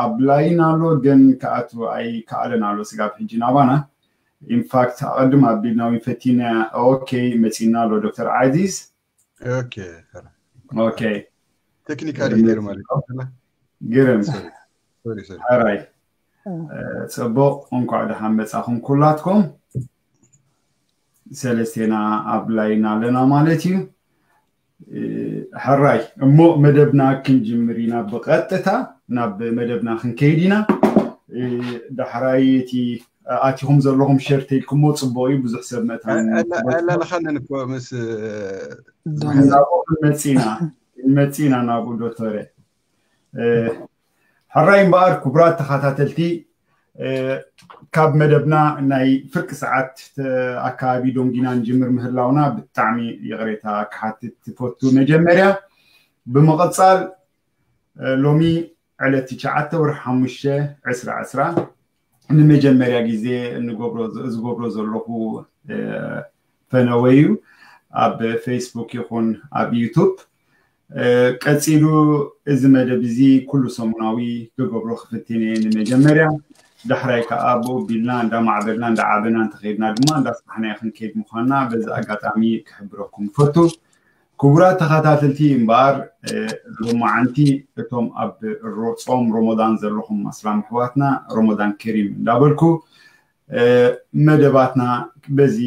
ኣብ ላይን ኣሎ ግን ክኣቱ ኣይከኣለን ኣሎ ስጋብ ሕጂ ናባና። ኢንፋክት ኣቐድም ኣቢልና እውን ፈቲና። ኦኬ፣ መፂና ኣሎ ዶክተር ዓዚዝ። ኦኬ። ኦኬ። ቴክኒካል ኢረር ማለት ይችላል። ግርም። ሶሪ፣ ሶሪ። ሕራይ። ጽቡቕ፣ እንኳዕ ደሓን መጻኹም ኩላትኩም። ሰለስቴና ኣብ ላይን ኣለና ማለት እዩ። ሕራይ እሞ መደብና ክንጅምር ኢና። ብቐጥታ ናብ መደብና ክንከይድ ኢና። ዳሕራይ እቲ ኣቲኹም ዘለኹም ሸር ተይልኩሞ ጽቡቕ እዩ። ብዙሕ ሰብ መታን ኣላለኻንን እኮ ምስ ናብኡ ክንመጽእ ኢና፣ ክንመጽእ ኢና ናብኡ ዶክተረ። ሕራይ እምበኣር ክቡራት ተኸታተልቲ፣ ካብ መደብና ናይ ፍርቂ ሰዓት ኣካባቢ ዶንጊና ንጅምር ምህላውና ብጣዕሚ ይቕሬታ ክሓትት ትፈቱ። መጀመርያ ብምቕጻል ሎሚ ዕለት ትሽዓተ ወርሒ ሓሙሽተ ዕስራ ዕስራ ንመጀመርያ ግዜ እንገብሮ ዝገብሮ ዘለኹ ፈነወ እዩ። ኣብ ፌስቡክ ይኹን ኣብ ዩቱብ። ቀፂሉ እዚ መደብ እዚ ኩሉ ሰሙናዊ ክገብሮ ክፍትን እየ ንመጀመርያ። ዳሕራይ ከዓ ብኡ ቢልና እንዳማዕበልና እንዳዓበና እንተኸይድና ድማ እንዳስፋሕናዮ ክንከይድ ምዃንና በዚ ኣጋጣሚ ክሕብረኩም ይፈቱ። ክቡራት ተኸታተልቲ እምበኣር ሎማዓንቲ እቶም ኣብ ጾም ሮሞዳን ዘለኹም ኣስላም ኣሕዋትና ሮሞዳን ከሪም እንዳበልኩ መደባትና በዚ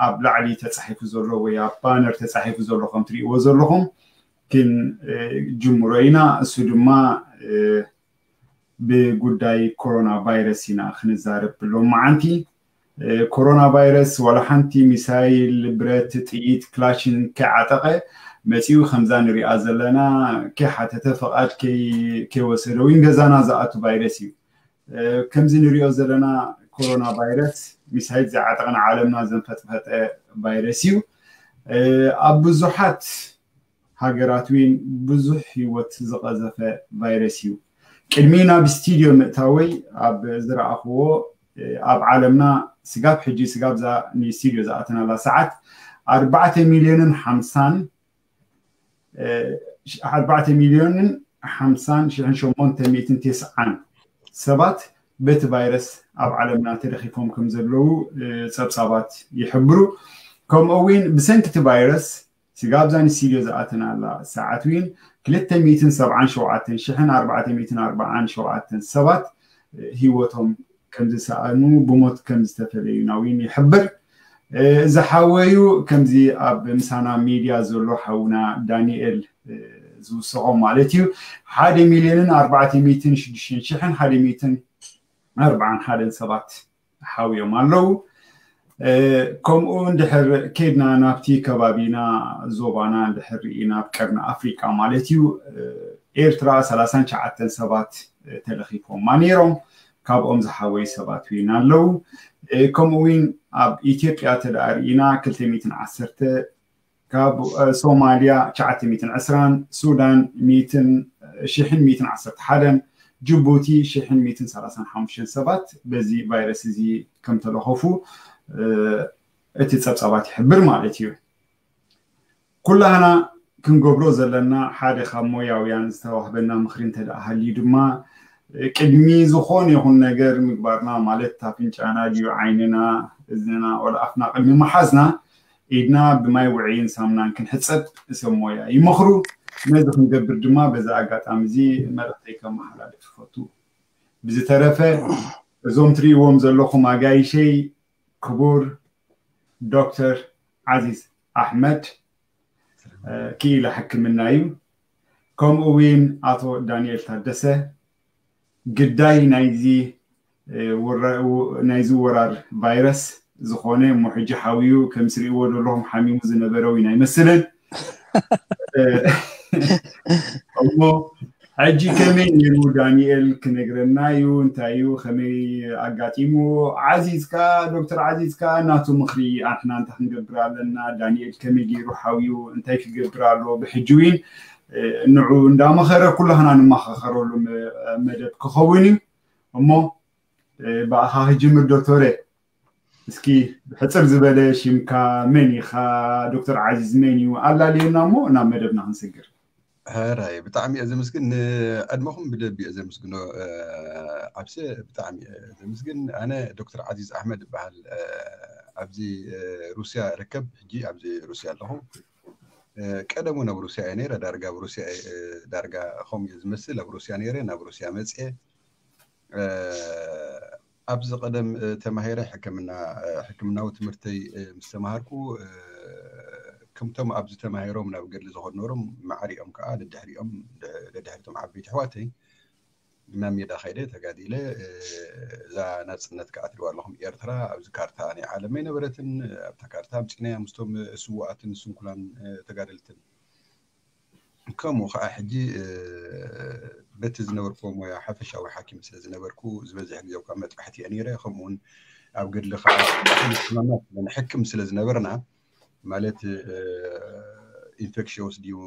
ኣብ ላዕሊ ተፃሒፉ ዘሎ ወይ ኣብ ባነር ተፃሒፉ ዘሎ ከም ትሪእዎ ዘለኹም ክንጅምሮ ኢና። እሱ ድማ ብጉዳይ ኮሮና ቫይረስ ኢና ክንዛረብ ሎማዓንቲ። ኮሮና ቫይረስ ዋላ ሓንቲ ሚሳይል፣ ብረት፣ ጥይት፣ ክላሽን ከይዓጠቐ መፂኡ ከምዛ ንሪኣ ዘለና ከይሓተተ ፍቓድ ከይወሰደ ወይ ገዛና ዝኣቱ ቫይረስ እዩ። ከምዚ ንሪኦ ዘለና ኮሮና ቫይረስ ሚሳይል ዘይዓጠቐ ንዓለምና ዘንፈጥፈጠ ቫይረስ እዩ። ኣብ ብዙሓት ሃገራት እውን ብዙሕ ህይወት ዝቐዘፈ ቫይረስ እዩ። ቅድሚ ናብ ስቱድዮ ምእታወይ ኣብ ዝረኣኽዎ ኣብ ዓለምና ስጋብ ሕጂ ስጋብ ዛ ንስቱድዮ ዝኣተናላ ሰዓት ኣርባዕተ ሚልዮንን ሓምሳን ኣርባዕተ ሚልዮንን ሓምሳን ሽሕን ሸሞንተ ሚእትን ተስዓን ሰባት በቲ ቫይረስ ኣብ ዓለምና ተለኺፎም ከም ዘለዉ ጸብጻባት ይሕብሩ። ከምኡ እውን ብሰንኪ እቲ ቫይረስ ስጋብ ዛን ስቱድዮ ዝኣተናላ ሰዓት እውን ክልተ ሚእትን ሰብዓን ሸውዓተን ሽሕን ኣርባዕተ ሚእትን ኣርባዓን ሸውዓተን ሰባት ህይወቶም ከም ዝሰኣኑ ብሞት ከም ዝተፈለዩና እውን ይሕብር። ዝሓወዩ ከምዚ ኣብ ምሳና ሚድያ ዘሎ ሓውና ዳንኤል ዝውስኾም ማለት እዩ ሓደ ሚልዮንን ኣርባዕተ ሚእትን ሽዱሽተን ሽሕን ሓደ ሚእትን ኣርባዓን ሓደን ሰባት ሓውዮም ኣለዉ። ከምኡ እንድሕር ከድና ናብቲ ከባቢና ዞባና እንድሕር ርኢና ኣብ ቀርኒ ኣፍሪቃ ማለት እዩ ኤርትራ ሰላሳን ትሽዓተን ሰባት ተለኺፎማ ነይሮም። ካብኦም ዝሓወዩ ሰባት እውን ኣለዉ። ከምኡ እውን ኣብ ኢትዮጵያ ተደኣ ርኢና ክልተ ሚእትን ዓሰርተ ካብ ሶማልያ ትሽዓተ ሚእትን ዕስራን ሱዳን ሚእትን ሽሕን ሚእትን ዓሰርተ ሓደን ጅቡቲ ሽሕን ሚእትን ሰላሳን ሓሙሽተን ሰባት በዚ ቫይረስ እዚ ከም ተለኸፉ እቲ ጸብጻባት ይሕብር ማለት እዩ። ኩላህና ክንገብሮ ዘለና ሓደ ካብ ሞያውያን ዝተዋህበና ምኽሪ እንተ ደኣ ሃልዩ ድማ ቅድሚ ዝኾነ ይኹን ነገር ምግባርና ማለት ኣፍንጫና ድዩ ዓይንና እዝንና ወላ ኣፍና ቅድሚ ምሓዝና ኢድና ብማይ ውዕይን ሳምናን ክንሕጸብ ሰብ ሞያ ይመኽሩ። ነዚ ክንገብር ድማ በዚ ኣጋጣሚ እዚ መልእኽተይ ከመሓላልፍ ይፈቱ። ብዝተረፈ እዞም ትርእይዎም ዘለኹም ኣጋይሸይ ክቡር ዶክተር ዓዚዝ ኣሕመድ ክኢላ ሕክምና እዩ። ከምኡ እውን ኣቶ ዳንኤል ታደሰ ግዳይ ናይዚ ናይዚ ወራር ቫይረስ ዝኾነ እሞ ሕጂ ሓውዩ ከም ስሪእዎ ዘለኹም ሓሚሙ ዝነበረ እውን ኣይመስልን። እሞ ሕጂ ከመይ ነይሩ ዳንኤል ክነግረና እዩ። እንታይ እዩ ከመይ ኣጋጢሙ? ዓዚዝ ከኣ ዶክተር ዓዚዝ ከኣ ናቱ ምኽሪ ኣንሕና እንታይ ክንገብር ኣለና? ዳንኤል ከመይ ገይሩ ሓውዩ እንታይ ክገብር ኣሎ? ብሕጂ እውን ንዑ እንዳመኸረ ኩላህና ንመኻኸረሉ መደብ ክኸውን እዩ። እሞ ብኣኻ ክጅምር ዶክተረ። እስኪ ብሕፅር ዝበለ ሽምካ መን ኢኻ? ዶክተር ዓዚዝ መን እዩ? ኣላልየና እሞ ናብ መደብና ክንስግር። ሕራይ ብጣዕሚ እየ ዘመስግን። ንዕድመኹም ብልቢ እየ ዘመስግኖ። ዓብሰ ብጣዕሚ እየ ዘመስግን። ኣነ ዶክተር ዓዚዝ ኣሕመድ እበሃል። ኣብዚ ሩስያ እርከብ። ሕጂ ኣብዚ ሩስያ ኣለኹ። ቀደሙ ናብ ሩስያ እየ ነይረ። ዳርጋ ኣብ ሩስያ ዳርጋ ከምኡ እየ ዝመስል። ኣብ ሩስያ ነይረ፣ ናብ ሩስያ መፅየ። ኣብዚ ቀደም ተማሂረ ሕክምና ሕክምናዊ ትምህርተይ ምስ ተማሃርኩ፣ ከምቶም ኣብዚ ተማሂሮም ናብ ገድሊ ዝኸዱ ነበሮም፣ ማዕሪኦም ከዓ ደድሕሪኦም፣ ደድሕሪቶም ዓበይቲ ኣሕዋተይ ናብ ሜዳ ከይደ ተጋዲለ። እዛ ናፅነት ከዓ ትሪእዋ ኣለኹም፣ ኤርትራ ኣብዚ ካርታ ናይ ዓለም ኣይነበረትን። ኣብታ ካርታ ኣምፂእናያ ምስቶም ስውኣትን ስንኩላን ተጋደልትን። ከምኡ ከዓ ሕጂ በቲ ዝነበርኩዎ ሞያ ሓፈሻዊ ሓኪም ስለ ዝነበርኩ፣ ዝበዝሕ ግዜ እኳ መጥባሕቲ እየ ነይረ። ከምኡውን ኣብ ገድሊ ከዓ ሕማማት ንሕክም ስለ ዝነበርና፣ ማለት ኢንፌክሽስ ድዩ፣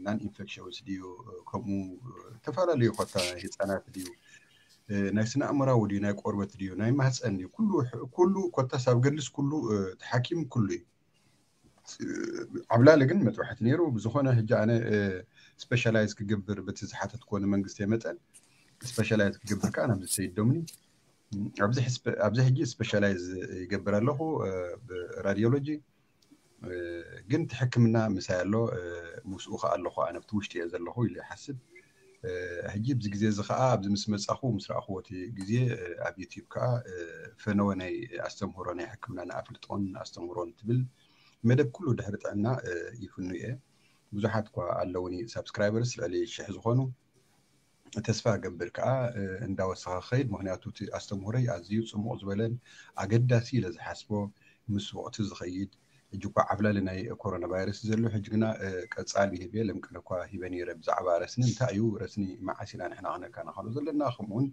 ናን ኢንፌክሽስ ድዩ፣ ከምኡ ዝተፈላለዩ ኮታ ህፃናት ድዩ፣ ናይ ስነ ኣእምራዊ ድዩ፣ ናይ ቆርበት ድዩ፣ ናይ ማህፀን ድዩ፣ ኩሉ ኩሉ ኮታስ ኣብ ገድልስ ኩሉ ተሓኪም ኩሉ እዩ። ዓብላሊ ግን መጥባሕቲ ነይሩ። ብዝኾነ ሕጂ ኣነ ስፔሻላይዝ ክገብር በቲ ዝሓተትኮ ንመንግስቲ መጠን ስፔሻላይዝ ክገብር ከዓ ናብዚ ሰይዶምኒ ኣብዚ ሕጂ ስፔሻላይዝ ይገብር ኣለኹ ብራዲዮሎጂ። ግን እቲ ሕክምና ምሳይ ኣሎ፣ ምስኡ ከዓ ኣለኹ፣ ኣነ ኣብቲ ውሽጢ እየ ዘለኹ ኢሉ ይሓስብ። ሕጂ ኣብዚ ግዜ እዚ ከዓ ኣብዚ ምስ መፃኹ ምስ ረኣኽዎ እቲ ግዜ ኣብ ዩቲዩብ ከዓ ፈነወ ናይ ኣስተምህሮ ናይ ሕክምና ንኣፍልጦን ኣስተምህሮን ትብል መደብ ኩሉ ድሕሪ ጥዕና ይፍኑ እየ። ብዙሓት እኳ ኣለውኒ ሳብስክራይበርስ ልዕሊ ሽሕ ዝኾኑ። ተስፋ ገብር ከዓ እንዳወሰኸ ክኸይድ፣ ምክንያቱ እቲ ኣስተምህሮይ ኣዝዩ ፅሙቕ ዝበለን ኣገዳሲ ኢለ ዝሓስቦ ምስ ወቕቲ ዝኸይድ። ሕጂ እኳ ዓብላሊ ናይ ኮሮና ቫይረስ ዘሎ፣ ሕጂ ግና ቀፃሊ ሂበ ለምቅነ እኳ ሂበ ነይረ ብዛዕባ ረስኒ እንታይ እዩ ረስኒ፣ መዓስ ኢና ንሕና ክነከናኸሎ ዘለና፣ ከምኡውን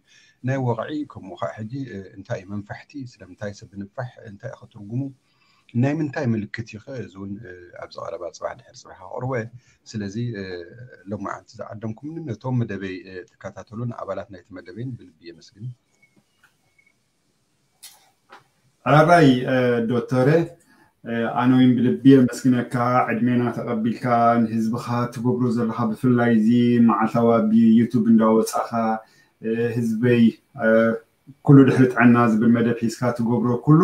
ናይ ወቕዒ፣ ከምኡ ከዓ ሕጂ እንታይ እዩ መንፋሕቲ፣ ስለምንታይ ሰብ ንፋሕ፣ እንታይ እዩ ትርጉሙ፣ ናይ ምንታይ ምልክት እዩ ኸ? እዚ እውን ኣብዚ ቀረባ ፅባሕ ድሕሪ ፅባሕ ከቕርቦ እየ። ስለዚ ሎማዓንቲ ዝዓደምኩምኒ ነቶም መደበይ ትከታተሉን ኣባላት ናይቲ መደበይን ብልቢ የመስግን። ሕራይ ዶክተረ፣ ኣነ እውን ብልቢ የመስግነካ፣ ዕድሜና ተቐቢልካ ንህዝብኻ ትገብሮ ዘለኻ፣ ብፍላይ እዚ መዓልታዊ ኣብ ዩቱብ እንዳወፃኻ ህዝበይ ኩሉ ድሕሪ ጥዕና ዝብል መደብ ሒዝካ ትገብሮ ኩሉ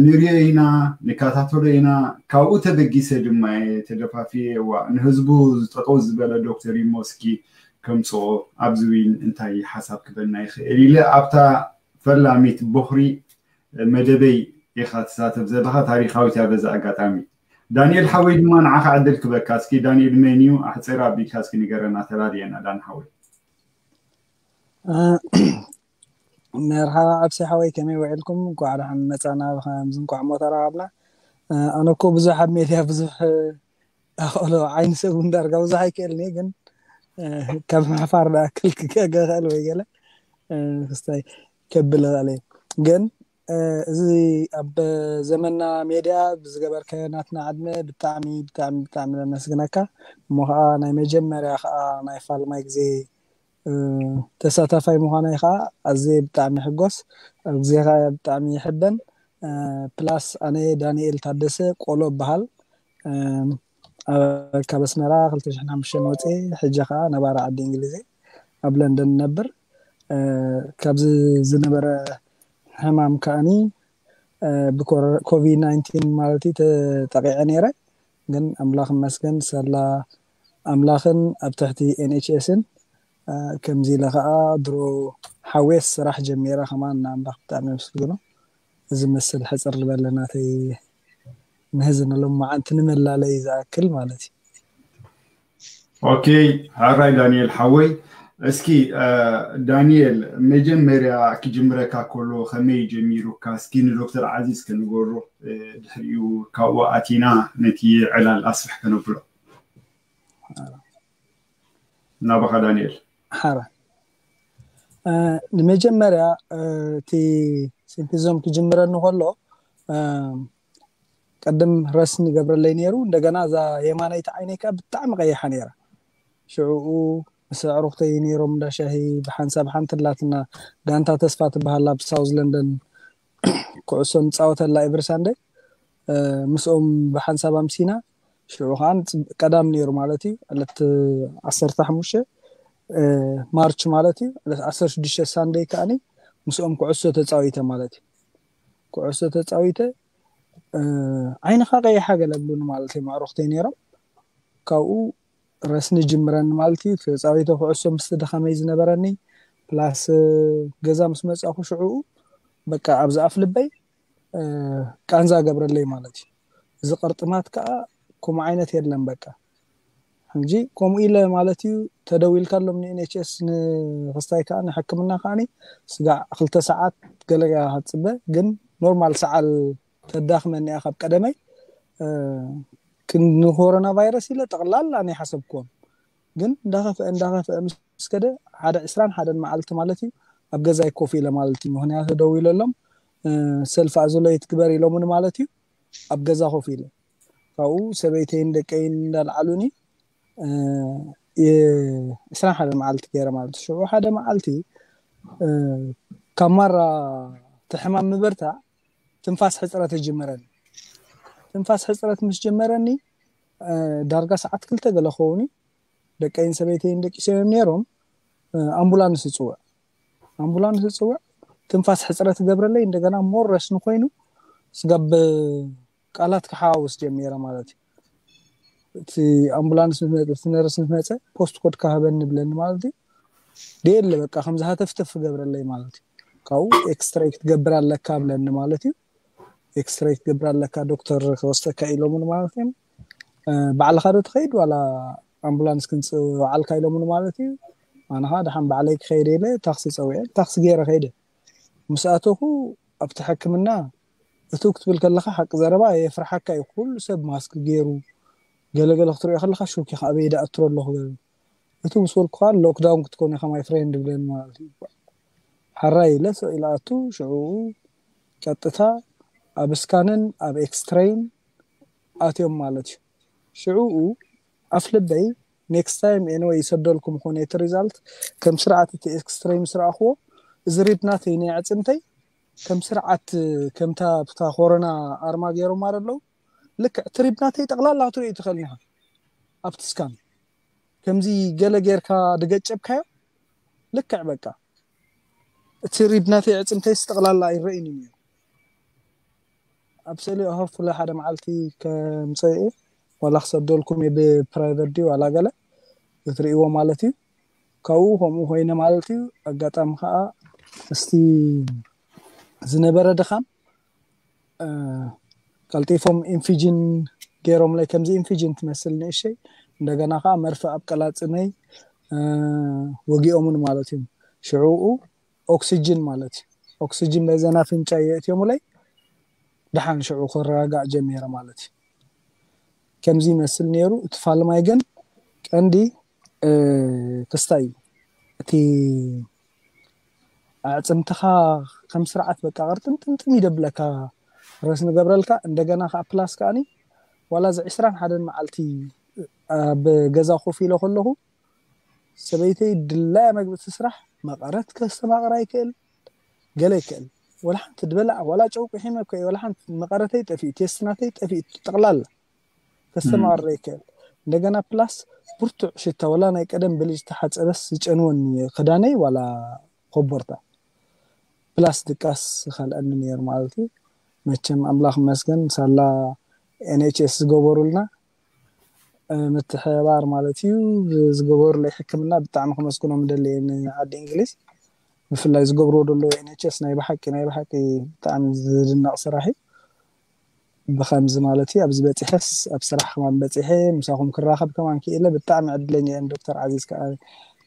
ንሪኦ ኢና፣ ንከታተሎ ኢና። ካብኡ ተበጊሰ ድማ እየ ተደፋፊየ፣ ዋ ንህዝቡ ጠጠው ዝበለ ዶክተር ኢሞ እስኪ ከምፅኦ ኣብዚ ዊን እንታይ ሓሳብ ክበና ይኽእል ኢለ ኣብታ ፈላሚት ቦኽሪ መደበይ ኢኻ ትሳተፍ ዘለኻ፣ ታሪኻዊት እያ። በዚ ኣጋጣሚ ዳንኤል ሓወይ ድማ ንዓኻ ዕድል ክበካ። እስኪ ዳንኤል መን እዩ? ኣሕፅር ኣቢልካ እስኪ ንገረና፣ ተላልየና ዳን ሓወይ። መርሓባ ዓብሲ ሓወይ፣ ከመይ ውዒልኩም? እንኳዕ ደሓን መፃና። ከምዚ እንኳዕ ሞ ተራኸብና። ኣነ እኮ ብዙሕ ኣብ ሜድያ ብዙሕ ኣኽእሎ ዓይኒ ሰብ እውን ዳርጋ ብዙሕ ኣይክእልን እየ፣ ግን ካብ ምሕፋር ዝኣክል ክክእል ወይ ገለ ክስታይ ከብል እኽእል እየ። ግን እዚ ኣብ ዘመንና ሜድያ ብዝገበርከዮ ናትና ዕድመ ብጣዕሚ ብጣዕሚ ብጣዕሚ ነመስግነካ። እሞ ከዓ ናይ መጀመርያ ከዓ ናይ ፋልማይ ግዜ ተሳታፋይ ምዃነይ ከዓ ኣዝየ ብጣዕሚ ይሕጎስ። ኣብ ግዜኻ ብጣዕሚ ይሕበን። ፕላስ ኣነ ዳንኤል ታደሰ ቆሎ እበሃል። ካብ ኣስመራ ክልተ ሽሕን ሓሙሽተን ወፅየ፣ ሕጂ ከዓ ነባሪ ዓዲ እንግሊዝ እየ፣ ኣብ ለንደን እነብር። ካብዚ ዝነበረ ሕማም ከዓኒ ብኮቪድ ናይንቲን ማለት እዩ ተጠቂዐ ነይረ። ግን ኣምላኽ ይመስገን ሳላ ኣምላኽን ኣብ ትሕቲ ኤንኤችኤስን ከምዚ ኢለ ከዓ ድሮ ሓዌስ ስራሕ ጀሚረ ከማን ንኣምላኽ ብጣዕሚ የመስግኖ። እዚ መስል ሕፅር ዝበለ ናተይ ንህዚ ንሎማዓንቲ ንመላለይ ዝኣክል ማለት እዩ። ኦኬ፣ ሕራይ ዳንኤል ሓወይ፣ እስኪ ዳንኤል መጀመርያ ክጅምረካ ከሎ ከመይ ጀሚሩካ እስኪ ንዶክተር ዓዚዝ ከንገሮ፣ ድሕሪኡ ካብኡ ኣቲና ነቲ ዕላል ኣስፍሕ ከነብሎ። ናባኻ ዳንኤል። ሓራ ንመጀመርያ እቲ ሲምፒዞም ክጅምረኒ ከሎ ቅድም ረስኒ ገብረለይ ነይሩ። እንደገና እዛ የማነይቲ ዓይነይ ከዓ ብጣዕሚ ቀይሓ ነይራ። ሽዕኡ ምስ ኣዕሩኽተይ ነይሮም እንዳ ሻሂ ብሓንሳብ ሓንቲ ኣላትና ጋንታ ተስፋ ትበሃል ኣብ ሳውዝ ለንደን ኩዕሶ ንፃወተላ ኤቭሪ ሳንደይ ምስኦም ብሓንሳብ ኣምሲና ሽዑ ከዓ ቀዳም ነይሩ ማለት እዩ። ዕለት ዓሰርተ ሓሙሽተ ማርች ማለት እዩ። ዕለት ዓሰርተ ሽዱሽተ ሳንደይ ከዓኒ ምስኦም ኩዕሶ ተፃዊተ ማለት እዩ። ኩዕሶ ተፃዊተ ዓይንካ ቀይሓ ገለ ብሉኒ ማለት እዩ። ማዕሮክተይ ነይሮም። ካብኡ ረስኒ ጅምረኒ ማለት እዩ። ተፃዊተ ኩዕሶ ምስቲ ድኸመይ ዝነበረኒ ፕላስ ገዛ ምስ መፃኹ ሽዑኡ በቃ ኣብዚ ኣፍ ልበይ ቃንዛ ገብረለይ ማለት እዩ። እዚ ቅርጥማት ከዓ ከምኡ ዓይነት የለን በቃ። ሕጂ ከምኡ ኢለ ማለት እዩ። ተደዊልካሎም ንኤንኤችኤስ ንክስታይ ከዓ ንሕክምና ከዓኒ ስጋዕ ክልተ ሰዓት ገለ ክትፅበ ግን ኖርማል ሰዓል ተዳኽመኒ እያ ካብ ቀደመይ። ንኮሮና ቫይረስ ኢለ ጠቕላላ ናይ ሓሰብክዎም ግን እንዳኸፍአ እንዳኸፍአ ምስ ከደ ሓደ ዕስራን ሓደን መዓልቲ ማለት እዩ ኣብ ገዛይ ኮፍ ኢለ ማለት እዩ። ምክንያቱ ደው ኢለሎም ሰልፍ ኣዞሌት ግበር ኢሎምኒ ማለት እዩ። ኣብ ገዛ ኮፍ ኢለ ካብኡ ሰበይተይን ደቀይን እንዳልዓሉኒ ዕስራን ሓደን መዓልቲ ገይረ ማለት እዩ። ሽዑ ሓደ መዓልቲ ካብ ማራ ትሕማም ምበርታዕ ትንፋስ ሕፅረት ጀመረኒ። ትንፋስ ሕፅረት ምስ ጀመረኒ ዳርጋ ሰዓት ክልተ ገለ ኸውን ደቀይን ሰበይተይን ደቂሶም ነይሮም። ኣምቡላንስ ይፅውዕ ኣምቡላንስ ይፅውዕ ትንፋስ ሕፅረት ገብረለይ እንደገና ሞረስ ንኮይኑ ስጋብ ቃላት ክሓዋውስ ጀሚረ ማለት እዩ። እቲ ኣምቡላንስ እቲ ነርስ ምስ መፀ ፖስት ኮድ ካህበኒ ብለኒ ማለት እዩ። ደየለ በቃ ከምዚ ሃተፍተፍ ገብረለይ ማለት እዩ። ካብኡ ኤክስትራይ ክትገብር ኣለካ ብለኒ ማለት እዩ። ኤክስትራይ ክትገብር ኣለካ ዶክተር ክወስደካ ኢሎምኒ ማለት እዮም። ባዕልካ ዶ ትኸይድ ዋላ ኣምቡላንስ ክንፅውዓልካ ኢሎምኒ ማለት እዩ። ኣነ ከዓ ደሓን ባዕለይ ክኸይደ ኢለ ታክሲ ፀዊዐ ታክሲ ገይረ ከይደ። ምስ ኣተኹ ኣብቲ ሕክምና እትው ክትብል ከለካ ሓቂ ዘረባ የፍርሓካ እዩ። ኩሉ ሰብ ማስክ ገይሩ ገለገለ ክትሪኦ ከለካ ሹክ ኢካ ኣበይ ደኣ እትሮ ኣለኹ ገለ እቲ ምስ በልኩ ከዓ ሎክዳውን ክትኮን ኢካ ማይ ፍሬንድ ብለኒ ማለት እዩ። ሓራይ ኢለ ስቕ ኢለ ኣቱ ሽዑ ቀጥታ ኣብ ስካንን ኣብ ኤክስትሬይን ኣትዮም ማለት እዩ። ሽዑኡ ኣፍ ልበይ ኔክስት ታይም ኤንወይ ይሰደልኩም ኾነ እቲ ሪዛልት ከም ስርዓት እቲ ኤክስትሬይ ምስ ረኣኽዎ እዚ ሪድ ናተይ ናይ ኣዕፅምተይ ከም ስርዓት ከምታ ብታ ኮሮና ኣርማ ገይሮም ኣለዉ ልክዕ እቲ ሪድ ናተይ ጠቕላላ ክትሪኦ ትኽእል ኢኻ ኣብቲ ስካን ከምዚ ገለ ጌርካ ድገጨብካዮ ልክዕ በቃ እቲ ሪድ ናተይ ኣዕፅምተይስ ጠቕላላ ኣይረእይን እዩ ነይሩ። ኣብ ስእሊ ሆፕፉሊ ሓደ መዓልቲ ከምፀ ዋላ ክሰደልኩም ብፕራይቨት ድዩ ዋላ ገለ ክትርእይዎ ማለት እዩ። ካብኡ ከምኡ ኮይነ ማለት እዩ። ኣጋጣሚ ከዓ እስቲ ዝነበረ ድኻም ቀልጢፎም ኢንፊጅን ገይሮምለይ ከምዚ ኢንፊጅን ትመስል ንእሸይ እንደገና ከዓ መርፍእ ኣብ ቀላፅመይ ወጊኦምን ማለት እዩ። ሽዑኡ ኦክሲጅን ማለት እዩ። ኦክሲጅን በዘን ኣፍንጫ የእትዮምለይ ደሓን ሽዑ ክረጋጋእ ጀሚረ ማለት እዩ። ከምዚ ይመስል ነይሩ። እቲ ፋልማይ ግን ቀንዲ ክስታይ እዩ። እቲ ኣዕፅምትኻ ከም ስርዓት በቃ ቅርጥምጥምጥም ይደብለካ ረስ ንገብረልካ እንደገና ከዓ ፕላስ ከዓኒ ዋላ እዚ ዕስራን ሓደን መዓልቲ ኣብ ገዛ ኮፍ ኢለ ከለኹ ሰበይተይ ድላያ መግቢ ትስራሕ መቐረት ከስተማቕራ ይክእል ገለ ይክእል ወላ ሓንቲ ድበላዕ ዋላ ጨውቂ ሒመ እኮ ወላ ሓንቲ መቐረተይ ጠፊኡ ቴስትናተይ ጠፊኡ ጠቕላላ ከስተማቕረ ይክእል እንደገና ፕላስ ብርቱዕ ሽታ ወላ ናይ ቀደም ብልጅ ተሓፀበስ ዝጨንወኒ ክዳነይ ዋላ ኮቦርታ ፕላስ ድቃስ ይኸልአኒ ነይሩ ማለት እዩ። መቸም ኣምላኽ መስገን ሳላ ኤንኤችኤስ ዝገበሩልና ምትሕባር ማለት እዩ ዝገበሩለይ ሕክምና ብጣዕሚ ከመስግኖም ደለየ ንዓዲ እንግሊዝ ብፍላይ ዝገብርዎ ደለዉ ኤንኤችኤስ ናይ ብሓቂ ናይ ብሓቂ ብጣዕሚ ዝድነቕ ስራሕ እዩ። ብከምዚ ማለት እዩ ኣብዚ በፂሐስ ኣብ ስራሕ ከማን በፂሐ ምሳኹም ክራኸብ ከማን ክኢለ ብጣዕሚ ዕድለኛ እየ። ዶክተር ዓዚዝ ከዓ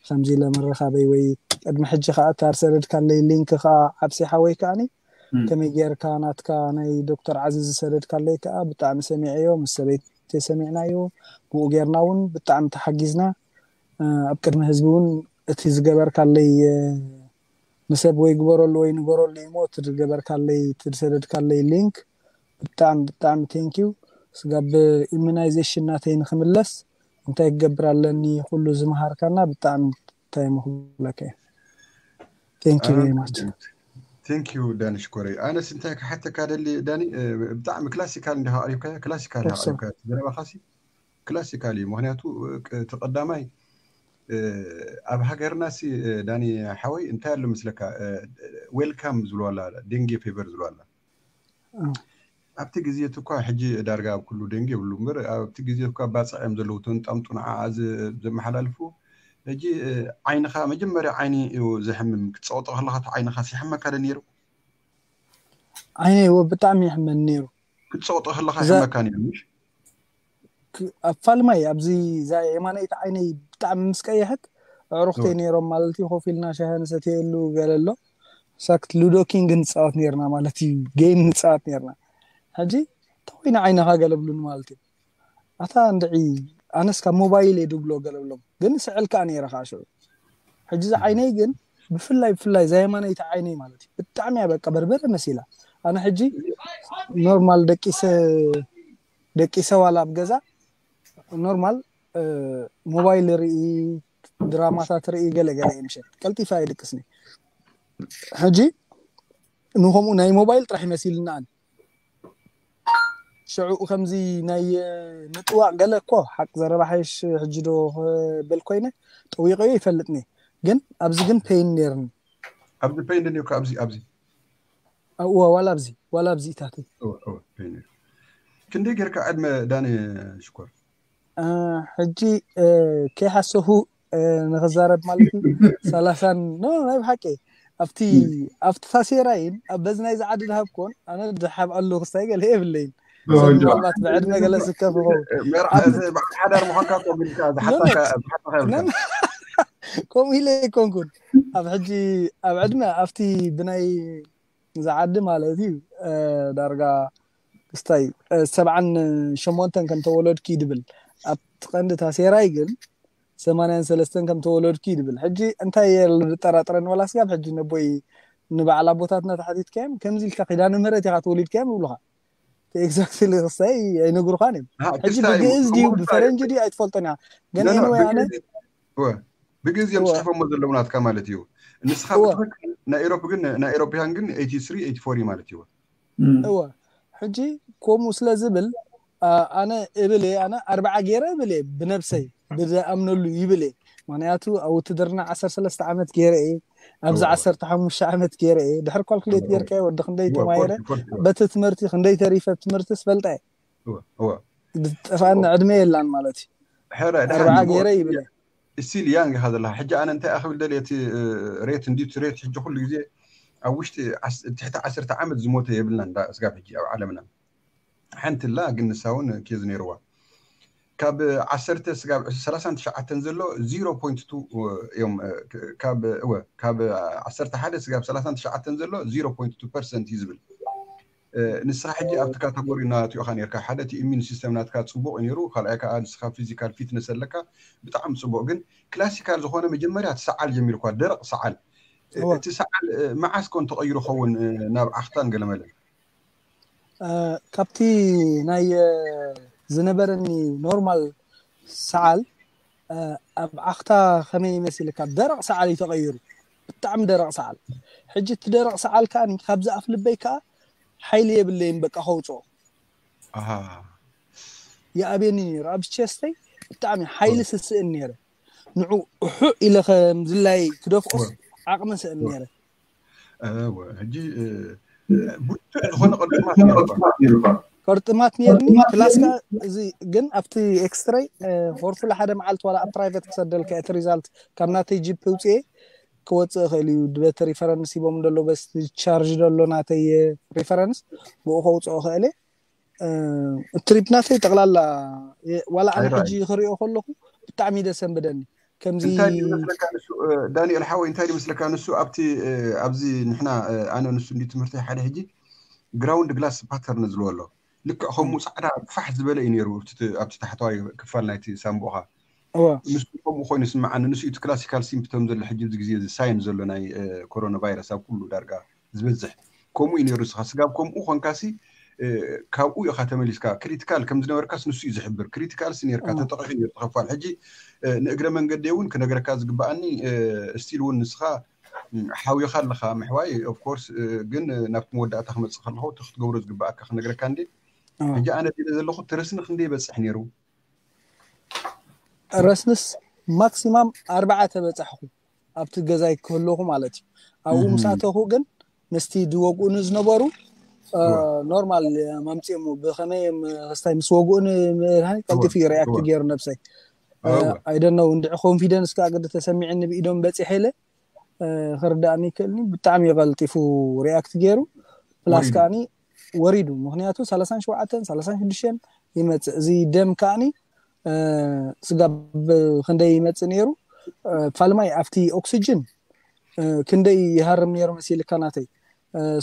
ከምዚ ኢለ ምርኻበይ ወይ ቅድሚ ሕጂ ከዓ እታ ዝሰደድካለይ ሊንክ ከዓ ዓብሲ ሓወይ ከዓኒ ከመይ ጌርካ ናትካ ናይ ዶክተር ዓዚዝ ዝሰደድካለይ ከዓ ብጣዕሚ ሰሚዐዮ ምስ ሰበይተይ ሰሚዕናዮ ብኡ ጌርና እውን ብጣዕሚ ተሓጊዝና ኣብ ቅድሚ ህዝቢ እውን እቲ ዝገበርካለይ ንሰብ ወይ ግበረሉ ወይ ንገረሉ እሞ እቲ ዝገበርካለይ እቲ ዝሰደድካለይ ሊንክ ብጣዕሚ ብጣዕሚ ቴንኪው ስጋብ ኢሚናይዜሽን ናተይ ንክምለስ እንታይ ክገብር ኣለኒ ኩሉ ዝመሃርካና ብጣዕሚ እንታይ ምክብለካ እዩ thank you very much thank you ዳኒ ሽኮረይ ኣነስ እንታይ ክሓተካ ደሊ ዳኒ ብጣዕሚ ክላሲካል እንዲካ ኣቅሪብካያ ክላሲካል ኣቅሪብካያ ዘረባካሲ ክላሲካል እዩ። ምክንያቱ እቲ ቀዳማይ ኣብ ሃገርና ሲ ዳኒ ሓወይ እንታይ ኣሎ ምስለካ፣ ዌልካም ዝብሉ ኣላ፣ ዴንጌ ፌቨር ዝብሉ ኣላ። ኣብቲ ግዜ እቲ እኳ ሕጂ ዳርጋ ኣብ ኩሉ ዴንጌ ይብሉ እምበር ኣብቲ ግዜ እኳ ባፅዕ እዮም ዘለዉ እቶም ጣምጡ ንዓ ዘመሓላልፉ። ሕጂ ዓይንኻ መጀመርያ ዓይኒ እዩ ዘሕምም። ክትፀቕጦ ከለካ እቲ ዓይንኻ ሲሕመካ ዶ ነይሩ? ዓይነ ብጣዕሚ ይሕመን ነይሩ። ክትፀቕጦ ከለካ ይሕመካ ነይሩ ምሽ? ኣብ ፋልማይ ኣብዚ የማነይቲ ዓይነይ ብጣዕሚ ምስ ቀየሐት ኣዕሩኽተይ ነይሮም ማለት እዩ። ኮፍ ኢልና ሻሂ ንሰትየሉ ገለ ኣሎ። ሳክት ሉዶ ኪንግ ንፃወት ነርና ማለት እዩ። ጌም ንፃወት ነርና። ሕጂ ተኮይነ ዓይንኻ ገለብሉን ማለት እዩ። ኣታ እንድዒ ኣነስ ካብ ሞባይል እየ ድብሎ ገለብሎም ግን ስዕል ከዓ ነይረ ከዓ ሽዑ። ሕጂ እዛ ዓይነይ ግን ብፍላይ ብፍላይ እዛ የማነይቲ ዓይነይ ማለት እዩ ብጣዕሚ እያ በቃ በርበረ መሲላ። ኣነ ሕጂ ኖርማል ደቂሰ ደቂሰ ዋላ ኣብ ገዛ ኖርማል ሞባይል ርኢ ድራማታት ርኢ ገለ ገለ እየ ምሸት ቀልጢፋ እየ ድቅስኒ። ሕጂ ንከምኡ ናይ ሞባይል ጥራሕ ይመሲልናኣን ሽዑ ከምዚ ናይ ምጥዋቕ ገለ እኮ ሓቂ ዘረባ ሓይሽ ሕጂ ዶ ክብል ኮይነ ጠዊቀዮ ይፈልጥኒ። ግን ኣብዚ ግን ፔይን ነርኒ። ኣብዚ ፔይን ነርኒ ኣብዚ ኣብዚ እወ ዋላ ኣብዚ ዋላ ኣብዚ ኢታተይ ክንደይ ጌርካ ዕድመ ዳኒ ሽኮር? ሕጂ ከይሓሰኹ ንክዛረብ ማለት እዩ። ሰላሳን ኖ ናይ ብሓቂ ኣብቲ ኣብቲ ታሴራይን ኣብ በዚ ናይ ዝዓዲ ድሃብኮን ኣነ ድሓብ ኣለዉ ክስታይ ገለ የብለይን። ሰብ ምናልባት ብዕድመ ገለ ስከፍ ይኸውን። መርዓ እዚ በዓል ሓዳር ምዃንካ እኮ ግድካ ዝሓሳካ ዝሓሳካ የብልካ። ከምኡ ኢለ ኣይኮንኩን ኣብ ሕጂ ኣብ ዕድመ ኣብቲ ብናይ ዝዓዲ ማለት እዩ ዳርጋ ክስታይ ሰብዓን ሸሞንተን ከም ተወለድኪ ድብል ኣብቲ ቀንዲ ታሴራይ ግን ሰማንያን ሰለስተን ከም ተወለድኪ ድብል። ሕጂ እንታይ እየ ዝጠራጥረኒ ወላ ስጋብ ሕጂ ነቦይ ንበዓል ኣቦታትና ተሓቲትካዮም ከምዚ ኢልካ ኪዳነ ምህረት ኢኻ ተወሊድካዮም ይብሉኻ። ኤግዛክትሊ ክስታይ ኣይነግሩኻን እዮም። ሕጂ ብግእዝ ድዩ ብፈረንጂ ድዩ ኣይትፈልጦን ኢኻ። ግን ኤኒወይ ኣነ ብግእዝ እዮም ፅሒፎሞ ዘለዉ ናትካ ማለት እዩ። ንስኻ ብትክክል ናይ ኤሮፕ ግን ናይ ኤሮፕያን ግን ኤይቲ ስሪ ኤይቲ ፎር እዩ ማለት እዩ። እወ ሕጂ ከምኡ ስለ ዝብል ኣነ እብል እየ ኣነ ኣርባዓ ገይረ እብል እየ ብነብሰይ ብዝኣምነሉ ይብል እየ። ምክንያቱ ኣብ ውትድርና ዓሰርተ ሰለስተ ዓመት ገይረ እየ ኣብዚ ዓሰርተ ሓሙሽተ ዓመት ገይረ እየ ድሕር ካልኩሌት ጌርካ ወዲ ክንደይ ተማሂረ በቲ ትምህርቲ ክንደይ ተሪፈ ትምህርቲ ስፈልጣ እየ። ዝጠፋኒ ዕድመ የላን ማለት እዩ። ኣርባዓ ገይረ ይብል እየ። ስቲል ያንግ ኢኻ ዘለኻ ሕጂ ኣነ እንታይ ክብል ደልየ እቲ ሬት እንዲቱ ሬት ሕጂ ኩሉ ግዜ ኣብ ውሽጢ ትሕቲ ዓሰርተ ዓመት ዝሞተ የብልና እንዳ ስጋብ ሕጂ ኣብ ዓለምና ሓንቲ ላ ግን ንሳ እውን ኬዝ ነይርዋ ካብ ዓሰርተ ስጋብ ሰላሳን ትሽዓተን ዘሎ ዚሮ ፖይንት ቱ እዮም ካብ እወ ካብ ዓሰርተ ሓደ ስጋብ ሰላሳን ትሽዓተን ዘሎ ዚሮ ፖይንት ቱ ፐርሰንት እዩ ዝብል። ንስኻ ሕጂ ኣብቲ ካተጎሪ እናትኦኻ ነርካ ሓደ እቲ ኢሚን ሲስተም ናትካ ፅቡቅ ነይሩ ካልኣይ ከዓ ንስኻ ፊዚካል ፊትነስ ኣለካ ብጣዕሚ ፅቡቅ ግን ክላሲካል ዝኾነ መጀመርያ ትሰዓል ጀሚርኳ ደረቅ ሰዓል እቲ ሰዓል መዓስ ኮን ተቐይሩ ኸውን ናብ ዓኽታን ገለመለን ካብቲ ናይ ዝነበረኒ ኖርማል ሰዓል ኣብ ዓኽታ ከመይ ይመስልካ ደረቕ ሰዓል እዩ ተቐይሩ ብጣዕሚ ደረቕ ሰዓል ሕጂ እቲ ደረቕ ሰዓል ከዓ ካብዚ ኣፍ ልበይ ከዓ ሓይሊ የብለይን በቃ ከውፅኦ ይኣብየኒ ነይሩ ኣብ ቸስተይ ብጣዕሚ ሓይሊ ስስእን ነይረ ንዑ እሑዕ ኢለ ከምዝላይ ክደፍኦስ ዓቕሚ ስእን ነይረ ሕጂ ብርቱዕ ዝኾነ ቅርጥማት ነይሩካ ቅርጥማት ነርኒ ክላስካ እዚ ግን ኣብቲ ኤክስትረይ ሆርፉል ሓደ መዓልቲ ዋላ ኣብ ፕራይቨት ክሰደልካ እቲ ሪዛልት ካብ ናተይ ጂፕ ውፅኤ ክወፅእ ይኽእል እዩ በቲ ሪፈረንስ ሂቦም ደሎ በስ ቻርጅ ደሎ ናተይ ሪፈረንስ ብኡ ከውፅኦ ይኽእል እየ ትሪፕ ናተይ ጠቕላላ ዋላ ኣነ ሕጂ ክሪኦ ከለኹ ብጣዕሚ ደሰንብደኒ ከምዚ እንታይ ድዩ ዝመስለካ ንሱ ዳንኤል ሓወይ እንታይ ድዩ ዝመስለካ ንሱ ኣብቲ ኣብዚ ንሕና ኣነ ንሱ እንዲ ትምህርቲ ሓደ ሕጂ ግራውንድ ግላስ ፓተርን ዝልዎ ኣሎ ልክዕ ከምኡ ፃዕዳ ፋሕ ዝበለ እዩ ነይሩ ኣብቲ ታሕተዋይ ክፋል ናይቲ ሳምቦኻ ንሱ ከምኡ ኮይኑ ስምዓኒ ንሱ እቲ ክላሲካል ሲምፕቶም ዘሎ ሕጂ ኣብዚ ግዜ እዚ ሳይን ዘሎ ናይ ኮሮና ቫይረስ ኣብ ኩሉ ዳርጋ ዝበዝሕ ከምኡ እዩ ነይሩ ንስኻ ስጋብ ከምኡ ኮንካሲ ካብኡ ኢኻ ተመሊስካ ክሪቲካል ከም ዝነበርካስ ንሱ እዩ ዝሕብር ክሪቲካል ሲ ነርካ ተጠቂሑ ነሩ ተኸፋል ሕጂ ንእግረ መንገዲ እውን ክነግረካ ዝግበኣኒ ስቲል እውን ንስኻ ሓዊኻ ኣለኻ ምሕዋይ ኦፍኮርስ ግን ናብቲ መወዳእታ ክመፅእ ከለኹ እቲ ክትገብሮ ዝግበኣካ ክነግረካ እንዴ ሕጂ ኣነ ዲለ ዘለኹ ትርስኒ ክንደይ ይበፅሕ ነይሩ ረስንስ ማክሲማም ኣርባዕተ በጻሕኩ ኣብቲ ገዛይ ክህለኹ ማለት እዩ። ኣብኡ ምስ ኣተኹ ግን ምስቲ ዝወግኡኒ ዝነበሩ ኖርማል ማምፅኦም ብኸመይ ክስታይ ምስ ወግኡኒ መድሃኒት ቀልጢፉ እዩ ሪያክት ገይሩ ነብሰይ ኣይደነው እንድዒ ኮንፊደንስ ከዓ ግዲ ተሰሚዕኒ ብኢዶም በፂሐ ኢለ ክርዳእኒ ይክእልኒ። ብጣዕሚ ቀልጢፉ ሪያክት ገይሩ ፕላስ ከዓኒ ወሪዱ። ምክንያቱ ሰላሳን ሸውዓተን ሰላሳን ሽዱሽተን ይመፅእ። እዚ ደም ከዓኒ ስጋብ ክንደይ ይመፅእ ነይሩ። ፋልማይ ኣብቲ ኦክስጅን ክንደይ ይሃርም ነይሩ መሲልካ ናተይ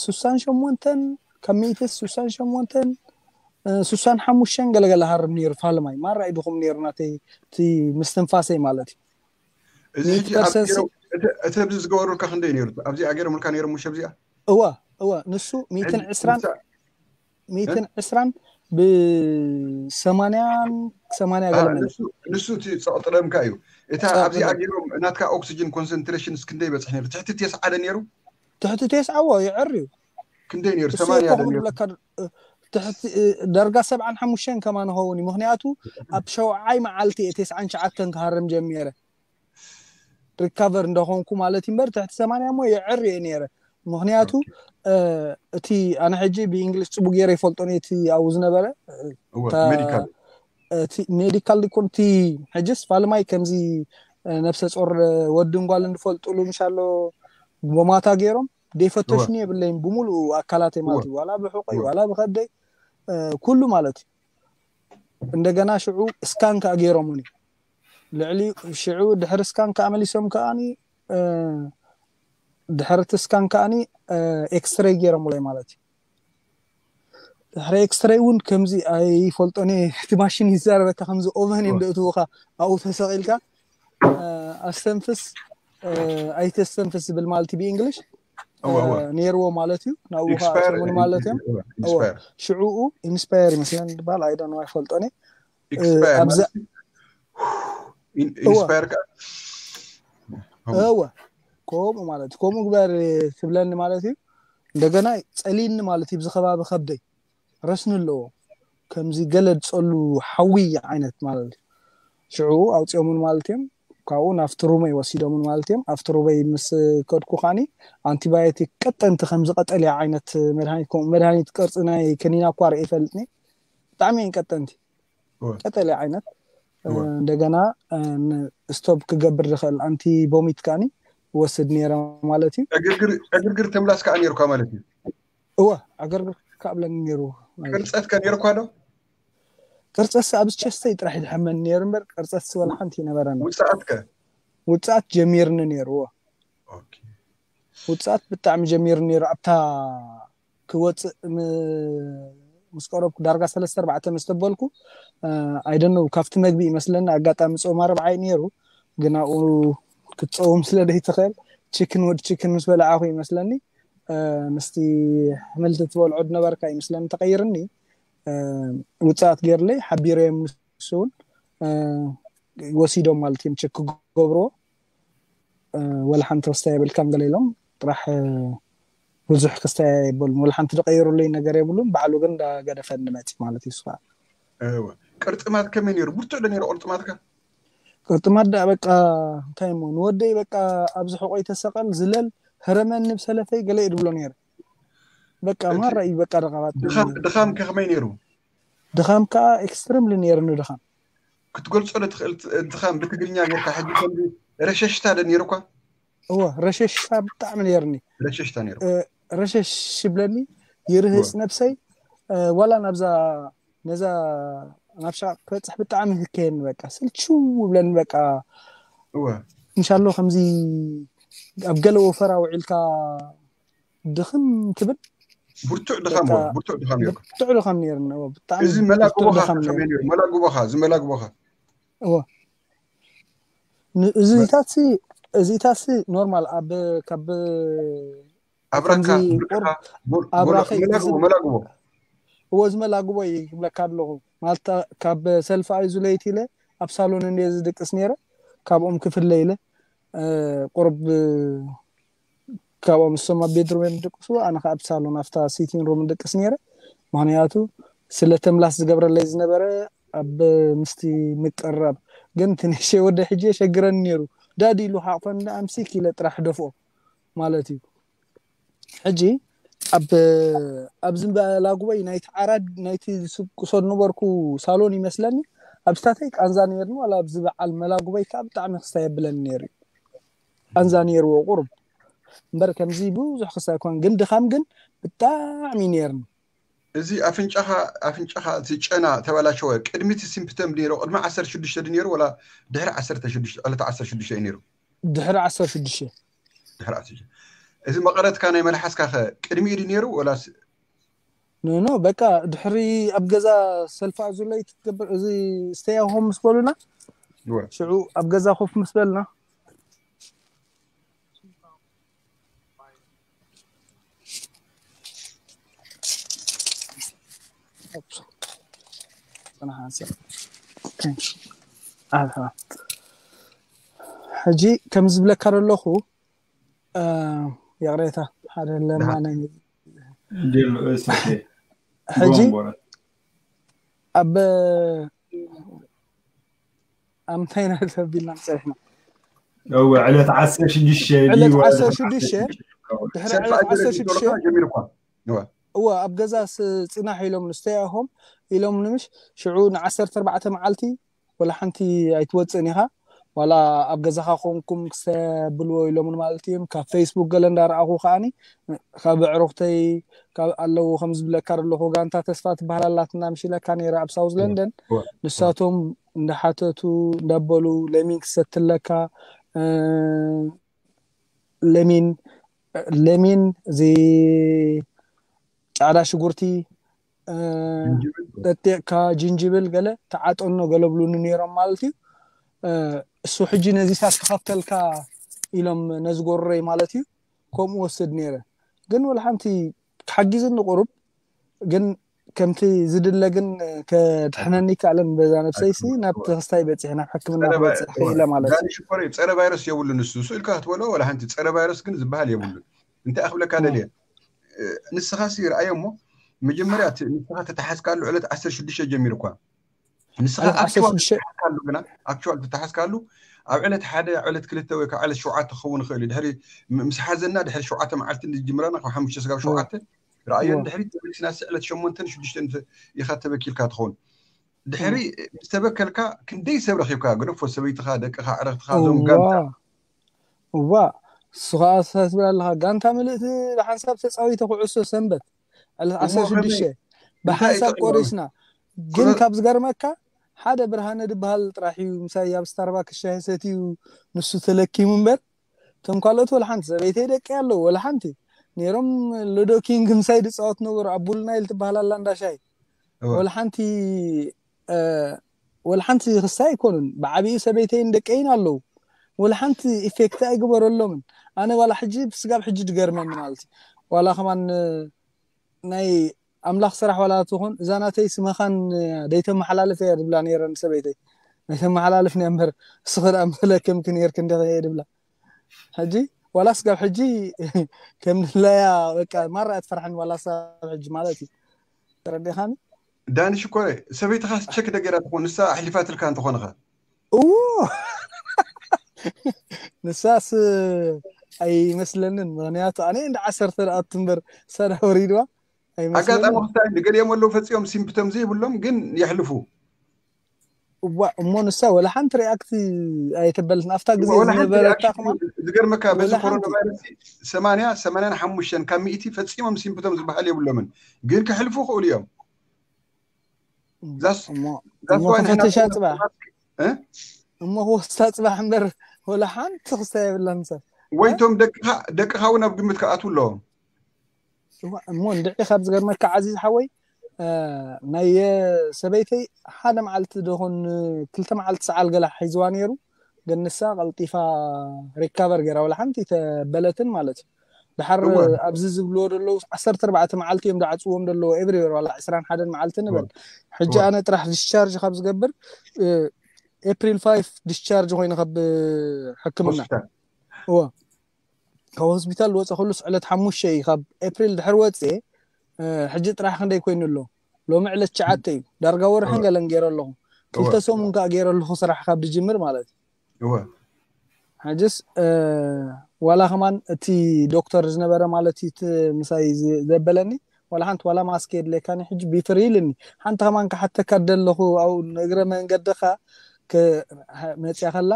ሱሳን ሸሞንተን ካብ ሚእትስ ሱሳን ሸሞንተን ሱሳን ሓሙሽተን ገለገለ ሃርም ነይሩ። ፋልማይ ማራ ይድኹም ነይሩ ናተይ እቲ ምስትንፋሰይ ማለት እዩ። እዚ ሕጂ እቲ ኣብዚ ዝገበሩልካ ክንደይ ነይሩ? ኣብዚኣ ገይሮምልካ ነይሮም ሙሽ ኣብዚኣ? እዋ እዋ ንሱ ሚእትን ዕስራን ሚእትን ዕስራን ብሰማንያን ሰማንያ ገለመ ንሱ እቲ ጸቕጥለምካ እዩ። እታ ኣብዚኣ ገይሮም ናትካ ኦክሲጅን ኮንሰንትሬሽን እስክንደይ በጽሕ ነይሩ? ትሕቲ ቴስዓ ደ ነይሩ? ትሕቲ ቴስዓ ዎ ይዕር እዩ። ክንደይ ነይሩ? ሰማንያ ደ ነይሩ? ዳርጋ ሰብዓን ሓሙሽተን ከማ ንኸውን እዩ። ምክንያቱ ኣብ ሸውዓይ መዓልቲ እየ ቴስዓን ሸዓተን ክሃርም ጀሚረ። ሪካቨር እንደኾንኩ ማለት እምበር ትሕቲ ሰማንያ እሞ የዕር እየ ነይረ። ምክንያቱ እቲ ኣነ ሕጂ ብእንግሊዝ ፅቡቅ ገይረ ይፈልጦ እቲ ኣብኡ ዝነበረ ሜዲካል ዲኮን እቲ ሕጅስ ፋልማይ ከምዚ ነብሰ ጾር ወድን ጓልን ዝፈልጡሉ ምሻሎ ቦማታ ገይሮም ደይፈተሹኒ የብለይን ብምሉእ ኣካላተይ ማለት እዩ። ዋላ ብሕቆይ ዋላ ብኸደይ ኩሉ ማለት እዩ። እንደገና ሽዑ ስካን ከዓ ገይሮምኒ ልዕሊ ሽዑ ድሕሪ ስካን ከዓ መሊሶም ከዓኒ ድሕሪ እቲ ስካን ከዓኒ ኤክስሬይ ገይሮምለይ ማለት እዩ። ድሕሪ ኤክስሬይ እውን ከምዚ ኣይፈልጦን እየ። እቲ ማሽን ይዛረበካ ከምዚ ኦቨን እዮም ደእትውካ ኣብኡ ተሰቂልካ ኣስተንፍስ ኣይተስተንፍስ ዝብል ማለት ብእንግሊሽ ነይርዎ ማለት እዩ። ናብኡ ከዓሙን ማለት እዮም። ሽዕኡ ኢንስፓየር ይመስለን ዝበሃል ኣይደን ኣይፈልጦን እየ። ኢንስፓየር እወ ከምኡ ማለት ከምኡ ግበር ትብለኒ ማለት እዩ። እንደገና ፀሊኒ ማለት እዩ። ብዚ ከባቢ ከብደይ ረስኒ ኣለዎ ከምዚ ገለ ዝፀሉ ሓዊ ዓይነት ማለት እዩ። ሽዑ ኣውፅኦምን ማለት እዮም። ካብኡ ናብቲ ሩመይ ወሲዶምን ማለት እዮም። ኣብቲ ሩመይ ምስ ከድኩ ከዓኒ ኣንቲባዮቲክ ቀጠንቲ ከምዚ ቀጠልያ ዓይነት መድሃኒት ከምኡ መድሃኒት ቅርፂ ናይ ከኒና እኳ ርአ ይፈልጥኒ። ብጣዕሚ እየን ቀጠንቲ ቀጠልያ ዓይነት እንደገና ስቶፕ ክገብር ዝኽእል ኣንቲ ቦሚት ከዓኒ ወስድ ነይረ ማለት እዩ። ዕግርግር ተምላስ ከዓ ነይርኳ ማለት እዩ። እወ ዕግርግር ካብለኒ ነይሩ። ቅርፀት ከ ነይርኳ ዶ? ቅርፀስ ኣብ ቸስተይ ጥራሕ ይድሐመኒ ነይሩ እምበር ቅርፀስ ወላ ሓንቲ ይነበረኒ። ውፅኣት ከ? ውፅኣት ጀሚርኒ ነይሩ። እወ ውፅኣት ብጣዕሚ ጀሚርኒ ነይሩ። ኣብታ ክወፅእ ምስ ቀረብኩ ዳርጋ ሰለስተ ኣርባዕተ ምስ ተበልኩ ኣይደነው ካብቲ መግቢ ይመስለኒ ኣጋጣሚ ፆም ኣርብዓ እዩ ነይሩ። ግን ኣብኡ ክትፀውም ስለ ዘይትኽእል ችክን ወድ ችክን ምስ በላዓኹ ይመስለኒ ምስቲ ሕምልቲ ትበልዖ ዝነበርካ ይመስለኒ ተቐይርኒ። ውፅኣት ገይርለይ ሓቢረዮም ንሱ እውን ወሲዶም ማለት እዮም ቸክ ክገብርዎ። ወላ ሓንቲ ክስታይ የብልካን ገለ ኢሎም ጥራሕ ብዙሕ ክስታይ የብሉን። ወላ ሓንቲ ዝቀይሩለይ ነገር የብሉን። ባዕሉ ግን እንዳገደፈኒ መፂ ማለት እዩ። ስኻ ቅርጥማት ከመይ ነይሩ? ብርቱዕ ዶ ነይሩ ቅርጥማትካ? ቅርጥማት ዳ በቃ እንታይ እሞ ንወደይ በቃ ኣብዚ ሕቆይ ተሰቀል ዝለል ህረመኒ ብሰለፈይ ገለ እዩ ድብሎ ነይረ። በቃ ማራ እዩ በቃ ደቃባት ድኻም ከመይ ነይሩ? ድኻም ከዓ ኤክስትሪምሊ ነይርኒ ድኻም። ክትገልፆ ዶ ትኽእል ድኻም ብትግርኛ ጌርካ? ሕጂ ከምዚ ረሸሽታ ዶ ነይሩኳ? እወ ረሸሽታ ብጣዕሚ ነይርኒ። ረሸሽታ ነይሩ። ረሸሽ ይብለኒ ይርህፅ ነብሰይ። ዋላ ናብዛ ነዛ ናብ ሻቅ ክበፅሕ ብጣዕሚ ህከየኒ በቃ ስልችው ይብለኒ በቃ። እወ እንሻሎ ከምዚ ኣብ ገለ ወፈራ ውዒልካ ድኽም ትብል። ብርቱዕ ድኻም እወ ብርቱዕ ድኻም ነይሩ። ብርቱዕ ድኻም ነይሩ። እወ ብጣዕሚ እዚ መላግቦኻ ብርቱዕ ድኻም ነይሩ። ከመይ ነይሩ? መላግቦኻ እዚ መላግቦኻ እወ ን- እዚታት ሲ እዚታት ሲ ኖርማል ኣብ ካብ ኣብራካ ከምዚ ፍርቅኻ ቁር- ሞል- ኣብራኸይ ሞላ- እዚ- መላግቦ መላግቦ እወ እዚ መላግቦ እዩ ክብለካ ኣለኹ። ማለት ካብ ሰልፊ ኣይዙ ለይቲ ኢለ ኣብ ሳሎን እንደ ዝድቅስ ነይረ። ካብኦም ክፍለ ኢለ እ፣ ቁርብ ካብኦም እሶም ኣብ ቤድሩም እዮም ዝድቅሱ፣ ኣነ ከዓ ኣብ ሳሎን ኣብታ ሲቲንግ ሩም ድቅስ ነይረ። ምክንያቱ ስለ ተምላስ ዝገብረለይ ዝነበረ ኣብ ምስቲ ምቅራብ ግን ትንሽ ወደ ሕጂ የሸግረኒ ነይሩ። ዳዲ ኢሉ ሓቕፈን ኣምሲክ ኢለ ጥራሕ ደፍኦ ማለት እዩ። ሕጂ ኣብ ኣብዚ መላጉበይ ናይቲ ዓራድ ናይቲ ዝስቅሶ ነበርኩ ሳሎን ይመስለኒ። ኣብ ስታተይ ቃንዛ ነይርኒ ዋላ ኣብዚ በዓል መላጉበይ ከዓ ብጣዕሚ ክስታይ የብለኒ ነይሩ እዩ። ቃንዛ ነይርዎ ቁሩብ እምበር ከምዚ ብዙሕ ክስታይ ኣይኮን ግን ድኻም ግን ብጣዕሚ ነይርኒ። እዚ ኣፍንጫኻ ኣፍንጫኻ እቲ ጨና ተባላሸወ ቅድሚ እቲ ሲምፕተም ነይሩ ቅድሚ ዓሰርተ ሽዱሽተ ድዩ ነይሩ ወላ ድሕሪ ዓሰርተ ሽዱሽተ ዕለት ዓሰርተ ሽዱሽተ እዩ ነይሩ? ድሕሪ ዓሰርተ ሽዱሽተ ድሕሪ ዓሰርተ ሽዱሽተ። እዚ መቐረትካ ናይ መልሓስካ ኸ ቅድሚ ኢዩ ድዩ ነይሩ ወላስ? ኖኖ በቃ ድሕሪ ኣብ ገዛ ሰልፋ ኣዙለይ ትገብር እዚ stay at home ምስ በሉና እወ። ሽዑ ኣብ ገዛ ኮፍ ምስ በልና ሕጂ ከም ዝብለካ ዘለኹ ይቕሬታ ሓደ ለማነ ጀሎ እስ ሕጂ ጎንቦረ ኣብ ኣብ ምንታይ ኢና ተቢልና ፀኒሕና እወ ዕለት ዓሰርተ ሽዱሽተ ዕለት ዓሰርተ ሽዱሽተ ድሕሪ ሰልፊ ዕለት ኣጀለ ዓሰርተ ሽዱሽተ ጀሚርኳ እወ። እወ ኣብ ገዛ ስ- ፅናሕ ኢሎም ንስተይ ኣሆም ኢሎም ንምሽ ሽዑ ንዓሰርተ ኣርባዕተ መዓልቲ ወላ ሓንቲ ኣይትወፅእን ኢኻ ዋላ ኣብ ገዛኻ ኮንኩም ክሰብልዎ ኢሎምን ማለት እዮም ካብ ፌስቡክ ገለ እንዳረኣኹ ከዓኒ ካብ ኣዕሩኽተይ ካብ ኣለዉ ከም ዝብለካ ዘለኹ ጋንታ ተስፋ ትበሃል ኣላትና ምሽ ኢለካ ነይረ ኣብ ሳውዝ ለንደን እወ። ንሳቶም እንዳሓተቱ እንዳበሉ ለሚን ክሰትለካ እ፣ ለሚን ለሚን እዚ ፃዕዳ ሽጉርቲ እ፣ ጅንጅብል። ጠጢቕካ ጅንጅብል ገለ ተዓጠኖ ገለ ብሉኒ ነይሮም ማለት እዩ እ፣ እሱ ሕጂ ነዚ ሳስ ክኸፍተልካ ኢሎም ነዚ ጎረይ ማለት እዩ ከምኡ ወስድ ነይረ ግን ወላ ሓንቲ ክሓጊዝኒ ቁሩብ ግን ከምቲ ዝድለ ግን ከድሕነኒ ይከኣለን በዛ ነብሰይሲ ናብ ተክስታይ በፂሐ ናብ ሕክምና ጸረ ቫይ- ክበፅሕ ክኢለ ማለት እዩ ዳኒ ሽኮር እዩ፣ ጸረ ቫይረስ የብሉን እሱ። ስእልካ ክትበሎ ወላ ሓንቲ ጸረ ቫይረስ ግን ዝበሃል የብሉን። እንታይ ኣኽብለካ ደልየ ንስኻ ሲ ርኣዮ እሞ መጀመርያ እቲ ንስኻ ተተሓዝካሉ ዕለት ዓሰርተ ሽዱሽተ ጀሚሩ እኳ ንስኻ ዕለት ኣክቹዋል ዓሰርተ ሽዱሽተ ተተሓዝካሉ ግና ኣክቹዋል ተተሓዝካሉ ኣብ ዕለት ሓደ ኣብ ዕለት ክልተ ወይ ካብ ዕለት ሸውዓተ ክኸውን ይኽእል እዩ። ድሕሪ ም- ምስ ሓዘና ድሕሪ ሸውዓተ መዓልቲ ንጅምረና ካብ ሓሙሽተ ስጋብ ሸውዓተ ርኣዮን እወ። ድሕሪ ተመሊስና ሲ ዕለት ሸሞንተን ሽዱሽተን ኢኻ ተበኪልካ ትኸውን። ድሕሪ ምስ ተበከልካ ክንደይ ሰብ ረኺብካ? ገደፎ ሰበይትኻ፣ ደቅኻ፣ ዕረኽትኻ፣ እዞም እዋ ጋንታ እዋ እሱ ከዓ ኣስተሳስብ ኣለካ ጋንታ ምልእቲ ብሓንሳብ ተፃዊተ ኩዕሶ ሰንበት ዕለት እሞ ዓሰርተ ሽዱሽተ ከመይ? ብሓንሳብ እንታይ ቆሪስና ግን ኩነ- ካብ ዝገርመካ ሓደ ብርሃነ ዝበሃል ጥራሕ እዩ ምሳይ ኣብ ስታርባክስ ሻሂ ሰትዩ ንሱ ተለኪሙ እምበር እቶም ካልኦት ወላ ሓንቲ ሰበይተይ ደቂ ኣለዉ ወላ ሓንቲ ነይሮም ሎዶ ኪንግ ምሳይ ዝፃወት ነበሩ ኣብ ቡል ናይል ትበሃል ኣላ እንዳ ሻሂ እወ። ወላ ሓንቲ እ፣ ወላ ሓንቲ ክስታይ ኣይኮኑን ብዓብዩ ሰበይተይን ደቀይን ኣለዉ ወላ ሓንቲ ኢፌክት ኣይግበረሎምን ኣነ ዋላ ሕጂ ስጋብ ሕጂ ድገርመኒ ማለት እዩ ዋላ ከማን እ፣ ናይ ኣምላኽ ስራሕ ዋላ ትኾን እዛ ናተይ ስመኻን እ፣ ደይተመሓላልፍ እየ ድብላ ነይረ ንሰበይተይ ኣይተመሓላልፍ እያ እምበር እስኺ ደኣ መለከምኪ ነይርክ እንዲኺ እየ ድብላ ሕጂ ዋላ ስጋብ ሕጂ ከም ድላያ በቃ ማራ እያ ትፈርሐኒ ዋላ ስጋብ ሕጂ ማለት እዩ ተረዲኻኒ ዳኒ ሽኮረ ሰበይትኻ ቸክ ደገራ ትኾን ንሳ ኣሕሊፋትልካ እንተኾንኻ እዎ ንሳስ ኣይመስለንን ምክንያቱ ኣነ እንደ ዓሰርተ ደኣቱ እምበር ሰዳ ወሪድዋ ኣጋጣሚ ኣይመስለንን ክስታይ ንገሊኦም ኣለዉ ፈፂኦም ሲምፕቶም ዘይብሎም ግን የሕልፉ እዋ እሞ ንሳ ወላ ሓንቲ ሪኣክት ኣይተበለትን ኣብታ ግዜ ወላ ሓንቲ ዝነበረታ ሪኣክሽን ከማ ዝገርመካ በዚ ወላ ኮሮና ሓንቲ ቫይረስ ሰማንያ ሰማንያን ሓሙሽተን ካብ ሚእቲ ፈፂሞም ሲምፕቶም ዝበሃል የብሎምን ግን ክሕልፉ ክእሉ እዮም ዛስ እሞ ዛስ እሞ ዋይ ንሕና ክፈተሻ ኮሮና ፅባሕ እ? እሞ ክወስታ ፅባሕ እምበር ወላ ሓንቲ ክስታ የብላን ሰብ ወይቶም ደቅኻ ደቅኻ እውን ኣብ ግምት ክኣትዉ ኣለዎም እዋ፣ እሞ እንድዒ ካብ ዝገርመካ ዓዚዝ ሓወይ እ፣ ናይ ሰበይተይ ሓደ መዓልቲ ደኾን ክልተ መዓልቲ ሰዓል ገላ ሒዝዋ ነይሩ ግን ንሳ ቀልጢፋ ሪካቨር ገይራ ወላ ሓንቲ ተበለትን ማለት እዩ ድሓር እወ ኣብዚ ዝብልዎ ዘለዉ ዓሰርተ ኣርባዕተ መዓልቲ እዮም ዝዓፅዎም ዘለዉ ኤቭሪዌር ዋላ ዕስራን ሓደን መዓልቲ እወ ንበል ሕጂ እወ ኣነ ጥራሕ ዲስቻርጅ ካብ ዝገብር ኤፕሪል ፋይቭ ዲስቻርጅ ኮይነ ካብ ሕክምና ሆስፒታል እወ ካብ ሆስፒታል ዝወፀ ኩሉስ ዕለት ሓሙሽተ እዩ ካብ ኤፕሪል ድሕር ወፅኤ እ፣ ሕጂ ጥራሕ ክንደይ ኮይኑ ኣሎ ሎሚ ዕለት ትሽዓተ እዩ ዳርጋ ወርሕን እወ ገለን ገይረ ኣለኹ ክልተ ሰሙን ከዓ ገይረ ኣለኹ ስራሕ ካብ ዝጅምር ማለት እዩ። ሕጅስ ዋላ ከማን እቲ ዶክተር ዝነበረ ማለት እዩ ምሳይ ዘበለኒ፣ ዋላ ሓንቲ ዋላ ማስክ የድለካኒ ሕጂ ቢፍሪ ኢልኒ። ሓንቲ ከማን ክሓተካ ደለኹ ኣብኡ ንእግረ መንገድኻ መፅያ ከላ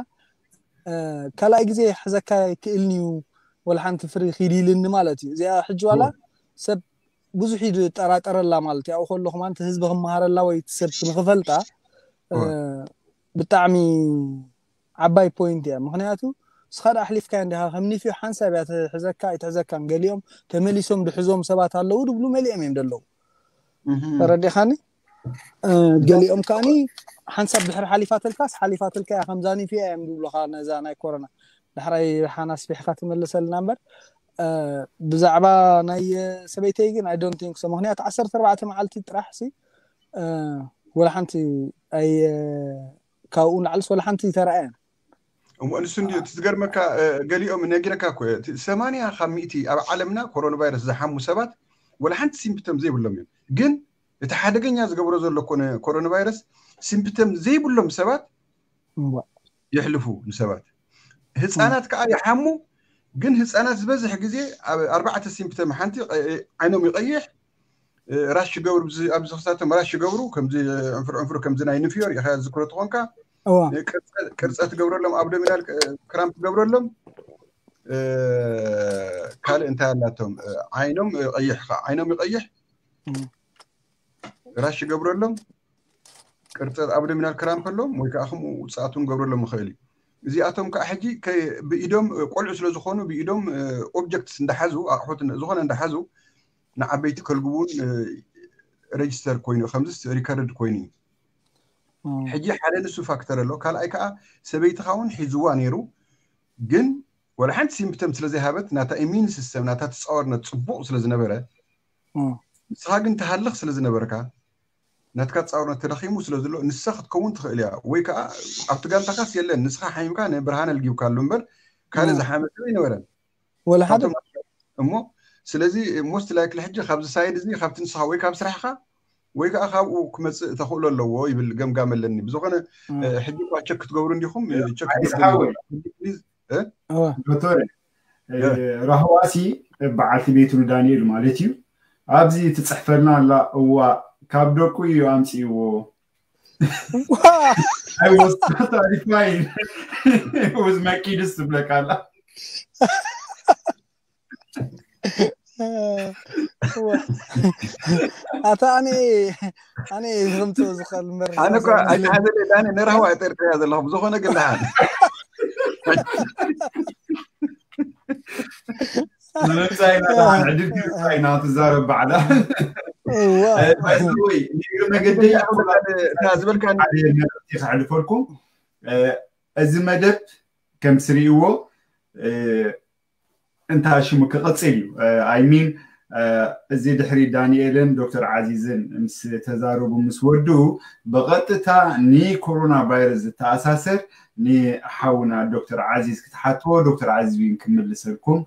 ካልኣይ ግዜ ሕዘካ ይክእልኒ እዩ፣ ወላ ሓንቲ ፍሪ ኪድ ኢልኒ ማለት እዩ። እዚኣ ሕጂ ዋላ ሰብ ብዙሕ እዩ ዝጠራጠረላ ማለት እዩ። ኣብኡ ከለኹ ማለት ህዝቢ ክመሃረላ ወይ ሰብ ንክፈልጣ ብጣዕሚ ዓባይ ፖይንት እያ። ምክንያቱ ንስኻ ዳ ኣሕሊፍካ እንዲኻ ከም ኒፍዮ ሓንሳብ እያ ትሕዘካ ኣይትሕዘካን። ገሊኦም ተመሊሶም ድሕዞም ሰባት ኣለዉ ድብሉ መሊኦም እዮም ደለዉ። ተረዲኻኒ? ገሊኦም ከዓኒ ሓንሳብ ድሕሪ ሓሊፋትልካስ ሓሊፋትልካ እያ ከምዛ ኒፍዮ እዮም ዝብሉኻ ነዛ ናይ ኮሮና። ዳሕራይ ሓና ኣስፊሕካ ትመልሰልና እምበር ብዛዕባ ናይ ሰበይተይ ግን I don't think so። ምክንያቱ ዓሰርተ ኣርባዕተ መዓልቲ ጥራሕ ሲ ወላ ሓንቲ ኣይ ካብኡ ንዓልስ ወላ ሓንቲ ይተረኣየን። እሞ ንሱ እንዲ እቲ ዝገርመካ ገሊኦም ነጊረካ እኮ ሰማንያ ካብ ሚእቲ ኣብ ዓለምና ኮሮና ቫይረስ ዝሓሙ ሰባት ወላ ሓንቲ ሲምፕተም ዘይብሎም እዮም። ግን እቲ ሓደገኛ ዝገብሮ ዘሎ ኮነ ኮሮና ቫይረስ ሲምፕተም ዘይብሎም ሰባት የሕልፉ ንሰባት። ህፃናት ከዓ ይሓሙ። ግን ህፃናት ዝበዝሕ ግዜ ኣብ ኣርባዕተ ሲምፕተም ሓንቲ ዓይኖም ይቀይሕ ራሽ ይገብሩ ኣብዚ ክሳቶም ራሽ ይገብሩ ከምዚ ዕንፍር ዕንፍር ከምዚ ናይ ንፍዮ ሪኢኻ ዝክሮ ተኾንካ ቅርፀት ገብረሎም ኣብዶሚናል ክራምፕ ገብረሎም ካልእ እንታይ ኣላቶም ዓይኖም ቀይሕ ዓይኖም ይቀይሕ ራሽ ይገብረሎም ቅርፀት ኣብዶሚናል ክራምፕ ኣሎም ወይ ከዓ ከምኡ ውፅኣቱን ገብረሎም ይኽእል እዩ። እዚኣቶም ከዓ ሕጂ ብኢዶም ቆልዑ ስለ ዝኾኑ ብኢዶም ኦብጀክትስ እንዳሓዙ ኣቑሑት ዝኾነ እንዳሓዙ ንዓበይቲ ከልግቡን ሬጅስተር ኮይኑ ከምዚስ ሪከርድ ኮይኑ እዩ። ሕጂ ሓደ ንሱ ፋክተር ኣሎ። ካልኣይ ከዓ ሰበይትኻ እውን ሒዝዋ ነይሩ፣ ግን ወላ ሓንቲ ሲምፕተም ስለ ዘይሃበት ናታ ኢሚን ሲስተም ናታ ተፃወርነት ፅቡቕ ስለ ዝነበረ ንስኻ ግን ትሃልኽ ስለ ዝነበርካ ናትካ ፃውርነት ተዳኺሙ ስለ ዘሎ ንሳ ክትከውን ትኽእል እያ ወይ ከዓ ኣብቲ ጋንታኻስ የለን ንስኻ ሓሚምካ ንብርሃነ ልጊብካሉ እምበር ካልእ ዝሓመ ሰብ ኣይነበረን ወላ ሓደ እሞ ስለዚ most likely ሕጂ ካብዚ ሳይድ እዚ ካብቲ ንስኻ ወይ ካብ ስራሕኻ ወይ ከዓ ካብኡ ክመፅእ ተኽእሎ ኣለዎ ይብል ገምጋም ኣለኒ ብዝኾነ ሕጂ እኳ ቸክ ክትገብሩ እንዲኹም ቸክ ዶክተር ራህዋሲ በዓልቲ ቤቱ ንዳንኤል ማለት እዩ ኣብዚ ትፅሕፈልና ኣላ እዋ ካብ ደቁ እዩ ኣምፅእዎ I was totally fine. It was my kid's to black Allah. ኣታ ኣነ ኣነ ክምፅእ ዝኽእል ምበር ኣነ እኳ ኣይተሓዘለ ዳኒ ንራህዋ ጠርጥርያ ዘለኹ ብዝኾነ ግን ደሓን ንምምፃእ ኢና ደሓን ዕድል ክምፃእ ኢና ትዛረብ ባዕላ ወይ ንግሪ መገደይ ዝበልካ ክሕልፈልኩም እዚ መደብ ከም ትርእይዎ እንታይ ሽሙ ክቕፅል እዩ I mean እዚ ድሕሪ ዳንኤልን ዶክተር ዓዚዝን ምስ ተዛረቡ ምስ ወድኡ ብቐጥታ ንኮሮና ቫይረስ ዝተኣሳሰር ንሓውና ዶክተር ዓዚዝ ክትሓትዎ ዶክተር ዓዚዝ እውን ክምልሰልኩም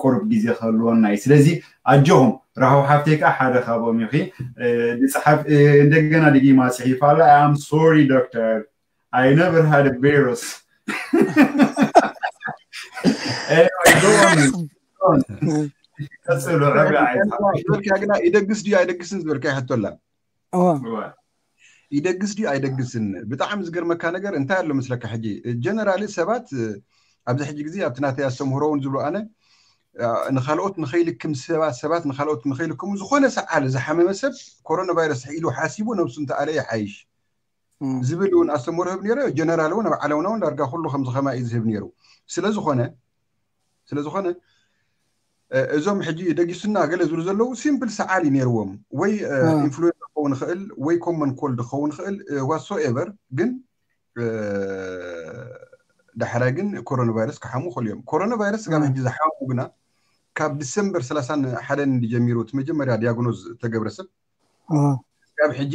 ቁሩብ ግዜ ክህልወና እዩ ስለዚ ኣጆኹም ራህው ሓፍተይ ከዓ ሓደ ካብኦም ኢኺ ዝፅሓፍ እንደገና ድጊማ ፅሒፋ ኣላ I am sorry doctor I never had a virus ዝበልካ ግና ይደግስ ድዩ ኣይደግስን ዝበልካ ይሕቶላ ይደግስ ድዩ ኣይደግስን ብጣዕሚ ዝገርመካ ነገር እንታይ ኣሎ መስለካ ሕጂ ጀነራሊ ሰባት ኣብዚ ሕጂ ግዜ ኣብቲ ናተይ ኣስተምህሮ እውን ዝብሎ ኣነ ንካልኦት ንኸይልክም ሰባት ሰባት ንካልኦት ንኸይልክሙ ዝኾነ ሰዓል ዝሓመመ ሰብ ኮሮና ቫይረስ ኢሉ ሓሲቡ ነብሱ እንተኣለ ይሓይሽ ዝብል እውን ኣስተምህሮ ህብ ነይረ ጀነራል እውን ኣብ ዓለምና እውን ዳርጋ ኩሉ ከምዚ ከማ እዩ ዝህብ ነይሩ ስለዝኾነ ስለዝኾነ እዞም ሕጂ ደጊሱና ገለ ዝብሉ ዘለዉ ሲምፕል ሰዓል እዩ ነይርዎም ወይ ኢንፍሉዌንዛ ክኸውን ይኽእል ወይ ኮመን ኮልድ ክኸውን ይኽእል ዋትሶኤቨር ግን ዳሕራይ ግን ኮሮና ቫይረስ ክሓሙ ይኽእሉ እዮም ኮሮና ቫይረስ ስጋብ ሕጂ ዝሓሙ ግና ካብ ዲሰምበር ሰላሳን ሓደን ጀሚሩ እቲ መጀመርያ ዲያግኖዝ ተገብረ ሰብ ካብ ሕጂ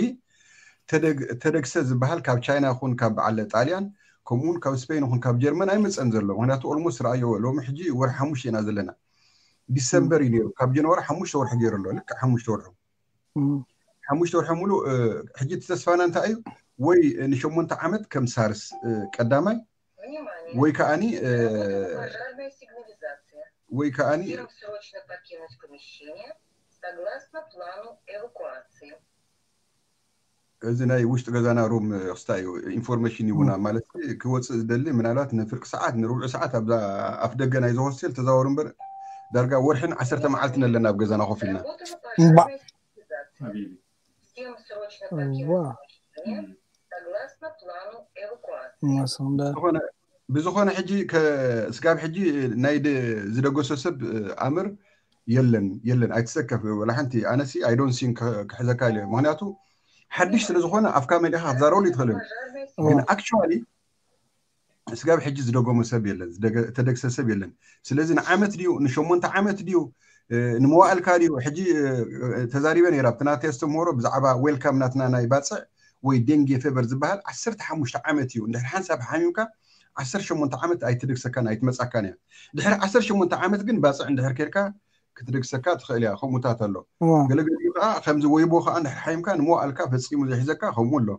ተደግሰ ዝበሃል ካብ ቻይና ይኹን ካብ በዓል ጣልያን ከምኡውን ካብ ስፔን ይኹን ካብ ጀርመን ኣይመፀን ዘሎ ምክንያቱ ኦልሞስት ረኣዮ ሎሚ ሕጂ ወርሒ ሓሙሽተ ኢና ዘለና ዲሰምበር እዩ ነይሩ ካብ ጀንዋሪ ሓሙሽተ ወርሒ ገይሩ ኣሎ ልክዕ ሓሙሽተ ወርሑ ሓሙሽተ ወርሒ ሙሉ ሕጂ እቲ ተስፋና እንታይ እዩ ወይ ንሸሞንተ ዓመት ከም ሳርስ ቀዳማይ ወይ ከዓኒ ወይ ከዓኒ እዚ ናይ ውሽጢ ገዛና ሩም ክስታይ እዩ ኢንፎርሜሽን ይቡና ማለት ክወፅእ ዝደሊ ምናልባት ንፍርቂ ሰዓት ንርብዑ ሰዓት ኣብዛ ኣፍ ደገ ናይዚ ሆስቴል ተዛወሩ እምበር ዳርጋ ወርሕን ዓሰርተ መዓልትን ኣለና ኣብ ገዛና ኮፍ ኢልና ብዝኾነ ሕጂ ስጋብ ሕጂ ናይ ዝደገሶ ሰብ ኣምር የለን የለን ኣይትሰከፍ ወላ ሓንቲ ኣነሲ ኣይዶን ሲን ክሕዘካ ኢለ ምክንያቱ ሓድሽ ስለ ዝኾነ ኣፍካ መሊኻ ክትዛረበሉ ይትኽእል ግን ኣክቹዋሊ ስጋብ ሕጂ ዝደገሞ ሰብ የለን ተደግሰ ሰብ የለን ስለዚ ንዓመት ድዩ ንሸሞንተ ዓመት ድዩ ንመዋእልካ ድዩ ሕጂ ተዛሪበ ነይራ ኣብቲ ናተይ ኣስተምህሮ ብዛዕባ ዌልካም ናትና ናይ ባፅዕ ወይ ዴንጌ ፌቨር ዝበሃል ዓሰርተ ሓሙሽተ ዓመት እዩ እንድሕር ሓንሳብ ሓሚምካ ዓሰርተ ሸሞንተ ዓመት ኣይትድግሰካን ኣይትመፃካን እያ ድሕሪ ዓሰርተ ሸሞንተ ዓመት ግን ባፅዕ እንድሕር ኬድካ ክትደግሰካ ትኽእል እያ ከምኡታት ኣሎ ገለገሊኡ ከዓ ከምዚ ወይቦ ከዓ እንድሕር ሓሚምካ ንመዋእልካ ፈፂሙ ዘሒዘካ ከምኡ ኣሎ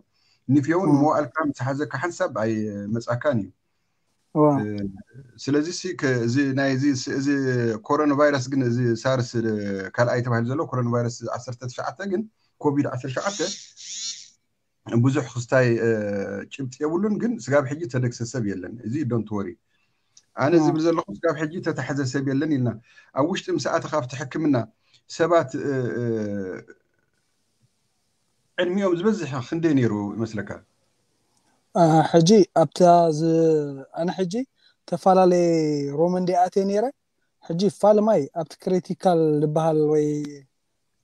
ንፍዮ እውን ንመዋእልካ ምስ ሓዘካ ሓንሳብ ኣይመፃካን እዩ ስለዚ እዚ ናይ እዚ ኮሮና ቫይረስ ግን እዚ ሳርስ ካልኣይ ተባሂሉ ዘሎ ኮሮና ቫይረስ ዓሰርተ ትሽዓተ ግን ኮቪድ ዓሰርተ ትሽዓተ ብዙሕ ክስታይ ጭብጢ የብሉን ግን ስጋብ ሕጂ ተደግሰ ሰብ የለን እዚ don't worry ኣነ ዝብል ዘለኹ ስጋብ ሕጂ ተታሕዘ ሰብ የለን ኢልና ኣብ ውሽጢ ምስ ኣተኻ ኣብቲ ሕክምና ሰባት ዕድሚኦም ዝበዝሕ ክንደይ ነይሩ ይመስለካ ሕጂ ኣብታ ኣነ ሕጂ ተፈላለየ ሮም እንዲኣትየ ነይረ ሕጂ ፋልማይ ኣብቲ ክሪቲካል ዝበሃል ወይ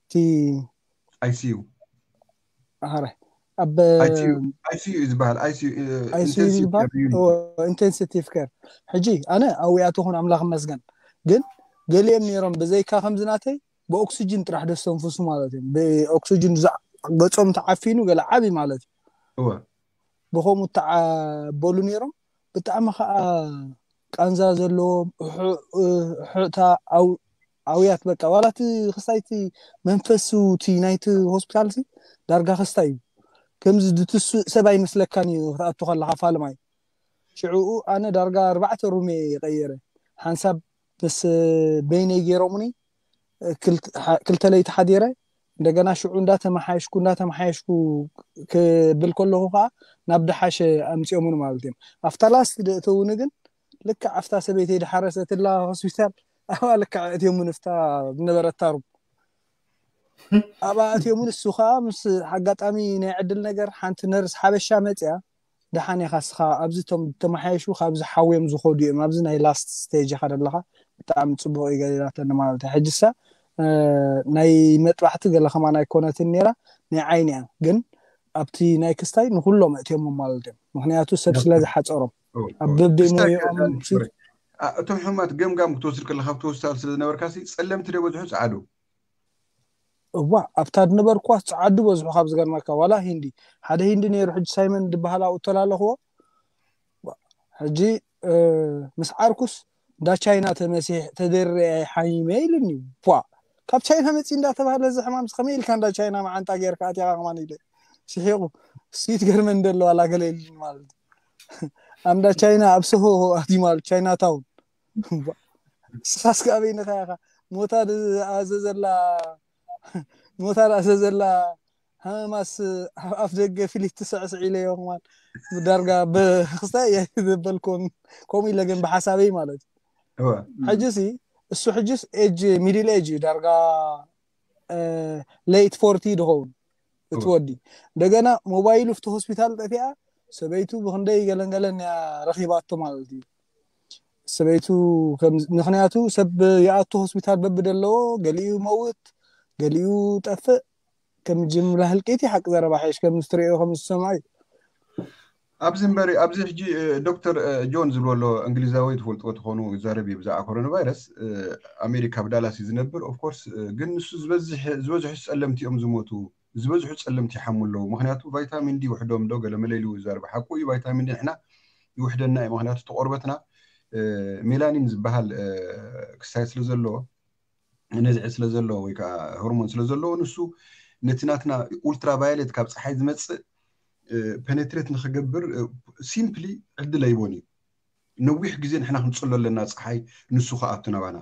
እቲ ኣይሲዩ ኣረ ኣብ ኣይሲዩ ዝበሃል ኣይሲዩ ዝበሃል ኢንቴንሲቲቭ ኬር ሕጂ ኣነ ኣብኡ ኣተኹን ኣምላኽ መስገን ግን ገሊኦም ነይሮም ብዘይካ ከምዚ ናተይ ብኦክሲጅን ጥራሕ ደስተንፍሱ ማለት እዮም ብኦክሲጅን ገፆም ተዓፊኑ ገለ ዓብይ ማለት እዩ ብኸምኡ ተዓበሉ ነይሮም ብጣዕሚ ከዓ ቃንዛ ዘለዎም ሕዕታ ኣውያት በቃ ዋላ እቲ ክስታይ እቲ መንፈሱ እቲ ናይቲ ሆስፒታል ሲ ዳርጋ ክስታይ እዩ ከምዚ ድትስእ ሰብ ኣይመስለካን እዩ ክትኣቱ ከለካ ፋልማይ ሽዕኡ ኣነ ዳርጋ ኣርባዕተ ሩሜ ይቀየረ ሓንሳብ ምስ በይነይ ገይሮምኒ ክልተ ለይቲ ሓዲረ እንደገና ሽዑ እንዳተመሓየሽኩ እንዳተመሓየሽኩ ክብል ከለኹ ከዓ ናብ ደሓሸ ኣምፅኦምኒ ማለት እዮም ኣብታ ላስት ደእተውኒ ግን ልክዕ ኣብታ ሰበይተይ ድሓረሰትላ ሆስፒታል ኣብኣ ልክዕ እትዮምኒ ፍታ ዝነበረታ ሩም ኣብኣ እትዮምኒ እሱ ከዓ ምስ ኣጋጣሚ ናይ ዕድል ነገር ሓንቲ ነርስ ሓበሻ መፅያ ደሓን ኢኻ ስኻ ኣብዚ ቶም ተመሓየሹ ካብዚ ሓውዮም ዝኸዱ እዮም ኣብዚ ናይ ላስት ስቴጅ ኢኻ ዘለኻ ብጣዕሚ ፅቡቅ እዩ ገሊላተኒ ማለት እዩ ሕጅሳ ናይ መጥባሕቲ ገለ ከማን ኣይኮነትን ነይራ ናይ ዓይኒ እያ ግን ኣብቲ ናይ ክስታይ ንኩሎም እእትዮሞም ማለት እዮም ምክንያቱ ሰብ ስለ ዝሓፀሮም ኣብ በበይ ሞዮኦም እቶም ሕማት ገምጋም ክትወስድ ከለካ ኣብቲ ሆስፒታል ስለ ዝነበርካ ጸለምቲ ደ በዝሑ ጸዓዱ እዋ ኣብታ ዝነበርኳ ጸዓዱ በዝሑ ካብ ዝገርመካ ዋላ ሂንዲ ሓደ ሂንዲ ነይሩ ሕጂ ሳይመን ዝበሃል ኣብኡ ተላለኽዎ ሕጂ ምስ ዓርኩስ እንዳ ቻይና ተመሲሕ ተደርየ ሓሚመ ኢሉኒ ቧ ካብ ቻይና መፂ እንዳተባሃለ እዚ ሕማም ከመይ ኢልካ እንዳ ቻይና መዓንጣ ገይርካ ኣትያካ ከማን ኢለ ስሒቁ ስዊት ገርመን እንደለዋ ላገለ ኢሉኒ ማለት ኣብ እንዳ ቻይና ኣብ ሰሆ ኣትዩ ማለት ቻይና ታውን ስኻስ ከኣበይ ንኻ ኢኻ ሞታ ኣዘዘላ ሞታ ኣዘዘላ ሃማስ ኣፍ ደገ ፍሊት ትስዕስዕ ኢለዮ ከማን ዳርጋ ብክስታይ እየ ዘበልኩን ከምኡ ኢለ ግን ብሓሳበይ ማለት እዩ ሕጂ ሲ እሱ ሕጂስ ኤጅ ሚድል ኤጅ እዩ ዳርጋ ሌት ፎርቲ ድኸውን እቲ ወዲ እንደገና ሞባይሉ ፍቲ ሆስፒታል ጠፊኣ ሰበይቱ ብክንደይ ገለንገለን እያ ረኪባቶ ማለት እዩ ሰበይቱ ምክንያቱ ሰብ ይኣቱ ሆስፒታል በቢ ደለዎ ገሊኡ መውት ገሊኡ ጠፍእ ከም ጅምላ ህልቂት ሓቂ ዘረባ ሓይሽ ከም ትሪኦ ከም ዝሰምዖ እዩ ኣብዚ እምበሪ ኣብዚ ሕጂ ዶክተር ጆን ዝብሎ ኣሎ እንግሊዛዊ ትፈልጥዎ ትኾኑ ይዛረብ እዩ ብዛዕባ ኮሮና ቫይረስ ኣሜሪካ ኣብ ዳላስ እዩ ዝነብር ኦፍኮርስ ግን ንሱ ዝበዝሑ ጸለምቲ እዮም ዝሞቱ ዝበዝሑ ጸለምቲ ይሓሙ ኣለዉ ምክንያቱ ቫይታሚን ዲ ይውሕዶም ዶ ገለ መለ ኢሉ ይዛረብ ሓቁ እዩ ቫይታሚን ዲ ንሕና ይውሕደና እዩ ምክንያቱ ተቆርበትና ሜላኒን ዝበሃል ክሳይ ስለ ዘለዎ ነዝዒ ስለ ዘለዎ ወይ ከዓ ሆርሞን ስለ ዘለዎ ንሱ ነቲ ናትና ኡልትራቫዮሌት ካብ ፀሓይ ዝመፅእ ፐነትሬት ንክገብር ሲምፕሊ ዕድል ኣይቦን እዩ። ነዊሕ ግዜ ንሕና ክንፅሎ ኣለና ፀሓይ፣ ንሱ ከኣቱ ናባና።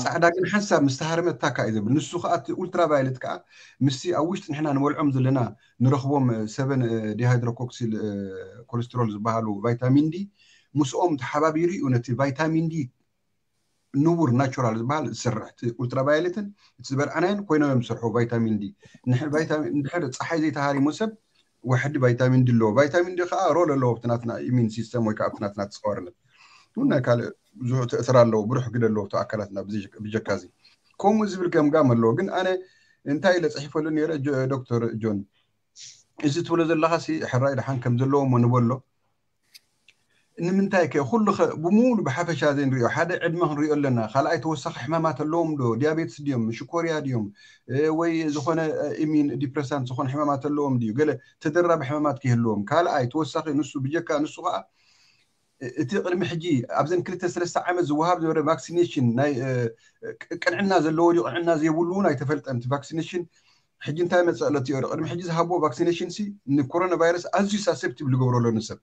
ፃዕዳ ግን ሓንሳብ ምስ ተሃረመት ታካ እዩ ዘብል። ንሱ ከዓ እቲ ኡልትራቫዮሌት ከዓ ምስቲ ኣብ ውሽጢ ንሕና ንበልዖም ዘለና ንረኽቦም ሰቨን ዲሃይድሮኮክሲል ኮሌስትሮል ዝበሃሉ ቫይታሚን ዲ ምስኦም ተሓባቢሩ እዩ ነቲ ቫይታሚን ዲ ንቡር ናቹራል ዝበሃል ዝሰርሕ። እቲ ኡልትራቫዮሌትን እቲ ዝበልዓናዮን ኮይኖም እዮም ዝሰርሑ ቫይታሚን ዲ። ንድሕር ፀሓይ ዘይተሃሪሙ ሰብ ዋሕዲ ቫይታሚን ዲ ኣለዎ። ቫይታሚን ዲ ከዓ ሮል ኣለዎ ኣብቲ ናትና ኢሚን ሲስተም ወይ ከዓ ኣብቲ ናትና ተፃዋርነት። ናይ ካልእ ብዙሕ ተእስራ ኣለዎ፣ ብሩሕ ግደ ኣለዎ ኣብቲ ኣካላትና። ብጀካ እዚ ከምኡ ዝብል ገምጋም ኣለዎ። ግን ኣነ እንታይ ኢለ ፅሒፈሉ ነይረ ዶክተር ጆን፣ እዚ ትብሎ ዘለካ ሲ ሕራይ ደሓን ከም ዘለዎ ንበሎ። ንምንታይ ከ ኩሉ ከ ብሙሉ ብሓፈሻ ዘይንሪኦ? ሓደ ዕድመ ክንሪኦ ኣለና። ካልኣይ ተወሳኺ ሕማማት ኣለዎም ዶ? ዲያቤትስ ድዮም? ሽኮርያ ድዮም? ወይ ዝኾነ ኢሚን ዲፕረሳንት ዝኾነ ሕማማት ኣለዎም ድዩ? ገለ ተደራቢ ሕማማት ከይህልዎም። ካልኣይ ተወሳኺ ንሱ ብጀካ ንሱ ከዓ እቲ ቅድሚ ሕጂ ኣብዘን ክልተ ሰለስተ ዓመት ዝወሃብ ዝነበረ ቫክሲኔሽን ናይ ቅንዕና ዘለዎ ድዩ ቅንዕና ዘይብሉ እውን ኣይተፈልጠን። እቲ ቫክሲኔሽን ሕጂ እንታይ መፀ ኣሎ ቲዮሪ? ቅድሚ ሕጂ ዝሃብዎ ቫክሲኔሽን ሲ ንኮሮና ቫይረስ ኣዝዩ ሳሰፕቲብል ዝገብሮ ኣሎ ንሰብ።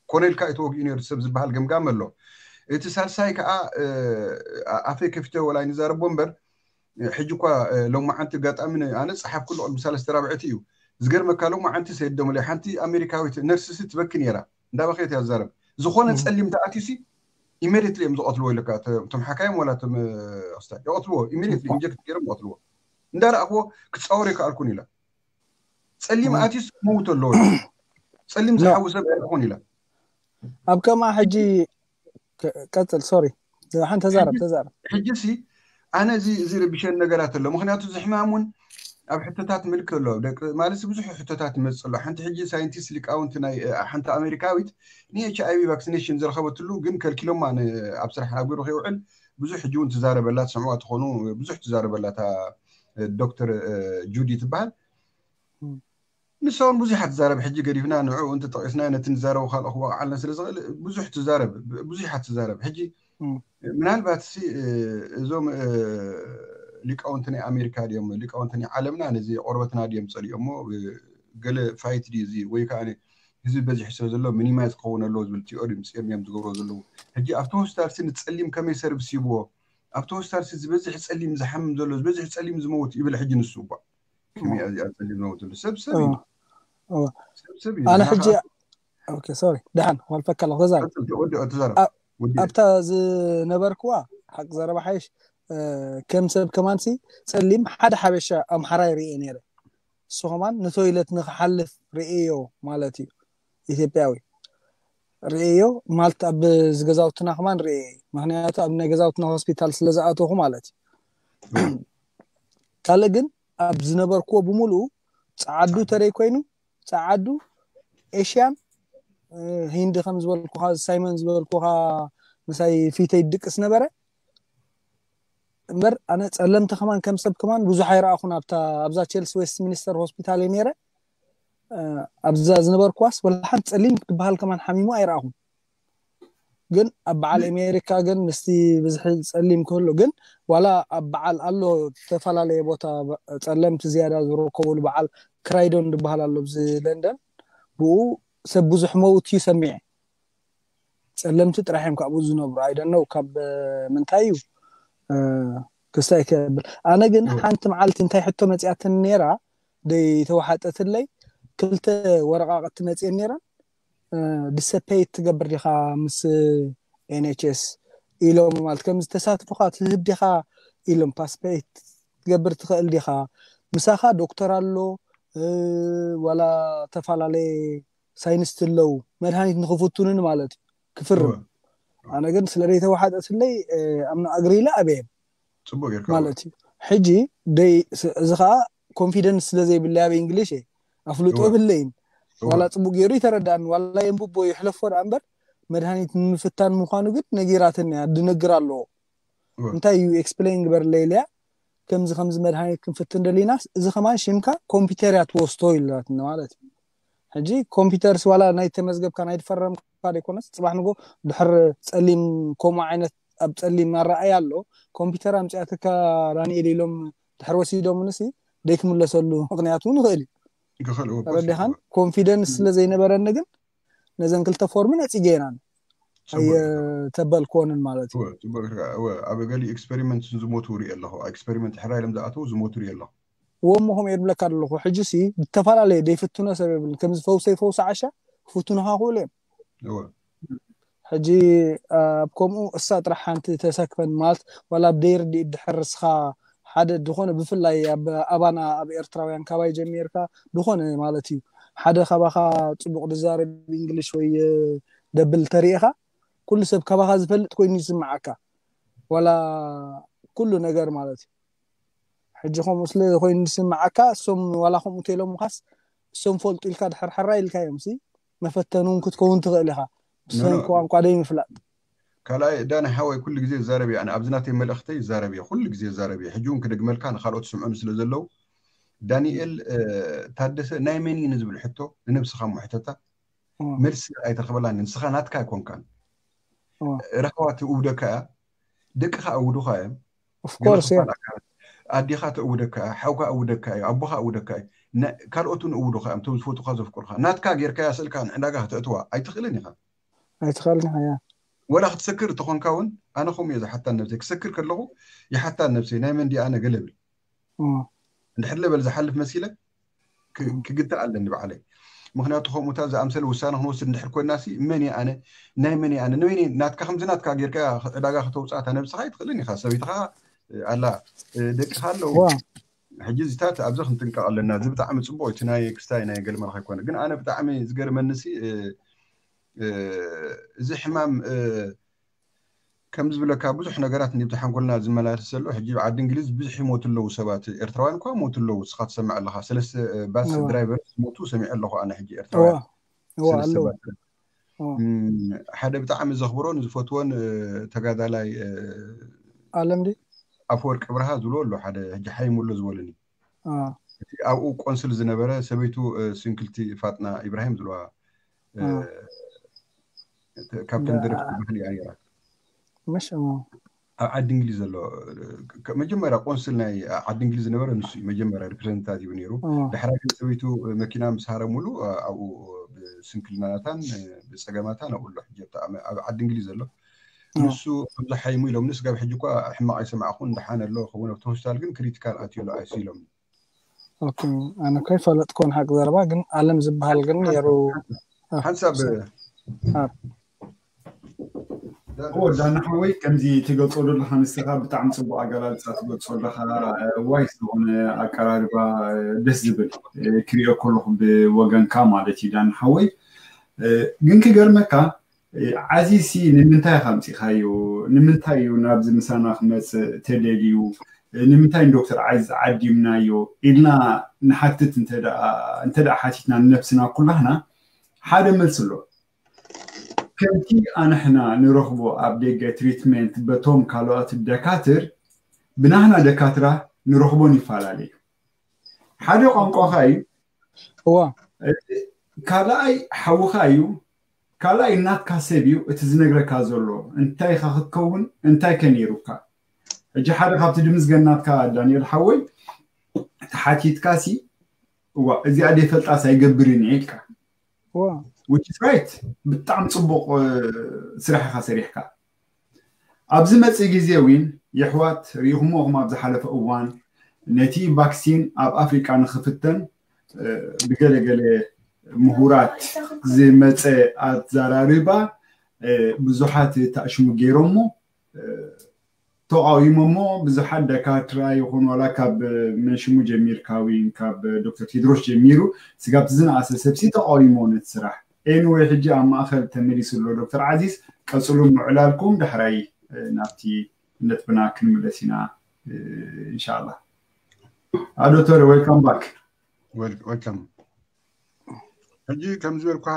ኮነ ኢልካ እዩ ተወጊኡ ነይሩ ሰብ ዝበሃል ገምጋም ኣሎ። እቲ ሳልሳይ ከዓ ኣፈይ ከፊተ ወላ ንዛረቦ እምበር ሕጂ እኳ ሎማዓንቲ ኣጋጣሚ ኣነ ፀሓፍኩሉ ቅድሚ ሰለስተ ራብዕቲ እዩ። ዝገርመካ ሎማዓንቲ ሰይደሙለ ሓንቲ ኣሜሪካዊት ነርስ ሲ ትበኪ ነይራ፣ እንዳበኸየት እያ ትዛረብ። ዝኾነ ፀሊም ተኣትዩ ሲ ኢሜዲየትሊ እዮም ዝቐትልዎ ኢለካ። እቶም ሓካይም ወላ እቶም ክስታይ ይቐትልዎ፣ ኢሜዲየትሊ ኢንጀክት ገይሮም ይቐትልዎ። እንዳረኣኽዎ ክትፃወር ይከኣልኩን ኢላ። ፀሊም ኣትዩስ ክመውት ኣለዎ። ፀሊም ዝሓዊ ሰብ ኣይኮን ኢላ። ኣብ ከማ ሕጂ ቀፅል፣ ሶሪ፣ ሓንቲ ተዛረብ ተዛረብ። ሕጂ ሲ ኣነ እዚ እዚ ረብሸን ነገራት ኣሎ። ምክንያቱ እዚ ሕማም እውን ኣብ ሕቶታት ምልክ ኣሎ። ደቂ ማለት ብዙሕ ሕቶታት ይመፅእ ኣሎ። ሓንቲ ሕጂ ሳይንቲስት ሊቃውንቲ ናይ ሓንቲ ኣሜሪካዊት ን ኤች ኣይ ቪ ቫክሲኔሽን ዝረኸበትሉ ግን ከልኪሎማ ኣብ ስራሕ ኣብ ግብሪ ከይውዕል ብዙሕ ሕጂ እውን ትዛረበላ ትሰምዕዋ ትኾኑ ብዙሕ ትዛረበላ እታ ዶክተር ጁዲ ትበሃል። ንሳ እውን ብዙሕ ትዛረብ። ሕጂ ገዲፍና ንዕኡ እንተጠቂስና ነቲ ንዛረቡ ካልኦ ክወቃዓልና ስለ ዝኽእል ብዙሕ ትዛረብ ብዙሕ ትዛረብ። ሕጂ ምናልባት ሲ እዞም ሊቃውንቲ ናይ ኣሜሪካ ድዮም ሊቃውንቲ ናይ ዓለምና ነዚ ቆርበትና ድዮም ፀሊኦሞ ገለ ፋይት ድዩ እዚ ወይ ከዓ ህዝቢ በዚሑ ስለ ዘሎ ሚኒማይዝ ክኸውን ኣለዎ ዝብል ቲዮሪ ምፅኦም እዮም ዝገብሮ ዘለዉ። ሕጂ ኣብቲ ሆስፒታል ሲ ንፀሊም ከመይ ሰርቪስ ይብዎ? ኣብቲ ሆስፒታል ሲ ዝበዝሕ ፀሊም ዝሓምም ዘሎ ዝበዝሕ ፀሊም ዝመውት ይብል። ሕጂ ንሱ እባ ከመይ እዚኣ ፀሊም ዝመውት ዘሎ ሰብ ሰብ እዩ። ሰብ ሰብ እዩ። ኣነ ሕጂ ኦኬ ሶሪ ደሓን ዋልፈካ ኣለኹ ተዛረብ። ወዲኦ ተዛረብ። ወዲኦ ኣብታ ዝነበርክዋ ሓቂ ዘረባ ሓይሽ ከም ሰብ ከማንሲ ፀሊም ሓደ ሓበሻ ኣምሓራይ ርእየ ነይረ። እሱ ከማን ንቶይለት ንክሓልፍ ርእዮ ማለት እዩ። ኢትዮጵያዊ ርእዮ ማለት ኣብ ዝገዛውትና ከማን ርእየ እዩ። ምክንያቱ ኣብ ናይ ገዛውትና ሆስፒታል ስለ ዝኣተኹ ማለት እዩ። ካልእ ግን ኣብ ዝነበርክዎ ብምሉኡ ፀዓዱ ተደይ ኮይኑ ፀዓዱ ኤሽያን ሂንዲ ከም ዝበልኩኻ ሳይመን ዝበልኩኻ ምሳይ ፊተይ ድቅስ ነበረ። እምበር ኣነ ፀለምቲ ከማን ከም ሰብ ከማን ብዙሕ ኣይረኣኹን። ኣብታ ኣብዛ ቼልሲ ዌስት ሚኒስተር ሆስፒታል እየ ነይረ። ኣብዛ ዝነበርኩዋስ ወላ ሓንቲ ፀሊም ክትበሃል ከማን ሓሚሙ ኣይረኣኹን። ግን ኣብ በዓል ኣሜሪካ ግን ምስቲ ብዝሒ ፀሊም ክህሉ ግን ዋላ ኣብ በዓል ኣሎ ዝተፈላለየ ቦታ ፀለምቲ ዝያዳ ዝርከብሉ በዓል ክራይዶን ዝበሃል ኣሎ ኣብዚ ለንደን። ብኡ ሰብ ብዙሕ መውት እዩ ሰሚዐ። ፀለምቲ ጥራሕ እዮም ካብኡ ዝነብሩ። ኣይደነው ካብ ምንታይ እዩ ክስታይ ከብል። ኣነ ግን ሓንቲ መዓልቲ እንታይ ሕቶ መፅያትን ነይራ ደይ ተዋሓጠትለይ ክልተ ወረቃቅቲ መፅየን ነይረን። ድሰፐይት ትገብር ዲኻ ምስ ኤንኤችኤስ ኢሎም ማለት ከም ዝተሳትፉኻ ትህብ ዲኻ ኢሎም ፓስፐይት ትገብር ትኽእል ዲኻ? ምሳኻ ዶክተር ኣሎ ዋላ ተፈላለየ ሳይንስት ኣለዉ መድሃኒት ንክፍቱንን ማለት እዩ ክፍርም። ኣነ ግን ስለ ደይተዋሓጠትለይ ኣምና ኣግሪለ ኣበየም ፅቡቅ ጌርካ ማለት እዩ። ሕጂ ደይ እዚ ከዓ ኮንፊደንስ ስለ ዘይብለይ ኣብ እንግሊሽ እየ ኣፍልጦ የብለይን። ዋላ ፅቡቅ ገይሩ ይተረዳእኒ ዋላ የንብቦ ይሕለፎ ደኣ እምበር መድሃኒት ንምፍታን ምዃኑ ግን ነጊራትኒ እያ ድነግር ኣለዎ። እንታይ እዩ ኤክስፕሌን ግበርለይ ኢለያ። ከምዚ ከምዚ መድሃኒት ክንፍትን ደሊናስ እዚ ከማን ሽምካ ኮምፒውተር እያ ትወስቶ ኢላትኒ ማለት እዩ። ሕጂ ኮምፒውተርስ ዋላ ናይ ተመዝገብካ ናይ ተፈረምካ ዘይኮነስ ፅባሕ ንጎ ድሕር ፀሊም ከምኡ ዓይነት ኣብ ፀሊም ኣረኣይ ኣሎ ኮምፒውተር ኣምፅኣትካ ዳንኤል ኢሎም ድሕር ወሲዶምንሲ ደይክምለሰሉ ምክንያት እውን ይኽእል እዩ። ክኽእል እወ ተረዲኻን ኮንፊደንስ ስለ ዘይነበረኒ ግን ነዘን ክልተ ፎርም ነፂገ ኢናን ጽቡቅ ኢኻ። ኣየተበልኮንን ማለት እዩ እወ፣ ጽቡቅ ኢኻ። እወ፣ ኣብ ገሊ ኤክስፐሪመንት ዝሞቱ ርኢ ኣለኹ። ኤክስፐሪመንት ሕራይ ኢሎም ዝኣተዉ ዝሞቱ ርኢ ኣለኹ። እዎ እሞ ከምኡ እየ ዝብለካ ኣለኹ ሕጂ ሲ ዝተፈላለየ ደይፍትኖ ሰብ የብልን ከምዚ ፈውሰይ ፈውሲ ዓሻ ክፍትኑኻ ክብሉ እዮም እወ ሕጂ ኣብ ከምኡ እሳ ጥራሕ ሓንቲ ተሰክፈን ማለት ዋላ ኣብ ደይርድእ ድሕር እስኻ ሓደ ዝኾነ ብፍላይ ኣብ ኣባና ኣብ ኤርትራውያን ካባይ ጀሚርካ ዝኾነ ማለት እዩ ሓደ ካባኻ ፅቡቅ ድዛረብ እንግሊሽ ወይ ደብል ተሪኢኻ ኩሉ ሰብ ካባኻ ዝፈልጥ ኮይኑ ይስምዓካ ዋላ ኩሉ ነገር ማለት እዩ ሕጂ ከምኡ ስለ ኮይኑ ዝስምዓካ እሶም ዋላ ከምኡ ተኢሎምኻስ እሶም ፈልጡ ኢልካ ድሕር ሕራ ኢልካ እዮም ሲ መፈተኒ እውን ክትከውን ትኽእል ኢኻ ብሰንኪ ቋንቋ ደይ ምፍላጥ ካልኣይ ዳኒ ሓወይ ኩሉ ግዜ ይዛረብ እየ ኣነ ኣብዚ ናተይ መልእኽተይ ይዛረብ እየ ኩሉ ግዜ ይዛረብ እየ ሕጂ እውን ክደግመልካ ንካልኦት ስምዑኒ ስለ ዘለዉ ዳንኤል ታደሰ ናይ መን እዩ ንዝብል ሕቶ ንነብስኻ እሞ ሕተታ መልሲ ኣይተረኽበላን ንስኻ ናትካ ኣይኮንካን ረኸባ ትእውደካ እያ ደቅኻ እውዱኻ እዮም ኦፍኮርስ እያ ኣዲኻ ተእውደካ እያ ሓውካ እውደካ እዩ ኣቦኻ እውደካ እዩ ካልኦት እውን እውዱኻ እዮም ቶም ዝፈቱኻ ዘፍቅሩኻ ናትካ ጌርካያ ስእልካ ንዕዳጋ ከተእትዋ ኣይትኽእልን ኢኻ ኣይትኽእልን ኢኻ እያ ወላ ክትሰክር ተኾንካ እውን ኣነ ከምኡ እየ ዝሓታን ነብሰይ ክሰክር ከለኹ ይሓታን ነብሰይ ናይ መን ድኣ ኣነ ገለ ብል እንድሕር ለበል ዝሓልፍ መሲለ ክግታእ ኣለኒ ባዕለይ ምክንያቱ ከምኡታ ዝኣምሰለ ውሳነ ክንወስድ እንድሕር ኮይና ሲ መን ኣነ ናይ መን ኣነ ንበይነ ናትካ ከምዚ ናትካ ጌርካ ዕዳጋ ከተውፅኣታ ነብስኻ ኣይትኽእልን ኢኻ ሰበይትኻ ኣላ ደቅኻ ኣለዉ ሕጂ እዚታት ኣብዚ ክንጥንቀቕ ኣለና እዚ ብጣዕሚ ፅቡቅ እቲ ናይ ክስታይ ናይ ገልመልካ ይኮነ ግን ኣነ ብጣዕሚ ዝገርመኒ ሲ እዚ ሕማም ከም ዝብለካ ብዙሕ ነገራት ንብቲ ሓንጎልና ዝመላለስ ዘሎ ሕጂ ዓዲ እንግሊዝ ብዙሕ ይሞቱ ኣለዉ ሰባት ኤርትራውያን እኳ ሞቱ ኣለዉ ስኻ ትሰምዕ ኣለኻ ሰለስተ ባስ ድራይቨር ሞቱ ሰሚዕ ኣለኹ ኣነ ሕጂ ኤርትራውያን ሓደ ብጣዕሚ ዘኽብሮን ዝፈትዎን ተጋዳላይ ኣለም ዲ ኣፈወርቂ ብርሃ ዝብሎ ኣሎ ሓደ ሕጂ ሓይሙ ኣሎ ዝበለኒ እቲ ኣብኡ ቆንስል ዝነበረ ሰበይቱ ስንክልቲ ፋጥና ኢብራሂም ዝለዋ ካብተን ደረፍቲ ባህሊ እያ ነራ መሽ ኣብ ዓዲ እንግሊዝ ዘሎ መጀመርያ ቆንስል ናይ ዓዲ እንግሊዝ ዝነበረ ንሱ እዩ መጀመርያ ሪፕሬዘንታቲቭ ነይሩ ዳሕራይ ግን ሰበይቱ መኪና ምስ ሃረሙሉ ኣብኡ ብስንክልናታን ብፀገማታን ኣብኡ ኣሎ ሕጂ ኣብ ዓዲ እንግሊዝ ዘሎ ንሱ ከምዚ ሓይሙ ኢሎም ንስጋብ ሕጂ እኳ ሕማቕ ኣይሰማዕኹን ደሓን ኣሎ ከውን ኣብቲ ሆስፒታል ግን ክሪቲካል ኣትዩ ኣሎ ኣይሲ ኢሎም ኣነ እኮ ይፈለጥኮን ሓቂ ዘረባ ግን ኣለም ዝበሃል ግን ነሩ ሓንሳብ ዳና ሓወይ ከምዚ ትገልፆ ዘለካ ንስካ ብጣዕሚ ፅቡቅ ኣገላልፃ ትገልፆ ኣለካ ዋይ ዝኾነ ኣቀራርባ ደስ ዝብል ክሪኦ ከለኩ ብወገንካ ማለት እዩ ዳና ሓወይ ግን ክገርመካ ዓዚሲ ንምንታይ ኢኻ ኣምፂኻዮ ንምንታይ እዩ ናብዚ ምሳና ክመፅእ ተደልዩ ንምንታይ ንዶክተር ዓዚዝ ዓዲምናዮ ኢልና ንሓትት እንተ ሓቲትና ንነብስና ኩላህና ሓደ መልሲ ኣሎ ከምቲ ኣንሕና ንረኽቦ ኣብ ደገ ትሪትመንት በቶም ካልኦት ደካትር ብናህና ደካትራ ንረኽቦን ይፈላለዩ ሓደ ቋንቋኻ እዩ እዋ ካልኣይ ሓውኻ እዩ ካልኣይ እናትካ ሰብ እዩ እቲ ዝነግረካ ዘሎ እንታይ ኢኻ ክትከውን እንታይ ከ ነይሩካ ሕጂ ሓደ ካብቲ ድምዝገናትካ ዳንኤል ሓወይ ተሓቲትካ ሲ እዋ እዚኣ ደይፈልጣስ ኣይገብርን እየ ኢልካ እዋ which is right ብጣዕሚ ፅቡቅ ስራሕ ኢኻ ሰሪሕካ ኣብዚ መፅእ ግዜ እውን የሕዋት ርኢኹሞ ኹም ኣብ ዝሓለፈ እዋን ነቲ ቫክሲን ኣብ ኣፍሪቃ ንኽፍተን ብገለገለ ምሁራት ዝመፀ ኣዘራርባ ብዙሓት ተኣሽሙ ገይሮሞ ተቃዊሞሞ ብዙሓት ደካትራ ይኹን ዋላ ካብ መንሽሙ ጀሚርካ ዊን ካብ ዶክተር ቴድሮስ ጀሚሩ ስጋብቲ ዝነኣሰ ሰብሲ ተቃዊሞ ነቲ ስራሕ ኤንወይ ሕጂ ኣብ ማእኸል ተመሊሱ ኣሎ ዶክተር ዓዚዝ ቀፅሉ ምዕላልኩም ዳሕራይ ናብቲ ነጥብና ክንምለስ ኢና እንሻላ ዶክተር welcome back welcome ሕጂ ከም ዝበልኩኻ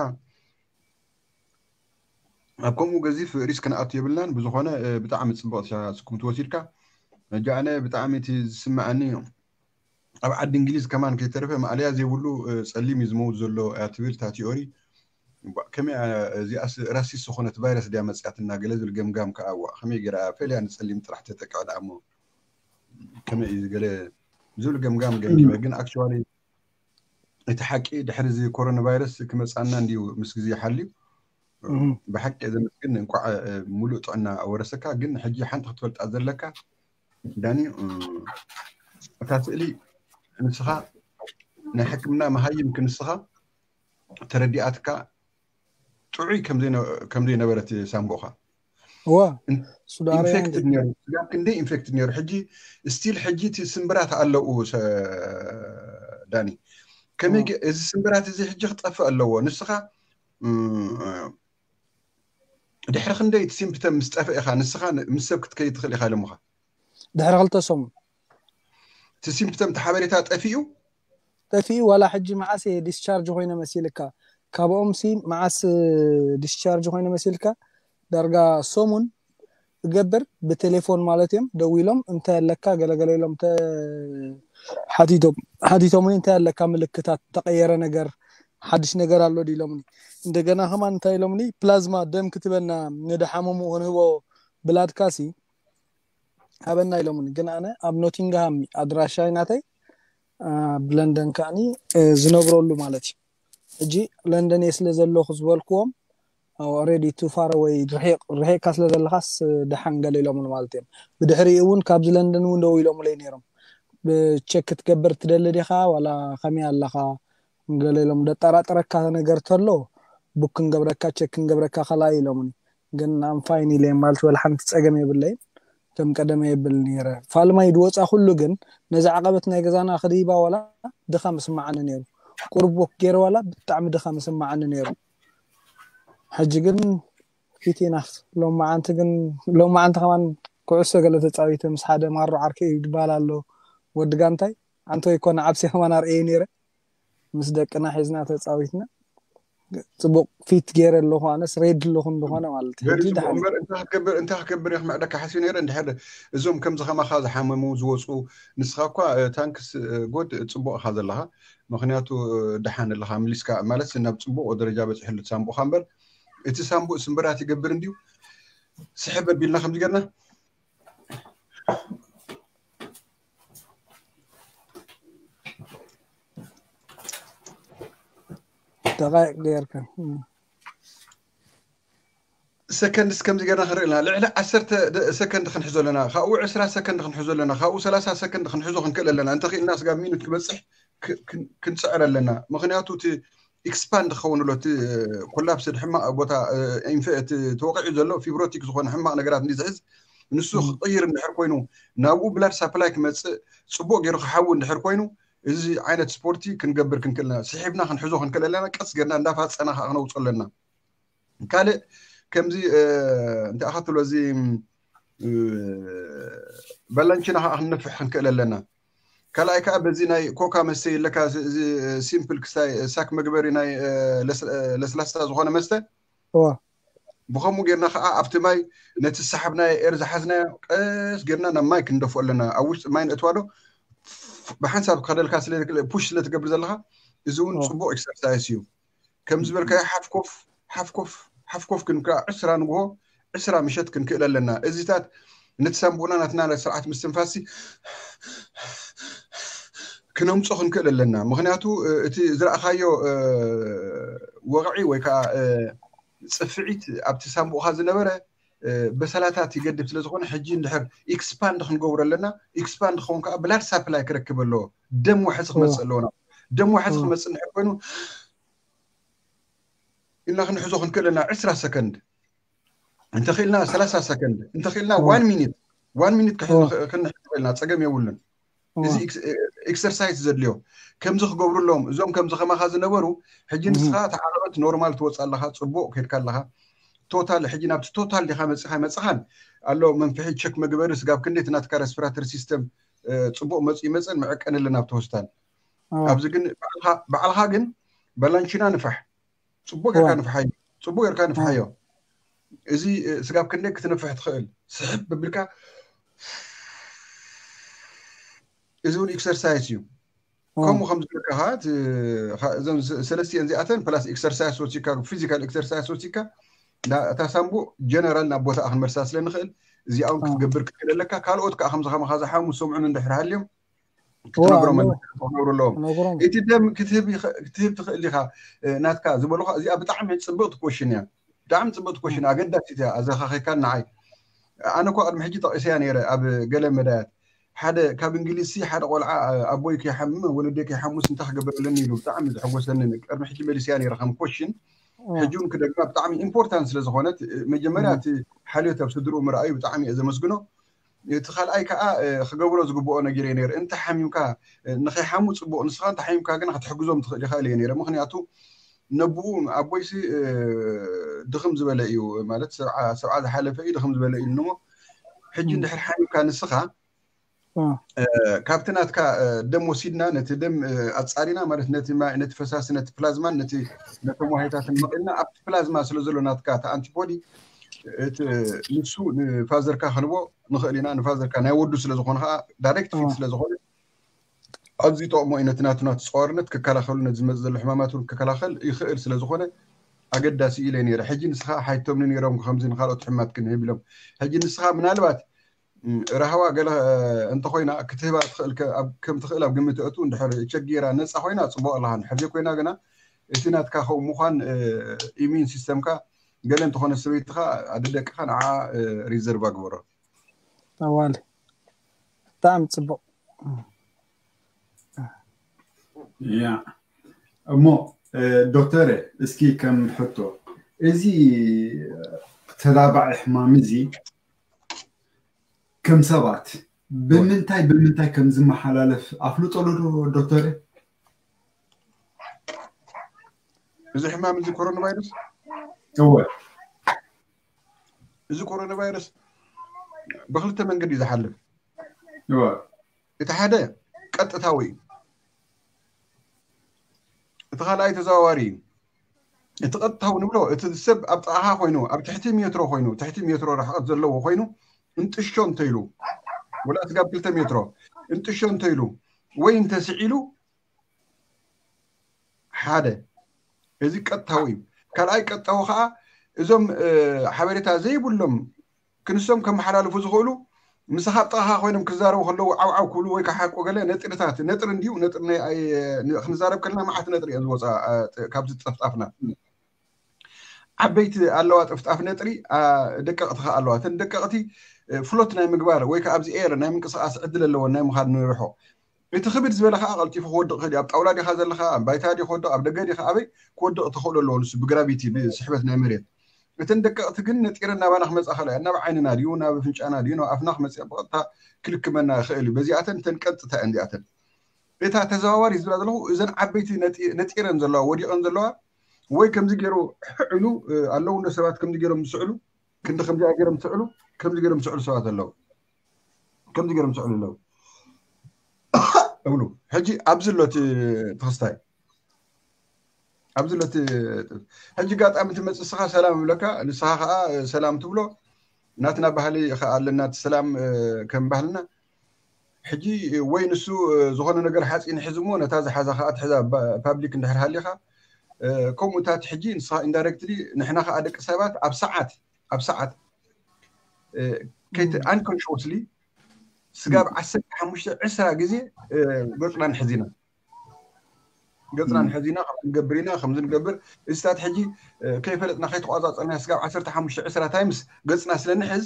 ኣብ ከምኡ ገዚፍ ሪስክ ክንኣቱ የብልናን ብዝኾነ ብጣዕሚ ፅቡቅ ስኩም ትወሲድካ ሕጂ ኣነ ብጣዕሚ እቲ ዝስምዐኒ ኣብ ዓዲ እንግሊዝ ከማን ከይተረፈ ማእለያ ዘይብሉ ፀሊም እዩ ዝመውት ዘሎ እያ ትብል እታ ቲኦሪ ከመይ እዚኣስ ራሲስ ዝኾነት ቫይረስ ድያ መፅያትና ገለ ዝብል ገምጋም ከዓ ዋ ከመይ ገይራ ፈልያ ንፀሊም ጥራሕ ተጠቅዐ ደኣ እሞ ከመይ እዩ ገለ ዝብል ገምጋም ገምጊመ ግን actually እቲ ሓቂ ድሕሪ እዚ ኮሮና ቫይረስ ክመፃና እንድዩ ምስ ግዜ ሓልዩ። ብሓቂ ዘመስግን፣ እንኳዕ ሙሉእ ጥዕና ኣወረሰካ። ግን ሕጂ ሓንቲ ክትፈልጣ ዘለካ ዳኒ፣ እታ ስእሊ ንስኻ ናይ ሕክምና መሃይም ክንስኻ ተረዲኣትካ ጥዑይ ከምዘይነበረት ሳምቦኻ ዋ ኢንፌክትድ ነሩ። ስጋብ ክንደይ ኢንፌክትድ ነሩ። ሕጂ ስቲል ሕጂ እቲ ስምብራት ኣለዉ። ዳኒ፣ ከመይ እዚ ስምብራት እዚ ሕጂ ክጠፍእ ኣለዎ። ንስኻ ድሕሪ ክንደይ እቲ ሲምፕተም ምስ ጠፍእ ኢኻ ንስኻ ምስ ሰብ ክትከይድ ትኽእል ኢኻ ኢሎምኻ። ድሕሪ ክልተ ሰሙን እቲ ሲምፕተም እቲ ሓበሬታ ጠፊኡ ጠፊኡ ዋላ ሕጂ መዓስ እየ ዲስቻርጅ ኮይነ መሲልካ? ካብኦም ሲ መዓስ ዲስቻርጅ ኮይነ መሲልካ? ዳርጋ ሰሙን እገብር ብቴሌፎን ማለት እዮም ደዊሎም እንታይ ኣለካ ገለገለ ኢሎም ሓቲቶም ሓቲቶምኒ እንታይ ኣለካ ምልክታት ተቀየረ ነገር ሓድሽ ነገር ኣሎ ኢሎምኒ። እንደገና ከማን እንታይ ኢሎምኒ ፕላዝማ ደም ክትበና ንደሓመሙ ክንህቦ ብላድካሲ ሃበና ኢሎምኒ። ግን ኣነ ኣብ ኖቲንግሃም ኣድራሻይ ናተይ ኣብ ለንደን ከዓኒ ዝነብረሉ ማለት እዩ። ሕጂ ለንደን እየ ስለ ዘለኹ ዝበልክዎም ኦሬዲ ቱ ፋር ወይ ርሒቕካ ስለ ዘለኻስ ደሓን ገለ ኢሎምኒ ማለት እዮም። ብድሕሪኡ እውን ካብዚ ለንደን እውን ደው ኢሎምለይ ነይሮም። ብቸክ ክትገብር ትደሊ ዲኻ ዋላ ከመይ ኣለኻ ገለ ኢሎም ደጠራጥረካ ነገር ተሎ ቡክ ክንገብረካ ቸክ ክንገብረካ ከላይ ኢሎምኒ። ግን ኣም ፋይን ኢለ ማለት ወላ ሓንቲ ፀገም የብለይን። ከም ቀደመ የብል ነይረ ፋልማይ ድወፃ ኩሉ ግን ነዚ ዓቐበት ናይ ገዛና ክድይባ ዋላ ድኻ ምስማዓኒ ነይሩ። ቁርብ ወክ ገይረ ዋላ ብጣዕሚ ድኻ ምስማዓኒ ነይሩ። ሕጂ ግን ፊት ኢናፍ ሎማዓንቲ ግን ሎማዓንቲ ከማን ኩዕሶ ገለ ተፃዊተ ምስ ሓደ ማሮ ዓርከይ እዩ ዝበሃል ኣሎ ወዲ ጋንታይ ኣንቶ ይኮነ ዓብሲ ከማን ኣርእየ ነይረ ምስ ደቅና ሒዝና ተፃዊትና ጽቡቅ ፊት ገይረ ኣለኹ ኣነስ ሬድ ኣለኹ እንደኾነ ማለት እዩ። ሕጂ ደሓን እምበር እንታይ ክገብር እንታይ ክገብር እየ ክምዕደካ ሓስዩ ነይረ። እንድሕር እዞም ከምዚ ከማኻ ዝሓመሙ ዝወፁ ንስኻ እኳ ታንክስ ጎድ ጽቡቅ ኢኻ ዘለኻ። ምክንያቱ ደሓን ኣለኻ ምሊስካ ማለት ናብ ጽቡቅ ደረጃ በፂሕሉ ሳምቡእኻ እምበር እቲ ሳምቡእ ስምብራት ይገብር እንድዩ። ስሕብ ኣቢልና ከምዚ ገርና ደቃይቅ ገይርካ ሰከንድስ ከምዚ ገርና ክንርኢ ኣለና። ልዕሊ ዓሰርተ ሰከንድ ክንሕዞ ኣለና። ካብኡ ዕስራ ሰከንድ ክንሕዞ ኣለና። ካብኡ ሰላሳ ሰከንድ ክንሕዞ ክንክእል ኣለና። እንተኽኢልና ስጋብ ሚኒት ክበፅሕ ክንፅዕር ኣለና። ምክንያቱ እቲ ኤክስፓንድ ክኸውን ኣሎ። እቲ ኮላፕስድ ሕማቕ ቦታ ተወቂዑ ዘሎ ፊብሮቲክ ዝኾነ ሕማቕ ነገራት እንዲ ዝሕዝ ንሱ ክቕይር እንድሕር ኮይኑ ናብኡ ብላድ ሳፕላይ ክመፅእ ፅቡቅ ገይሩ ክሓዊ እንድሕር ኮይኑ እዚ ዓይነት ስፖርቲ ክንገብር ክንክእልና ስሒብና ክንሕዞ ክንክእል ኣለና። ቀስ ገርና እንዳፋፀና ከዓ ክነውፅኦ ኣለና። ካልእ ከምዚ እንታይ ኣኻትሎ እዚ በላንችና ከዓ ክንነፍሕ ክንክእል ኣለና። ካልኣይ ከዓ በዚ ናይ ኮካ መስተ ኣለካ እዚ ሲምፕል ክስታይ ሳክ መግበሪ ናይ ለስላሳ ዝኾነ መስተ ብከምኡ ጌርና ከዓ ኣብቲ ማይ ነቲ ዝሰሓብናዮ ኤር ዝሓዝናዮ ቀስ ጌርና ናብ ማይ ክንደፍኦ ኣለና። ኣብ ውሽጢ ማይ ነእትዋዶ ብሓንሳብ ክኸደልካ ፑሽ ስለትገብር ዘለካ እዚ እውን ፅቡቅ ኤክሰርሳይስ እዩ። ከም ዝበልካዮ ሓፍኮፍ ሓፍኮፍ ሓፍኮፍ ክንከ ዕስራ ንግሆ ዕስራ ምሸት ክንክእል ኣለና። እዚታት ነቲ ሳምቡእና ናትና ስርዓት ምስትንፋሲ ክነምፆ ክንክእል ኣለና። ምክንያቱ እቲ ዝረእኻዮ ወቕዒ ወይ ከዓ ፅፍዒት ኣብቲ ሳምቡእኻ ዝነበረ በሰላታት ይገድብ ስለዝኾነ ሕጂ እንድሕር ኤክስፓንድ ክንገብሮ ኣለና። ኤክስፓንድ ክኸውን ከዓ ብላድ ሳፕላይ ክረክብ ኣለዎ። ደም ዋሕዚ ክመፅእ ኣለዎ። ደም ዋሕዚ ክመፅእ እንድሕር ኮይኑ ኢልና ክንሕዞ ክንክእል ኣለና። ዕስራ ሰከንድ እንተኽኢልና ሰላሳ ሰከንድ እንተኽኢልና ዋን ሚኒት ዋን ሚኒት ክንሕዞ ኢልና ፀገም የብሉን። እዚ ኤክሰርሳይዝ ዘድልዮ ከምዚ ክገብሩ ኣለዎም። እዞም ከምዚ ከማኻ ዝነበሩ ሕጂ ንስኻ ተዓረበት ኖርማል ትወፅእ ኣለኻ፣ ፅቡቅ ከድካ ኣለኻ። ቶታል ሕጂ ናብቲ ቶታል ዲኻ መፅኻ መፅኻን ኣሎ መንፍሒ ቸክ መግበሪ ስጋብ ክንደይ ናትካ ሬስፒራተሪ ሲስተም ፅቡቅ መፁ ይመፅን መዕቀኒ ኣለና ኣብቲ ሆስፒታል። ኣብዚ ግን ባዕልኻ ግን በላንቺና ንፋሕ፣ ፅቡቅ ጌርካ ንፍሓዮ፣ ፅቡቅ ጌርካ ንፍሓዮ። እዚ ስጋብ ክንደይ ክትነፍሕ ትኽእል ስሕብ ብልካ እዚ እውን ኤክሰርሳይስ እዩ። ከምኡ ከም ዝብለካ እዞም ሰለስቲአን እዚኣተን ፕላስ ኤክሰርሳይስ ወሲካ ፊዚካል ኤክሰርሳይስ ወሲካ እታ ሳምቡእ ጀነራል ናብ ቦታኣ ክንመልሳ ስለ ንኽእል እዚኣ እውን ክትገብር ክትክእል ኣለካ። ካልኦት ከዓ ከምዚ ከማኻ ዝሓሙ ዝሰምዑን እንድሕር ሃልዮም ክትነግሮም ኣለካ፣ ክትነግሩ ኣለዎም። እቲ ደም ክትህብ ትኽእል ኢኻ ናትካ ዝበሉኻ። እዚኣ ብጣዕሚ ፅብቕቲ ኮሽን እያ። ብጣዕሚ ፅብቕቲ ኮሽን፣ ኣገዳሲት እያ። ኣዘኻኺካን ንዓይ፣ ኣነ እኮ ቅድሚ ሕጂ ጠቒሰያ ነይረ ኣብ ገለ መዳያት። ሓደ ካብ እንግሊዝሲ ሓደ ቆልዓ ኣቦይ ከይሓምም ወለደይ ከይሓሙስ እንታይ ክገብር ኣለኒ ኢሉ ብጣዕሚ ዘሐጎሰኒ። ቅድሚ ሕጂ መሊስያ ነይረ ከም ኮሽን። ሕጂ እውን ክደግማ፣ ብጣዕሚ ኢምፖርታንት ስለ ዝኾነት፣ መጀመርያ እቲ ሓልዮት ኣብ ስድርኡ ምርኣዩ ብጣዕሚ እየ ዘመስግኖ። እቲ ካልኣይ ከዓ ክገብሮ ዝግብኦ ነገር እየ ነይረ። እንተ ሓሚምካ ንኸይሓሙ ፅቡቕ፣ ንስኻ እንተ ሓሚምካ ግን ክትሕግዞም ትኽእል ኢኻ ኢለ ነይረ። ምክንያቱ ነብኡ ኣቦይሲ ድኽም ዝበለ እዩ፣ ማለት ሰብዓ ዝሓለፈ እዩ፣ ድኽም ዝበለ እዩ እሞ፣ ሕጂ እንድሕር ሓሚምካ ንስኻ ካብቲ ናትካ ደም ወሲድና፣ ነቲ ደም ኣፃሪና፣ ማለት ነቲ ፈሳሲ፣ ነቲ ፕላዝማን ነቶም ዋህዮታትን መቒልና፣ ኣብቲ ፕላዝማ ስለ ዘሎ ናትካ እቲ ኣንቲቦዲ፣ ንሱ ንፋዘርካ ክንቦ ንኽእል ኢና። ንፋዘርካ ናይ ወዱ ስለ ዝኾነ ከዓ፣ ዳይሬክት ፊት ስለ ዝኾነ፣ ኣዝዩ ጠቕሞ እዩ። ነቲ ናቱ ናቱ ፀዋርነት ክከላኸሉ፣ ነቲ ዝመፅእ ዘሎ ሕማማት እውን ክከላኸል ይኽእል ስለ ዝኾነ ኣገዳሲ ኢለ ነይረ። ሕጂ ንስኻ ሓይቶምኒ ነይሮም ከምዚ ንካልኦት ሕማት ክንህብ ኢሎም። ሕጂ ንስኻ ምናልባት ራህዋ ገለ እንተኾይና ክትህባ ትኽእል፣ ከም ትኽእል ኣብ ግምት እቱ። እንድሕር ቸጌራ ነፃ ኮይና ፅቡቕ ኣለኻ፣ እንድሕር ዘይኮይና ግና እቲ ናትካ ከምኡ ምዃን፣ ኢሚን ሲስተምካ ገለ እንተኾነ ሰበይትኻ ኣደ ደቅኻ ንዓ ሪዘርቭ ኣግበሮ። ኣዋል ብጣዕሚ ፅቡቕ። ያ እሞ ዶክተር፣ እስኪ ከም ሕቶ፣ እዚ ተላባዒ ሕማም እዚ ከም ሰባት ብምንታይ ብምንታይ ከም ዝመሓላለፍ ኣፍልጦ ኣሎ ዶ ዶክተር? እዚ ሕማም እዚ ኮሮና ቫይረስ እወ እዚ ኮሮና ቫይረስ ብክልተ መንገዲ እዩ ዝሓልፍ። እወ እቲ ሓደ ቀጥታዊ እዩ፣ እቲ ካልኣይ ተዘዋዋሪ እዩ። እቲ ቀጥታዊ ንብሎ እቲ ሰብ ኣብ ጥቓኻ ኮይኑ ኣብ ትሕቲ ሜትሮ ኮይኑ ትሕቲ ሜትሮ ርሕቐት ዘለዎ ኮይኑ እንጥሾ እንተኢሉ ወላ ስጋብ ክልተ ሜትሮ እንጥሾ እንተኢሉ ወይ እንተስዒሉ ሓደ እዚ ቀጥታዊ እዩ። ካልኣይ ቀጥታዊ ከዓ እዞም ሓበሬታ ዘይብሎም ክንሶም ከመሓላልፉ ዝኽእሉ ምሳኻ ኣብ ጥቓኻ ኮይኖም ክዛረቡ ከለዉ ዓውዓው ክብሉ ወይ ከዓ ሓቆ ገለ ነጥርታት ነጥሪ እንድዩ ነጥሪ ክንዛረብ ከለና መዓት ነጥሪ እዮም ዝወፃ ካብዚ ጠፍጣፍና ዓበይቲ ኣለዋ ጥፍጣፍ ነጥሪ ደቀቕቲ ከዓ ኣለዋ እተን ደቀቕቲ ፍሎት ናይ ምግባር ወይ ከዓ ኣብዚ ኤር ናይ ምንቅስቃስ ዕድል ኣለወን ናይ ምኻድ ንርሖ እቲ ክብድ ዝበለ ከዓ ቀልጢፉ ክወድቕ ክእል ኣብ ጣውላ ዲኻ ዘለካ ኣብ ባይታ ዲ ክወድቕ ኣብ ደገ ዲኻ ኣበይ ክወድቕ ተኽእሎ ኣለዎ ንሱ ብግራቪቲ ብስሕበት ናይ መሬት እተን ደቀቕቲ ግን ነጢረን ናባና ክመፃ ከላ ናብ ዓይንና ድዩ ናብ ፍንጫና ድዩ ናብ ኣፍና ክመፅእ ብቐጥታ ክልክመና ይኽእል እዩ በዚኣተን እተን ቀጥታ እየን ዚኣተን እታ ተዘዋዋሪ ዝብላ ዘለኹ እዘን ዓበይቲ ነጢረን ዘለዋ ወዲቐን ዘለዋ ወይ ከምዚ ገይሩ ሕዕሉ ኣለዉ እንዶ ሰባት ከምዚ ገይሮም ዝስዕሉ ክንዲ ከምዚኣ ገይሮም ዝስዕሉ ከምዚ ገይሮም ዝስዕሉ ሰባት ኣለዉ ከምዚ ገይሮም ዝስዕሉ ኣለዉ እብሉ ሕጂ ኣብዚ ኣሎ እቲ ተኸስታይ ኣብዚ ኣሎ እቲ ሕጂ ጋጣሚ ትመፅእ ንስኻ ሰላም እብለካ ንስኻ ከዓ ሰላም ትብሎ ናትና ባህሊ ከዓ ኣለና እቲ ሰላም ከም ባህልና ሕጂ ወይ ንሱ ዝኾነ ነገር ሓፂን ሕዚ እሞ ነታ ዝሓዛ ከዓ ትሕዛ ፓብሊክ እንድሕር ሃሊኻ ከምኡታት ሕጂ ንስኻ ኢንዳይሬክትሊ ንሕና ከዓ ደቂ ሰባት ኣብ ሰዓት ኣብ ሰዓት ከይት ኣንኮንሽስሊ ስጋብ ዓሰርተ ሓሙሽተ ዕስራ ግዜ ገፅና ንሕዝ ኢና ገፅና ንሕዝ ኢና ከም ንገብር ኢና ከም ንገብር እዚታት ሕጂ ከይፈለጥና ከይተቋፃፀርና ስጋብ ዓሰርተ ሓሙሽተ ዕስራ ታይምስ ገፅና ስለ ንሕዝ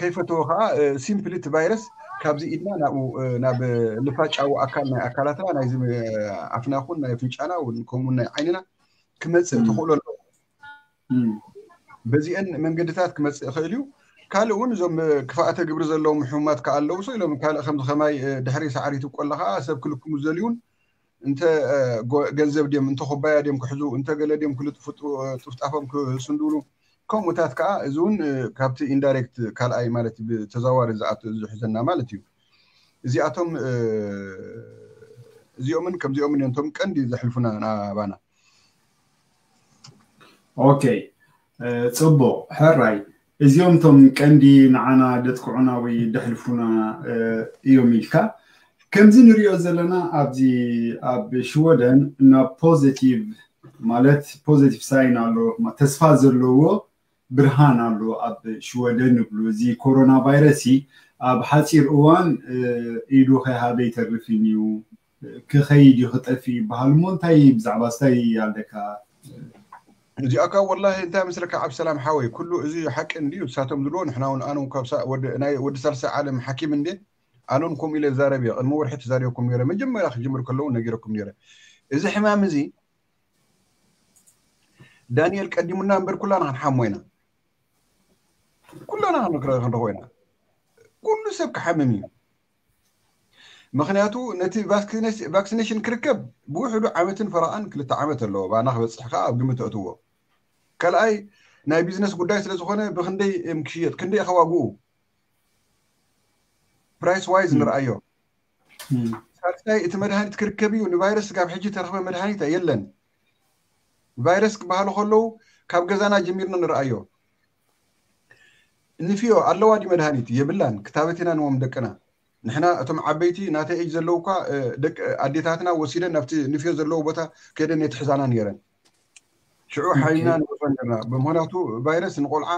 ከይፈተዎ ከዓ ሲምፕሊ እቲ ቫይረስ ካብዚ ኢድና ናብኡ ናብ ልፋጫዊ ኣካል ናይ ኣካላትና ናይዚ ኣፍና ኹን ናይ ፍንጫና ከምኡ ናይ ዓይንና ክመፅእ ተኽእሎ ኣለዎ በዚአን መንገድታት ክመፅእ ይኽእል እዩ ካልእ እውን እዞም ክፍኣተ ግብሪ ዘለዎም ሕሙማት ከዓ ኣለዉ ሶ ኢሎም ካልእ ከምዚ ከማይ ድሕሪ ሳዕሪ ትብቆ ኣለካ ሰብ ክልክሙ ዝደልዩን እንተ ገንዘብ ድዮም እንተ ኩባያ ድዮም ክሕዙ እንተ ገለ ድዮም ክልጥፉ ጥፍጣፎም ክስንድሉ ከምኡታት ከዓ እዚ እውን ካብቲ ኢንዳይሬክት ካልኣይ ማለት ብተዘዋዋሪ ዝኣቱ ዝሕዘና ማለት እዩ እዚኣቶም እዚኦምን ከምዚኦምን እዮም እቶም ቀንዲ ዘሕልፉና ናባና ኦኬ ፅቡቅ ሕራይ እዚኦም እቶም ቀንዲ ንዓና ደጥቅዑና ወይ ደሕልፉና እዮም ኢልካ ከምዚ ንሪኦ ዘለና ኣብዚ ኣብ ሽወደን ናብ ፖዚቲቭ ማለት ፖዚቲቭ ሳይን ኣሎ ተስፋ ዘለዎ ብርሃን ኣሎ ኣብ ሽወደን ንብሉ እዚ ኮሮና ቫይረስ ኣብ ሓፂር እዋን ኢዱ ከይሃበ ይተርፍን እዩ፣ ክኸይድ እዩ፣ ክጠፍእ ይበሃል እሞ እንታይ ብዛዕባ ስታይ ኣለካ? እዚኣካ ወላሂ እንታይ ምስለካ ዓብሰላም ሓወይ፣ ኩሉ እዚ ሓቂ እንድዩ። ንሳቶም ዝብልዎ ንሕና እውን ኣነ እውን ካብ ሳ- ወዲ ናይ ወዲ ሳልሳይ ዓለም ሓኪም እንዴ ኣነን ከምኡ ኢለ ዛረብ እየ። ቅድሚ ወርሒ ተዛሪበኩም ነይረ፣ መጀመርያ ክጅምር ከለዉ ነጊረኩም ነይረ። እዚ ሕማም እዚ ዳንኤል ቀዲሙና እምበር ኩላና ክንሓሞ ኢና፣ ኩላና ክንረኸቦ ኢና። ኩሉ ሰብ ክሓምም እዩ። ምክንያቱ ነቲ ቫክሲኔሽን ክርከብ ብውሕዱ ዓመትን ፈረቓን ክልተ ዓመት ኣለዎ። ባና ክበፅሕ ከዓ ኣብ ግምት ተእትዎ። ካልኣይ ናይ ቢዝነስ ጉዳይ ስለዝኾነ ብክንደይ እዮም ክሽየጥ፣ ክንደይ ከዋግኡ ፕራይስ ዋይዝ ንርኣዮ። ሳልሳይ እቲ መድሃኒት ክርከብ እዩ። ንቫይረስ ስጋብ ሕጂ ተረኽበ መድሃኒት የለን። ቫይረስ ክበሃሉ ከለዉ ካብ ገዛና ጀሚርና ንርኣዮ። ንፍዮ ኣለዋ ዲ መድሃኒት? የብላን። ክታበት ኢና ንዎም ደቅና። ንሕና እቶም ዓበይቲ ናተይ ኤጅ ዘለዉ እኳ ደቂ ኣዴታትና ወሲደን ናብቲ ንፍዮ ዘለዎ ቦታ ከይደን የትሕዛና ነይረን። ሽዑ ሓይና ንወፅኦ ነርና። ብምክንያቱ ቫይረስ ንቆልዓ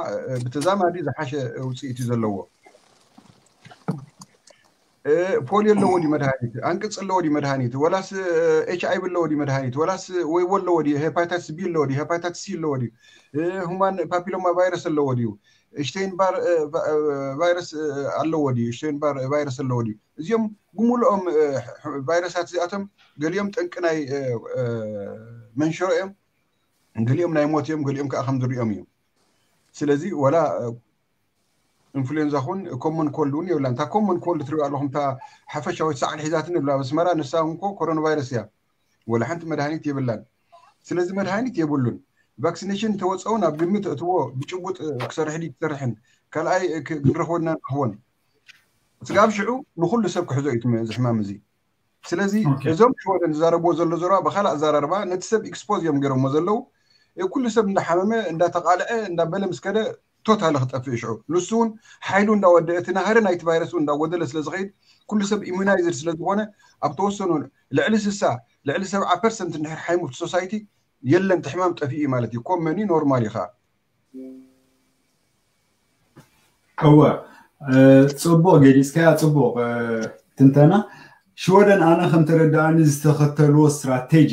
ብተዛማዲ ዝሓሸ ውፅኢት እዩ ዘለዎ። ፖሊዮ ኣለዎ ዲ መድሃኒት? ኣንቅፅ ኣለዎ ዲ መድሃኒት? ወላስ ኤች ኣይቪ ኣለዎ ዲ መድሃኒት? ወላስ ወይቦ ኣለዎ ዲ? ሄፓታይተስ ቢ ኣለዎ ዲ? ሄፓታይተስ ሲ ኣለዎ ዲ? ሁማን ፓፒሎማ ቫይረስ ኣለዎ ድዩ? ሽቴይን ባር ቫይረስ ኣለዎ ድዩ? ሽቴይን ባር ቫይረስ ኣለዎ ድዩ? እዚኦም ብምልኦም ቫይረሳት እዚኣቶም ገሊኦም ጠንቂ ናይ መንሸሮ እዮም፣ ገሊኦም ናይ ሞት እዮም፣ ገሊኦም ከዓ ከም ዝሪኦም እዮም። ስለዚ ወላ ኢንፍሉዌንዛ ኹን ኮመን ኮልድ እውን የብላን። እታ ኮመን ኮልድ ትሪኦ ኣለኹም፣ እታ ሓፈሻዊት ሰዓል ሒዛትን የብላ ኣብ ኣስመራ፣ ንሳ እውን ኮ ኮሮና ቫይረስ እያ። ወላ ሓንቲ መድሃኒት የብላን። ስለዚ መድሃኒት የብሉን። ቫክሲኔሽን ተወፀውን ኣብ ግምት እትዎ ብጭቡጥ ክሰርሕ ድዩ ክሰርሕን ካልኣይ ክንረኽቦ ኢና ንረኽቦን። ስጋብ ሽዑ ንኩሉ ሰብ ክሕዞ እዩ እዚ ሕማም እዚ። ስለዚ እዞም ሽወደን ዝዛረብዎ ዘሎ ዘረባ ብካልእ ኣዘራርባ ነቲ ሰብ ኤክስፖዝ እዮም ገይሮሞ ዘለዉ። ኩሉ ሰብ እንዳሓመመ እንዳተቃልዐ እንዳበለ ምስ ከደ ቶታሊ ክጠፍእ ሽዑ። ንሱ እውን ሓይሉ እንዳወደአ እቲ ናህሪ ናይቲ ቫይረስ እውን እንዳጎደለ ስለ ዝኸይድ ኩሉ ሰብ ኢሙናይዝድ ስለ ዝኾነ ኣብ ተወሰኑ ልዕሊ ስሳ ልዕሊ ሰብዓ ፐርሰንት እንድሕር ሓይሙ ኣብቲ ሶሳይቲ የለን፣ እቲ ሕማም ጠፊኡ ማለት እዩ። ኮመን እዩ፣ ኖርማል እዩ ከዓ። እወ፣ ፅቡቕ ገሊፅካያ፣ ፅቡቕ ትንተና። ሽወደን ኣነ ከም ተረዳእኒ ዝተኸተልዎ ስትራቴጂ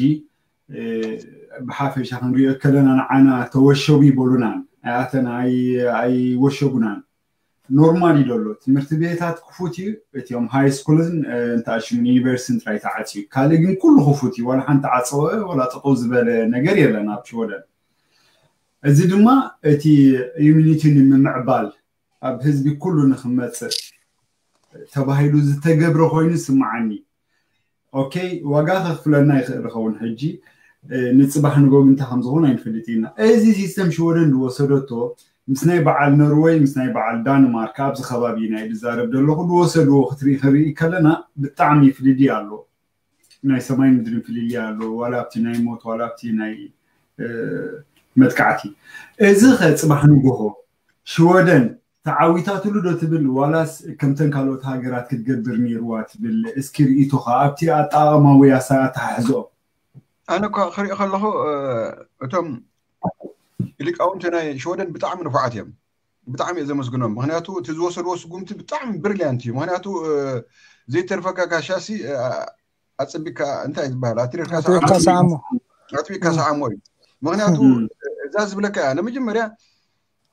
ብሓፈሻ ክንሪኦ ከለና ንዓና ተወሸቡ ይበሉናን ኣያተን ኣይወሸቡናን። ኖርማል እዩ ዘሎ። ትምህርቲ ቤታት ክፉት እዩ። እቲኦም ሃይ ስኩልን እንተኣሽምን ዩኒቨርሲቲን ጥራይ ተዓፅዩ፣ ካልእ ግን ኩሉ ክፉት እዩ። ዋላ ሓንቲ ዓፀወ ዋላ ጠጠው ዝበለ ነገር የለን ኣብ ሽወደን። እዚ ድማ እቲ ኢሚኒቲ ንምምዕባል ኣብ ህዝቢ ኩሉ ንክመፅእ ተባሂሉ ዝተገብረ ኮይኑ ይስምዓኒ። ኦኬ፣ ዋጋ ከክፍለና ይኽእል ይኸውን። ሕጂ ንፅባሕ ንጎ ግን እንታይ ከም ዝኸውን ኣይንፈልጥ ኢና። እዚ ሲስተም ሽወደን ዝወሰደቶ ምስ ናይ በዓል ኖርወይ ምስ ናይ በዓል ዳንማርክ ኣብዚ ከባቢ ናይ ዝዛረብ ዘለኹ ዝወሰድዎ ክትርኢ ክንርኢ ከለና ብጣዕሚ ፍልልይ ኣሎ። ናይ ሰማይ ምድርን ፍልልይ ኣሎ፣ ዋላ ኣብቲ ናይ ሞት ዋላ ኣብቲ ናይ መጥቃዕቲ። እዚ ከ ፅባሕ ንጎሆ ሽወደን ተዓዊታትሉ ዶ ትብል ዋላስ ከምተን ካልኦት ሃገራት ክትገብር ነይርዋ ትብል? እስኪ ርእይቶኻ ኣብቲ ኣጠቓቕማ ወይ ኣተሓሕዝኦ። ኣነ እኳ ክሪኦ ከለኹ እቶም ሊቃውንቲ ናይ ሽወደን ብጣዕሚ ንፉዓት እዮም። ብጣዕሚ እየ ዘመስግኖም። ምክንያቱ እቲ ዝወሰድዎ ስጉምቲ ብጣዕሚ ብሪልያንት እዩ። ምክንያቱ ዘይተርፈካ ካሻሲ ኣፅቢካ እንታይ ዝበሃል ኣትሪርካ ኣጥቢካ ሰዓሞ እዩ። ምክንያቱ እዛ ዝብለካ እያ ንመጀመርያ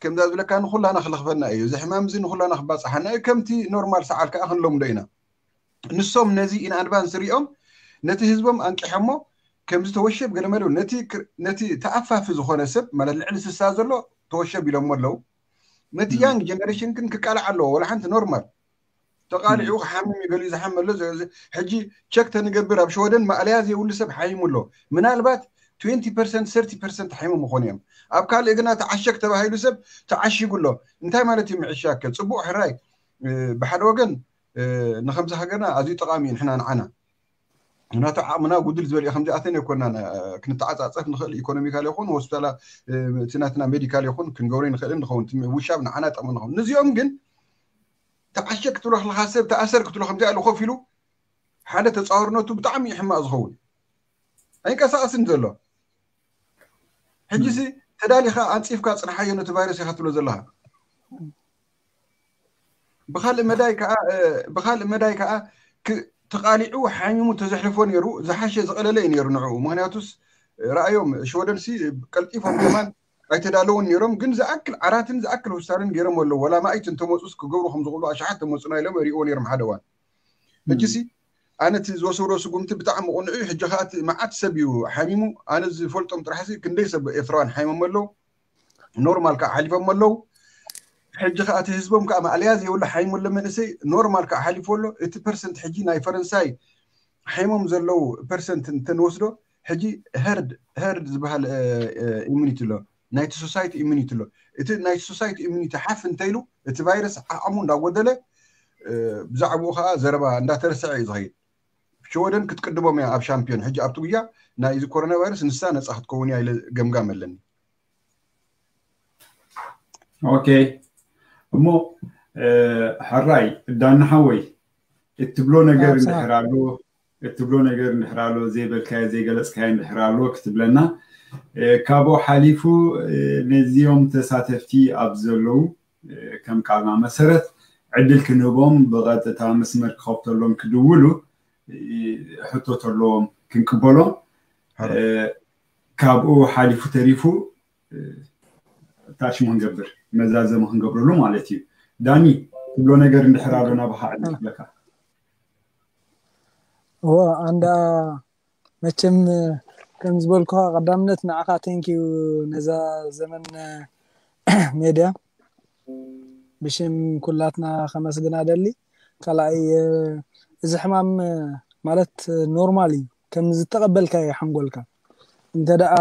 ከምዛ ዝብለካ ንኩላና ክለኽፈና እዩ። እዚ ሕማም እዚ ንኩላና ክባፅሓና እዩ። ከምቲ ኖርማል ሰዓል ከዓ ክንለምዶ ኢና። ንሶም ነዚ ኢን ኣድቫንስ ሪኦም ነቲ ህዝቦም ኣንቂሖሞ ከምዚ ተወሸብ ገለመለ ነቲ ተኣፋፊ ዝኾነ ሰብ ማለት ልዕሊ ስሳ ዘሎ ተወሸብ ኢሎሞ ኣለዉ። ነቲ ያንግ ጀነሬሽን ግን ክቃላዕ ኣለዎ። ወላ ሓንቲ ኖርማል ተቃሊዑ ክሓምም እዩ ገሊኡ ዝሓመ ኣሎ። ሕጂ ቸክ ተንገብር ኣብ ሽወደን ማእለያ ዘይብሉ ሰብ ሓይሙ ኣሎ። ምናልባት ትዌንቲ ፐርሰንት ሰርቲ ፐርሰንት ሓይሙ ምኾኑ እዮም። ኣብ ካልእ ግና ተዓሸግ ተባሂሉ ሰብ ተዓሺጉ ኣሎ። እንታይ ማለት እዩ ምዕሻግ? ከ ፅቡቅ ሕራይ ብሓደ ወገን ንከምዚ ሃገርና ኣዝዩ ጠቃሚ እዩ ንሕና ንዓና ምክንያቱ ዓቕምና ጉድል ዝበለ እዩ። ከምዚኣተን ኣይኮናን ክንተዓፃፀፍ ንኽእል። ኢኮኖሚካል ይኹን ሆስፒታላ እቲ ናትና ሜዲካል ይኹን ክንገብሮ ንኽእል ንኸውን ውሻብ ንዓና ጠቕሚ ንኸውን። ንዚኦም ግን ተዓሸ ክትብሎ ከለካ ሰብ ተኣሰር ክትብሎ ከምዚኣ ኢሉ ኮፍ ኢሉ ሓደ ተፃወርነቱ ብጣዕሚ እዩ ሕማቕ ዝኸውን። ኣይንቀሳቀስን ዘሎ። ሕጂሲ ተዳሊኻ ኣንፂፍካ ፅንሓዮ ነቲ ቫይረስ ኢኻ ትብሎ ዘለኻ። ብካልእ መዳይ ከዓ ብካልእ መዳይ ከዓ ተቃሊዑ ሓሚሙ ተዘሕልፎ ነይሩ፣ ዝሓሸ ዝቀለለ እዩ ነይሩ ንዕኡ። ምክንያቱስ ረኣዮም፣ ሽወደንሲ ቀልጢፎም ከማን ኣይተዳለውን ነይሮም፣ ግን ዝኣክል ዓራትን ዝኣክል ውሳንን ገይሮም ኣለዉ። ወላ ማእት እንተመፁስ ክገብሩ ከም ዝኽእሉ ኣሽሓት ተመፁና ኢሎም ሪእዎ ነይሮም ሓደ እዋን። ሕጂሲ ኣነ እቲ ዝወሰዶ ስጉምቲ ብጣዕሚ ቅኑዕ እዩ። ሕጂ ከዓ እቲ መዓት ሰብ እዩ ሓሚሙ። ኣነ ዝፈልጦም ጥራሕሲ ክንደይ ሰብ ኤርትራውያን ሓይሞም ኣለዉ፣ ኖርማል ከዓ ሓሊፎም ኣለዉ። ሕጂ ከዓ እቲ ህዝቦም ከዓ ማእለያ ዘይብሉ ሓይሙ ኣሎ መንእሰይ፣ ኖርማል ከዓ ሓሊፎ ኣሎ። እቲ ፐርሰንት ሕጂ ናይ ፈረንሳይ ሓይሞም ዘለዉ ፐርሰንት እንተንወስዶ፣ ሕጂ ሄርድ ሄርድ ዝበሃል ኢሚኒቲ ኣሎ፣ ናይቲ ሶሳይቲ ኢሚኒቲ ኣሎ። እቲ ናይቲ ሶሳይቲ ኢሚኒቲ ሓፍ እንተኢሉ፣ እቲ ቫይረስ ዓቕሙ እንዳጎደለ ብዛዕባኡ ከዓ ዘረባ እንዳተረሰዐ እዩ ዝኸይድ። ሽወደን ክትቅድሞም እያ ኣብ ሻምፒዮን። ሕጂ ኣብቲ ጉያ ናይ እዚ ኮሮና ቫይረስ ንሳ ነፃ ክትከውን እያ ኢለ ገምጋም ኣለኒ። ኦኬ፣ እሞ ሕራይ ዳና ሓወይ፣ እትብሎ ነገር እንድሕር ኣሎ እትብሎ ነገር እንድሕር ኣሎ ዘይበልካዮ ዘይገለፅካዮ እንድሕር ኣሎ ክትብለና፣ ካብኡ ሓሊፉ ነዚኦም ተሳተፍቲ ኣብ ዘለዉ ከም ቃልና መሰረት ዕድል ክንህቦም ብቐጥታ መስመር ክኸፍተሎም ክድውሉ ሕቶ ተለዎም ክንቅበሎም፣ ካብኡ ሓሊፉ ተሪፉ ታሽሙ ክንገብር መዛዘሚ ክንገብረሉ ማለት እዩ። ዳኒ ትብሎ ነገር እንድሕር ኣሎ ናባኻ ዕድል ክብለካ። እወ ኣንዳ መቸም ከም ዝበልኩኻ ቀዳምነት ንዓኻ ቴንኪዩ ነዛ ዘመን ሜድያ ብሽም ኩላትና ከመስግና ደሊ። ካልኣይ እዚ ሕማም ማለት ኖርማል እዩ፣ ከም ዝተቐበልካ እዩ ሓንጎልካ። እንተ ደኣ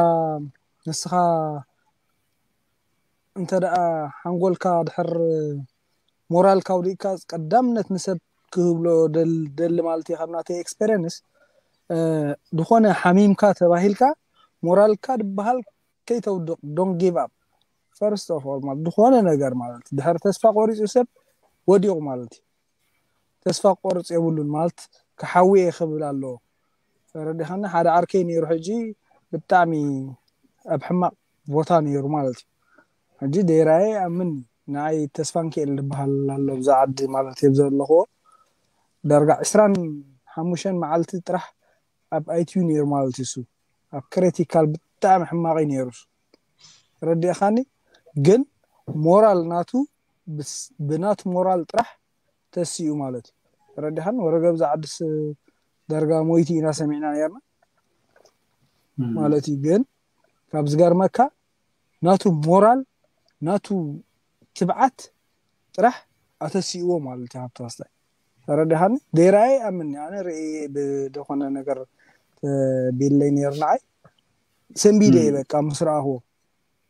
ንስኻ እንተ ደኣ ሓንጎልካ ድሕር ሞራልካ ውዲእካ ቀዳምነት ንሰብ ክህብሎ ደሊ ማለት እዩ። ካብ ናተይ ኤክስፔሪንስ ዝኾነ ሓሚምካ ተባሂልካ ሞራልካ ድበሃል ከይተውድቕ፣ don't give up first of all ማለት ዝኾነ ነገር ማለት ድሕር ተስፋ ቆሪፁ ሰብ ወዲቑ ማለት እዩ። ተስፋ ቆርፅ የብሉን ማለት ክሓዊ እየ ክብል ኣለዎ። ተረዲኻኒ? ሓደ ዓርከይ ነይሩ ሕጂ ብጣዕሚ ኣብ ሕማቕ ቦታ ነይሩ ማለት እዩ። ሕጂ ደይራየ ኣምን ንዓይ ተስፋ ንክእል ዝበሃል ኣሎ ብዛ ዓዲ ማለት እዩ ዘለኽዎ። ዳርጋ ዕስራን ሓሙሽተን መዓልቲ ጥራሕ ኣብ ኣይቲዩ ነይሩ ማለት እዩ። እሱ ኣብ ክሪቲካል ብጣዕሚ ሕማቕ እዩ ነይሩ። ረዲእኻኒ? ግን ሞራል ናቱ ብናቱ ሞራል ጥራሕ ተሲኡ ማለት እዩ። ረዲኻን ወረገብ ዝዓድስ ደርጋ ሞይቲ ኢና ሰሚዕና ነርና ማለት እዩ። ግን ካብ ዝገርመካ ናቱ ሞራል ናቱ ትብዓት ጥራሕ ኣተሲእዎ ማለት እዩ። ሃብተ ዋስታይ ተረዲኻኒ? ደይራየ ኣምኒ ኣነ ርእየ ብደኾነ ነገር ቢለይ ነይሩ ንዓይ ሰንቢደ እየ በቃ ምስ ረኣኽዎ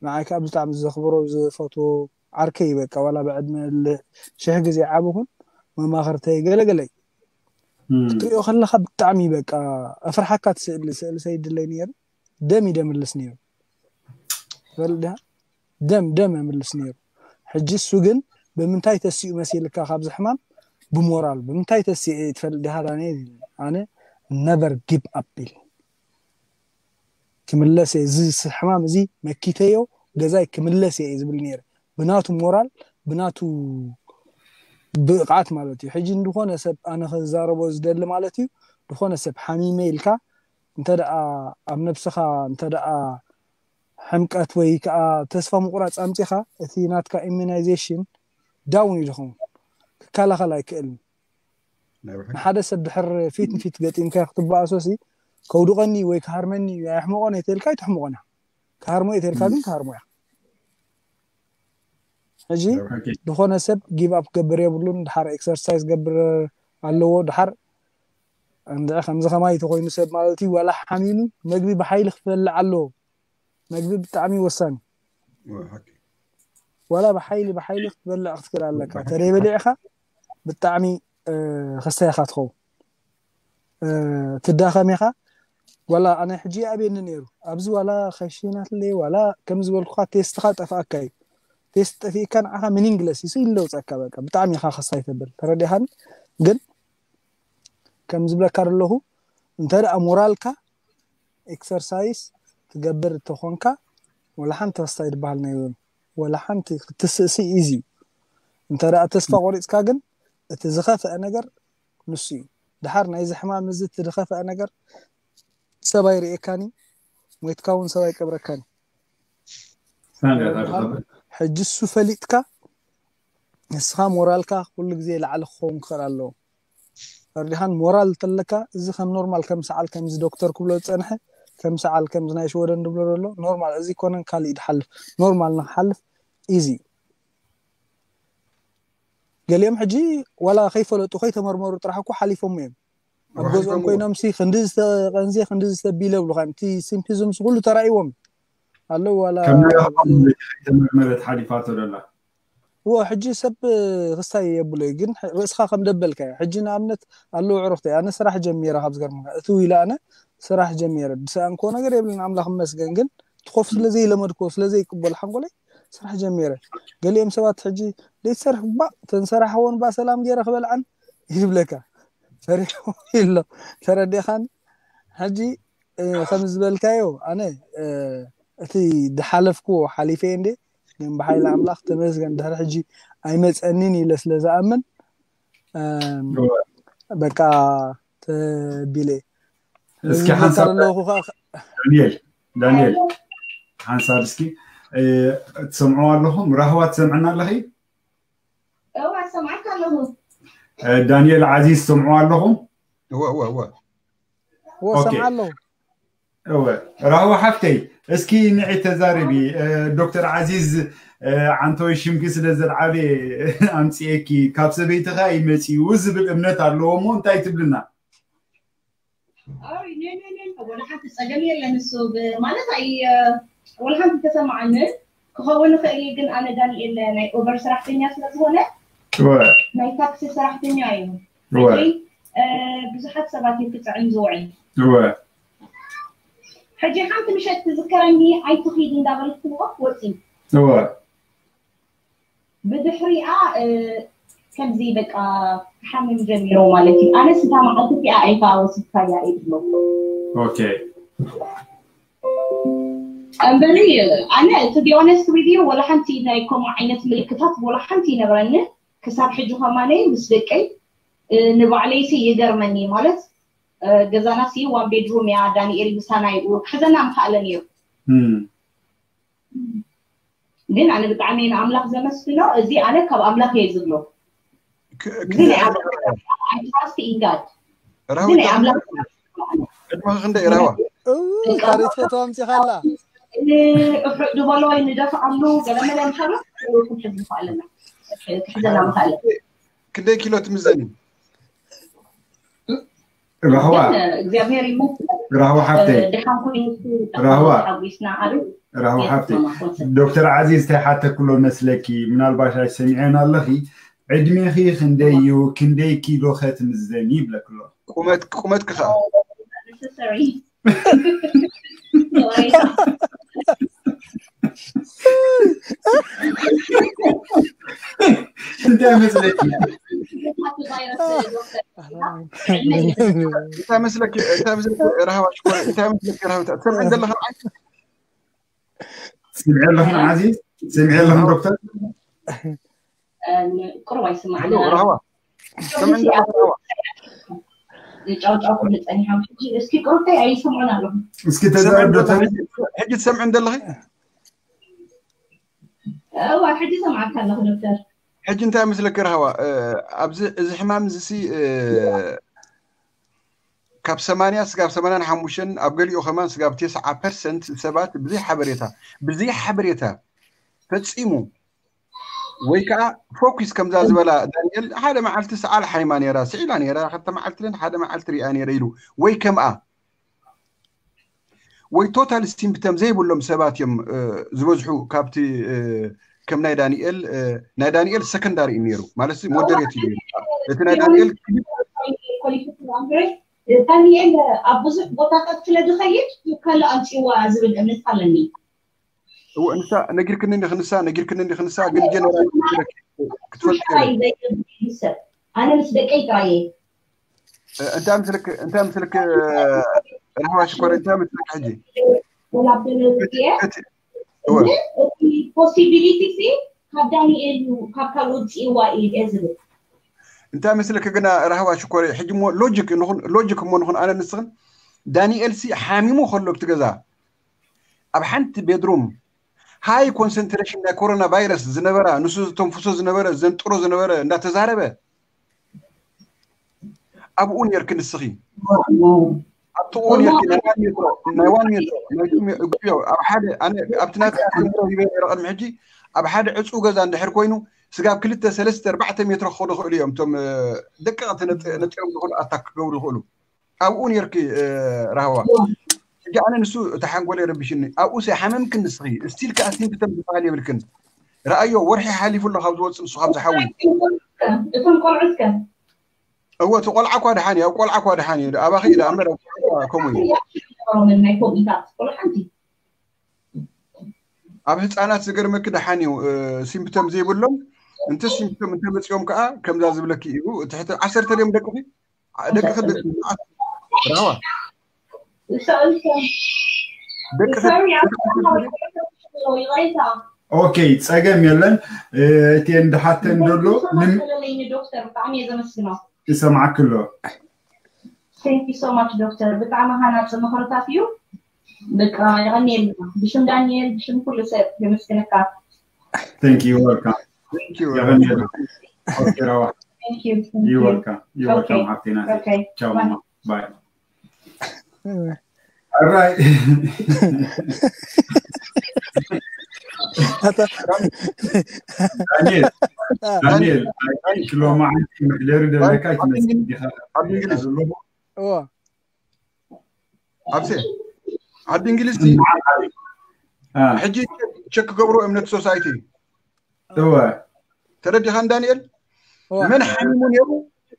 ንዓይ ከዓ ብጣዕሚ ዘኽብሮ ዝፈትዎ ዓርከይ በቃ ዋላ ብዕድመ ሽሕ ግዜ ዓብኹን መማኽርተይ ገለገለይ ክትሪኦ ከለካ ብጣዕሚ በቃ ኣፍርሓካ ትስእሊ ስእሊ ሰይድለይ ነይሩ። ደም ይደምልስ ነይሩ ፈልዳ ደም ደም የምልስ ነይሩ። ሕጂ እሱ ግን ብምንታይ ተሲኡ መሲልካ ካብዚ ሕማም ብሞራል ብምንታይ ተሲኡ ትፈልጥ ዲኻ ዳንኤል? ኣነ ነበር ጊቭ ኣፕ ኢል ክምለስ እየ፣ እዚ ሕማም እዚ መኪተዮ ገዛይ ክምለስ እየ ዝብል ነይረ። ብናቱ ሞራል ብናቱ ብቕዓት ማለት እዩ። ሕጂ ንድኾነ ሰብ ኣነ ክዛረቦ ዝደሊ ማለት እዩ፣ ድኾነ ሰብ ሓሚመ ኢልካ እንተ ደኣ ኣብ ነብስኻ እንተ ደኣ ሕምቀት ወይ ከዓ ተስፋ ምቑራፅ ኣምፂኻ እቲ ናትካ ኢሚናይዜሽን ዳውን እዩ ዝኸውን፣ ክከላኸል ኣይክእልን። ንሓደ ሰብ ድሕር ፊት ንፊት ገጢምካ ክትበኣሶሲ ከውድቐኒ ወይ ክሃርመኒ ኣየሕምቖን እየ ተልካ ኣይተሕምቖን እያ። ክሃርሞ እየ ተልካ ግን ክሃርሞ እያ። ሕጂ ዝኾነ ሰብ ጊቭ ኣፕ ክገብር የብሉን። ድሓር ኤክሰርሳይዝ ገብር ኣለዎ። ድሓር እንድዒ ከምዚ ከማይ ተኮይኑ ሰብ ማለት እዩ ዋላ ሓሚሙ መግቢ ብሓይሊ ክትበልዕ ኣለዎ። መግቢ ብጣዕሚ ወሳኒ። ዋላ ብሓይሊ ብሓይሊ ክትበልዕ ክትክእል ኣለካ። ተደይ በሊዕካ ብጣዕሚ ከሳይኻ ትኸውን ትዳኸም ኢኻ። ዋላ ኣነ ሕጂ ኣብየኒ ነይሩ ኣብዚ ዋላ ከሽናትለይ ዋላ ከም ዝበልኩካ ቴስትኻ ጠፍኣካ እዩ። ቴስት ጠፊእካ ንዓኻ ሚኒንግለስ ይሱ ይለውፀካ በቃ ብጣዕሚ ኢኻ ከሳይ ተብል ተረዲኻኒ። ግን ከም ዝብለካ ዘለኹ እንተ ደኣ ሞራልካ ኤክሰርሳይስ ትገብር እንተኾንካ ወላ ሓንቲ ተስታይ ዝበሃል ናይ ወላ ሓንቲ ክትስእሲ ኢዚ እዩ። እንተ ደኣ ተስፋ ቆሪጽካ ግን እቲ ዝኸፍአ ነገር ንሱ እዩ። ድሓር ናይዚ ሕማም እዚ እቲ ዝኸፍአ ነገር ሰብ ኣይርእየካን እዩ፣ ሞይትካ እውን ሰብ ኣይቀብረካን እዩ። ሕጂ እሱ ፈሊጥካ ንስኻ ሞራልካ ኩሉ ግዜ ላዕሊ ክኸውን ክኽእል ኣለዎ። ፈርዲኻን ሞራል ተለካ እዚ ከም ኖርማል ከም ሰዓል ከምዚ ዶክተር ክብሎ ዝጸንሐ ከም ሰዓል ከምዚ ናይ ሽወደን ዝብሎ ዘሎ ኖርማል እዚ ኮነን ካልእ ድሓልፍ ኖርማል ንክሓልፍ ኢዚ ገሊኦም ሕጂ ዋላ ከይፈለጡ ከይተመርመሩ ጥራሕ እኮ ሓሊፎም እዮም ኣብ ገዝኦም ኮይኖም ሲ ክንዲ ዝተቀንዜ ክንዲ ዝተቢለ ብሉካ እቲ ሲምፒዝምስ ኩሉ ተራእይዎም ኣለዉ ዋላ ከም ናይ ኣኽሱም ተመርመረት ሓሊፋቶ ደላ እዎ ሕጂ ሰብ ክሳይ የብሎ እዩ ግን ርእስኻ ከም ደበልካ እዩ ሕጂ ንኣብነት ኣለዉ ዕሩክተይ ኣነ ስራሕ ጀሚረ ካብ ዝገርምካ እቲ ኢለ ኣነ ስራሕ ጀሚረ ድሰኣንኮ ነገር የብልን ኣምላኽ መስገን ግን ትኾፍ ስለዘይለመድኮ ስለዘይቅበል ሓንጎለይ ስራሕ ጀሚረ ገሊኦም ሰባት ሕጂ ዘይትሰርሕ ባ ተንሰራሕወን ባ ሰላም ገይረ ክበልዓን ይብለካ ፈሪሑ ኢሎ ተረዲኻን ሕጂ ከም ዝበልካዮ ኣነ እቲ ድሓለፍኩዎ ሓሊፈ እንዴ ግን ብሓይሊ ኣምላኽ ተመስገን ድሕሪ ሕጂ ኣይመፀኒን ኢለ ስለ ዝኣምን በቃ ተቢለ እስኪ ሓንሳብ ዳንኤል ዳንኤል ሓንሳብ እስኪ ትሰምዑ ኣለኹም ራህዋ ትሰምዕና ኣለኺ እዋ ሰማዕካ ኣለኹ ዳንኤል ዓዚዝ ትሰምዑ ኣለኹም እወ እወ እወ እወ ሰምዓ ኣለኹ እወ ራህዋ ሓፍተይ እስኪ ንዒ ተዛረቢ ዶክተር ዓዚዝ ዓንተወይ ሽምኪ ስለ ዘልዓለ ኣምፅኤኪ ካብ ሰበይትኻ ይመፅኡ ዝብል እምነት ኣለዎ እሞ እንታይ ትብልና ወላ ሓንቲ ፀገም የለን እሱ ማለት ኣይ ወላ ሓንቲ ተሰማዓንን ክኸውን ይኽእል እዩ ግን ኣነ ዳንኤል ናይ ኦቨር ስራሕተኛ ስለዝኾነ ናይ ታክሲ ሰራሕተኛ እዩ ብዙሓት ሰባት እዩ ክፅዕን ዝውዕል ሕጂ ሓንቲ ምሸት ትዝከረኒ ኣይትኺድ እንዳበልክዎ ወፂ ብድሕሪኣ ከምዚ በቃ ክሓምም ጀሚሩ ማለት እዩ ኣነስ እታ መዓልቲ እቲኣ ኣይከኣ ወሲድካያ እዩ ዝብሎ ኦኬ እምበሪ ኣነ to be honest with you ወላ ሓንቲ ናይ ከምኡ ዓይነት ምልክታት ወላ ሓንቲ ይነብረኒ ክሳብ ሕጂ ከማነይ ምስ ደቀይ ንባዕለይሲ ይገርመኒ ማለት ገዛና ሲ one bedroom እያ ዳንኤል ምሳና ይኡ ክሕዘና ምክኣለ ነይሩ ግን ኣነ ብጣዕሚ ንኣምላኽ ዘመስግኖ እዚ ኣነ ካብ ኣምላኽ እየ ዝብሎ እዚ ናይ ኣምላኽ I trust in God እዚ ናይ ኣምላኽ ዕድመ ክንደይ ራዋ ታሪክ ፈቶ ኣምፂኻላ እሑዕ ዝበሎ ንደፍኣሉ ገለመለ ምሳሎ ክንሕዝ ንኽኣለና ክሕዘና ምኽኣለ ክንደይ ኪሎ ትምዘኒ ራህዋ እግዚኣብሔር ይመስገን ራህዋ ሓብተይ ድሓን ኮይኑ ራህዋ ሓጒስና ዓብይ ራህዋ ሓብተይ ዶክተር ዓዚዝ እንታይ ሓተክሎ መስለኪ ምናልባሽ ኣይሰሚዐን ኣለኺ ዕድሜኺ ክንደይ እዩ ክንደይ ኪሎ ከትምዘኒ ይብለክሎ ቁመት ቁመት ክኸ necessary እንታይ መስለኪ እንታይ መስለኪ እንታይ መስለኪ ራህዋ ሽኮር እንታይ መስለኪ ራህዋ ትሰምዕ ዘለኻ ስምዒ ኣለኽን ዓዚ ስምዒ ኣለኽን ዶክተር ቁሩብ ኣይስማዕና ራህዋ ጫውጫው ክብል ፀኒሖም ሕጂ እስኪ ቁሩብተይ ኣይሰምዑን ኣለኹ እስኪ ተዛረብ ዶክተር ሕጂ ትሰምዕን ዘለኺ እዋ ሕጂ ሰምዓካ ኣለኹ ዶክተር ሕጂ እንታይ መስለኪ ራህዋ ኣብዚ እዚ ሕማም እዚ ካብ ሰማንያ ስጋብ ሰማንያን ሓሙሽተን ኣብ ገሊኡ ከማን ስጋብ ተስዓ ፐርሰንት ሰባት ብዘይ ሓበሬታ ብዘይ ሓበሬታ ፈፂሙ ወይ ከዓ ፎኪስ ከምዛ ዝበላ ዳንኤል ሓደ መዓልቲ ሰዓል ሓይማ ነራ ስዒላ ነራ ክልተ መዓልቲ ሓደ መዓልቲ ሪኣ ነረ ኢሉ ወይ ከምኣ ወይ ቶታል ሲምፕተም ዘይብሎም ሰባት እዮም ዝበዝሑ ካብቲ ከም ናይ ዳንኤል ናይ ዳንኤል ሰከንዳሪ እዩ ነሩ ማለት ሞደሬት እዩ እቲ ናይ ዳንኤል ዳንኤል ኣብ ብዙሕ ቦታታት ስለ ዝኸይድ ከለ ኣምፅዋ ዝብል እምነት ኣለኒ እዎ እንሳ ነጊርክኒ እንዲኽ ንሳ ነጊርክኒ እንዲኽ ንሳ ግን ጀነራል ክትፈልጥ ሰብ ኣነ ምስ ደቀይ ጥራየ እንታይ ምስልክ እንታይ ምስልክ ራህዋ ሽኮር እንታይ ምስልክ ሕጂ ወላ በለትየ እቲ ፖሲቢሊቲ ሲ ካብ ዳንኤል እዩ፣ ካብ ካልኦት ውፅእዋ እዩ እየ ዝብል። እንታይ መስለኪ ግና ራህዋ ሽኮሪ፣ ሕጂ እሞ ሎጂክ ንኹን፣ ሎጂክ እሞ ንኹን ኣነ ንስኽን። ዳንኤል ሲ ሓሚሙ ከሎ ኣብቲ ገዛ ኣብ ሓንቲ ቤድሩም ሃይ ኮንሰንትሬሽን ናይ ኮሮና ቫይረስ ዝነበራ፣ ንሱ ዝተንፍሶ ዝነበረ፣ ዘንጥሮ ዝነበረ እንዳተዛረበ ኣብኡ ነርኪ ንስኺ። ኣብቲ እኡ ነርኪ ናይ ዋን ሜትሮ፣ ናይ ዋን ሜትሮ፣ ናይ ቱ ሜ- ጉዮ ኣብ ሓደ ኣነ ኣብቲ ናትካ ኣስተምህሮ ሂበ ነረ ቅድሚ ሕጂ ኣብ ሓደ ዕፁ ገዛ እንድሕር ኮይኑ ስጋብ ክልተ ሰለስተ ኣርባዕተ ሜትሮ ክኸዱ ይኽእሉ እዮም። እቶም እ፣ ደቀቕቲ ነጥ- ነጢሮም ዝኽእሉ ኣታክ ክገብሩ ይኽእሉ። ኣብኡ ነርኪ እ፣ ራህዋ። ሕጂ ኣነ ንሱ እቲ ሓንጎለይ ረቢሽኒ። ኣብኡ ሰ ሓመምክን ንስኺ ስቲል ከዓ ሲምፕተም ዝበሃል የብልክን። ረኣዮ ወርሒ ሓሊፉ ኣሎ ካብ ዝወፅእ ንሱ ካብ ዝሓዊ። እቶም ቆልዑት ከ? እወ እቲ ቆልዓ እኳ ደሓን እዩ፣ ኣብ ቆልዓ እኳ ደሓን እዩ። ኣባኺ ኢለ እምበር ኣብ ቆልዓ ከምኡ እዩ። ሮምን ናይ ኮሚታት ቆልዓ ሓንቲ ኣብ ህፃናት ዝገርመኪ ደሓን እዩ። እ፣ ሲምፕተም ዘይብሎም እንተ ሲምፕተም እንተመፂኦም ከዓ ከምዛ ዝብለኪ እዩ። ትሕቲ ዓሰርተ ድዮም ደቅኺ? ዓ- ደቅኺ ደ- ራህዋ እሰ- እሰ- ደቅኺ sorry፣ ኣታ ይቕሬታ። ኦኬ፣ ፀገም የለን። እ፣ እቲ እንድሓተን ዘሎ ንም- ለለይኒ ዶክተር ብጣዕሚ እየ ዘመስግኖ። ይሰማዕኪ ኣሎ። Thank you so much ዶክተር፣ ብጣዕሚ ሃናፂ ምኽርታት እዩ። በቃ የቐንየልና። ብሽም ዳንኤል፣ ብሽም ኩሉ ሰብ የመስግነካ። Thank you, welcome። Thank you. የቐንየልና። ኦኬ፣ ራህዋ። Thank you, thank you. You welcome. You welcome Okay. ሓፍቴ ናተይ። Okay. ቻው Bye. ማማ። ባይ። All right. ዳንኤል፣ ዳንኤል፣ I think ሎማዓንቲ መሕደሪ ደለካ ኣይትመስል ዲኻ? ዓዲ እንግሊዝ ዘለኹ? እዎ ኣብሴ ዓዲ እንግሊዝ አ፣ ሕጂ ቸክ ክገብሩ እምነት ሶሳይቲ እወ። ተረዲኻን ዳንኤል? እዎ መን ሓሚሙ ነይሩ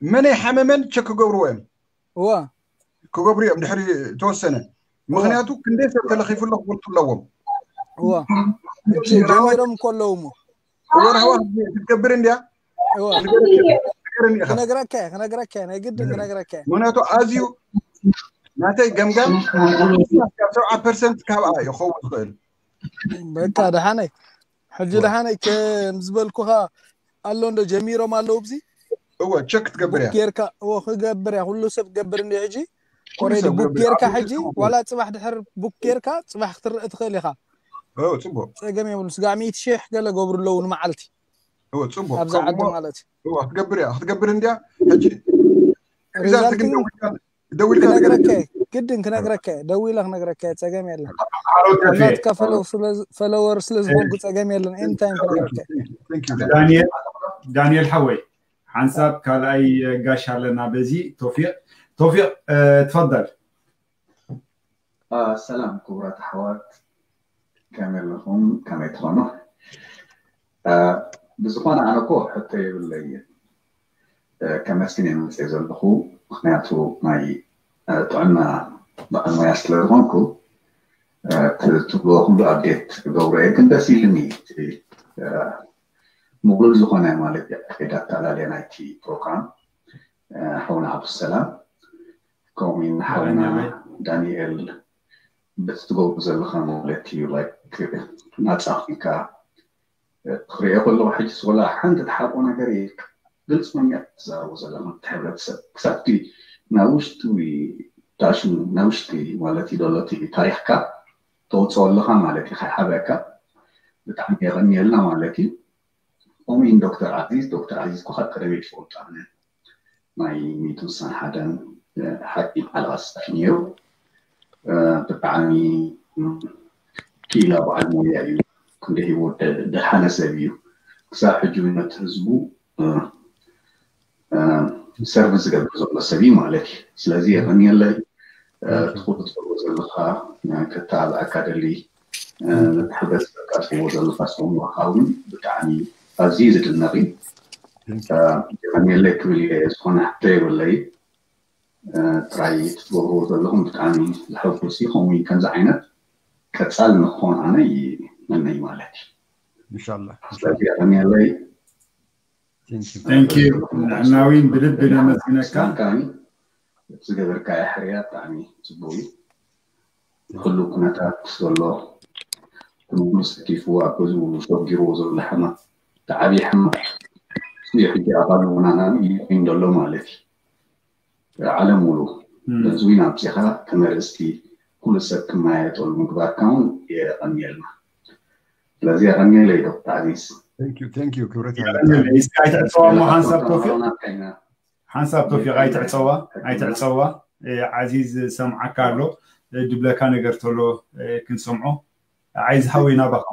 መን ኣይሓመመን ቸክ ክገብርዎ እዮም። እዎ ክገብሩ እዮም ድሕሪ ተወሰነ። ምኽንያቱ ክንደይ ሰብ ተለኺፉ ኣሎ ክፈልጡ ኣለዎም። እዎ ጀሚሮም እኮ ኣለዉ እሞ እወ ራህዋ ክትገብር እንድያ እዎ ንገረኒ ኢኻ። ክነግረካ እየ፣ ክነግረካ እየ፣ ናይ ግድን ክነግረካ እየ። ምኽንያቱ ኣዝዩ ናተይ ገምጋም ካብ ሰብዓ ፐርሰንት ካብኣ ይኸውን ዝኽእል። በቃ ደሓነይ ሕጂ ደሓነይ ከም ዝበልኩኻ ኣሎ እንዶ ጀሚሮም ኣለዉ ብዚ እወ ቸክ ክትገብር እያ። ቡክ ጌርካ እዎ ክገብር እያ ኩሉ ሰብ ክገብር እንዲ ሕጂ ኩሉ ኦሬዲ ሰብ ቡክ ክገብር ጌርካ እያ። ሕጂ ዋላ ፅባሕ ድሕር ቡክ ጌርካ ፅባሕ ክትርኢ ትኽእል ኢኻ። እወ ፅቡቅ ፀገም የብሉ ስጋዕ ሚእቲ ሽሕ ገለ ገብሩ ኣለዉ ንመዓልቲ እወ ፅቡቅ ኣብዛ ከምኡ ዓዲ እሞ ማለት እዩ። እወ ክትገብር እያ ክትገብር እንድያ። ሕጂ እዛ ሪዛልት ትግን ግን ደዊልካ ደዊልካ ክነግረካ ንገረኒ። እየ ግድን ክነግረካ እየ ደዊለ ክነግረካ እየ ፀገም የለን። ሓሮ ተፌ። ናትካ ፈለወር ስለ ዝኾንኩ ፀገም የለን። ኤኒታይም ክነግረካ እየ። Thank you. ዳንኤል ዳንኤል ሓወይ ሓንሳብ ካልኣይ ጋሽ ኣለና በዚ ቶፊቅ ቶፊቅ እ፣ ትፈደል። አ፣ ሰላም ክቡራት ኣሕዋት፣ ከመይ ኣለኹም? ከመይ ትኾኑ? አ፣ ብዝኾነ ኣነ እኮ ሕቶ የብለይን። እ፣ ከመስግን እየ መፅየ ዘለኹ፣ ምኽንያቱ ናይ እ፣ ጥዕና በዓል ሞያ ስለ ዝኾንኩ እ፣ ት- ትብልዎ ኩሉ ኣፕዴት ክገብሮ እየ። ግን ደስ ኢልኒ እቲ እ፣ ምቕሉል ዝኾነ ማለት እዩ ኣካይዳ ኣተኣላልያ ናይቲ ፕሮግራም እ፣ ሓውና ሃብቱ ሰላም ከምኡ እውን ሓውና ዳንኤል በቲ ትገብሩ ዘለኻ ማለት እዩ ላይክ ናፃ ኮይንካ እ፣ ክሪኦ ከለኹ ሕጂ ወላ ሓንቲ ትሓብኦ ነገር የብልካ ግልፂ መንገዲ ትዛረቦ ዘለኻ እቲ ሕብረተሰብ ክሳብቲ ናብ ውሽጢ ዳሽን ናብ ውሽጢ ማለት እዩ ዘሎ እቲ ታሪኽካ ተውፅኦ ኣለኻ ማለት እዩ ከይሓበካ ብጣዕሚ የቐንየልና ማለት እዩ። ከምኡ ዶክተር ዓዚዝ ዶክተር ዓዚዝ እኮ ካብ ቀደመ ይፈልጦ ኣነ ናይ ሚእትን ሓደን ሓኪም ዓለባ ሰፊ ነይሩ። ብጣዕሚ ክኢላ በዓል ሞያ እዩ። ክንደይ ህይወት ደሓነ ሰብ እዩ። ክሳብ ሕጂ እውን ነቲ ህዝቡ ሰርቪስ ዝገብር ዘሎ ሰብ እዩ ማለት እዩ። ስለዚ የቐንየለይ። ትኹር ትገብሮ ዘለኻ ከተባብዐካ ደሊ ነቲ ሕብረተሰብካ ትህቦ ዘለኻ ኣስተምህሮኻ እውን ብጣዕሚ ኣዝዩ ዝድነቕ እዩ። የቐንየለይ ክብል እየ። ዝኾነ ሕቶ የብለይ። ጥራይ እቲ ትገብርዎ ዘለኹም ብጣዕሚ ዘሐጉስ እዩ። ከምኡ ከምዚ ዓይነት ቀጻሊ ንክኾን ኣነ ይመነይ ማለት እዩ። ኢንሻላህ። ስለዚ የቐንየለይ። ንሕና እውን ብልቢ ነመስግነካ። እቲ ዝገበርካዮ ሕርያ ብጣዕሚ ፅቡቅ እዩ። ኩሉ ኩነታት ዘሎ ኩሉ ሰኪፉ ኣብ ገዝኡ ሸጊርዎ ዘሎ ሕማም ዓብዪ ሕማቕ እሱ እዩ። ሕጂ ኣባል ምዃንና እዩ ኮይኑ ዘሎ ማለት እዩ። ዓለም ሙሉ በዚ ዊን ኣብፂኻ ተመረፅቲ ኩሉ ሰብ ክመያየጠሉ ምግባርካ እውን የቐንየልና። ስለዚ የቐንየለይ ዶክተር ዓዚዝ። Thank you, thank you፣ ክብረት እስኪ ኣይትዕፀዋ እሞ ሓንሳብ ቶፊቅ ሓንሳብ ቶፊቅ ኣይትዕፀዋ ኣይትዕፀዋ። ዓዚዝ ሰምዓካ ኣሎ ድብለካ ነገር ተሎ ክንሰምዖ። ዓይዚ ሃወይ ናባኻ።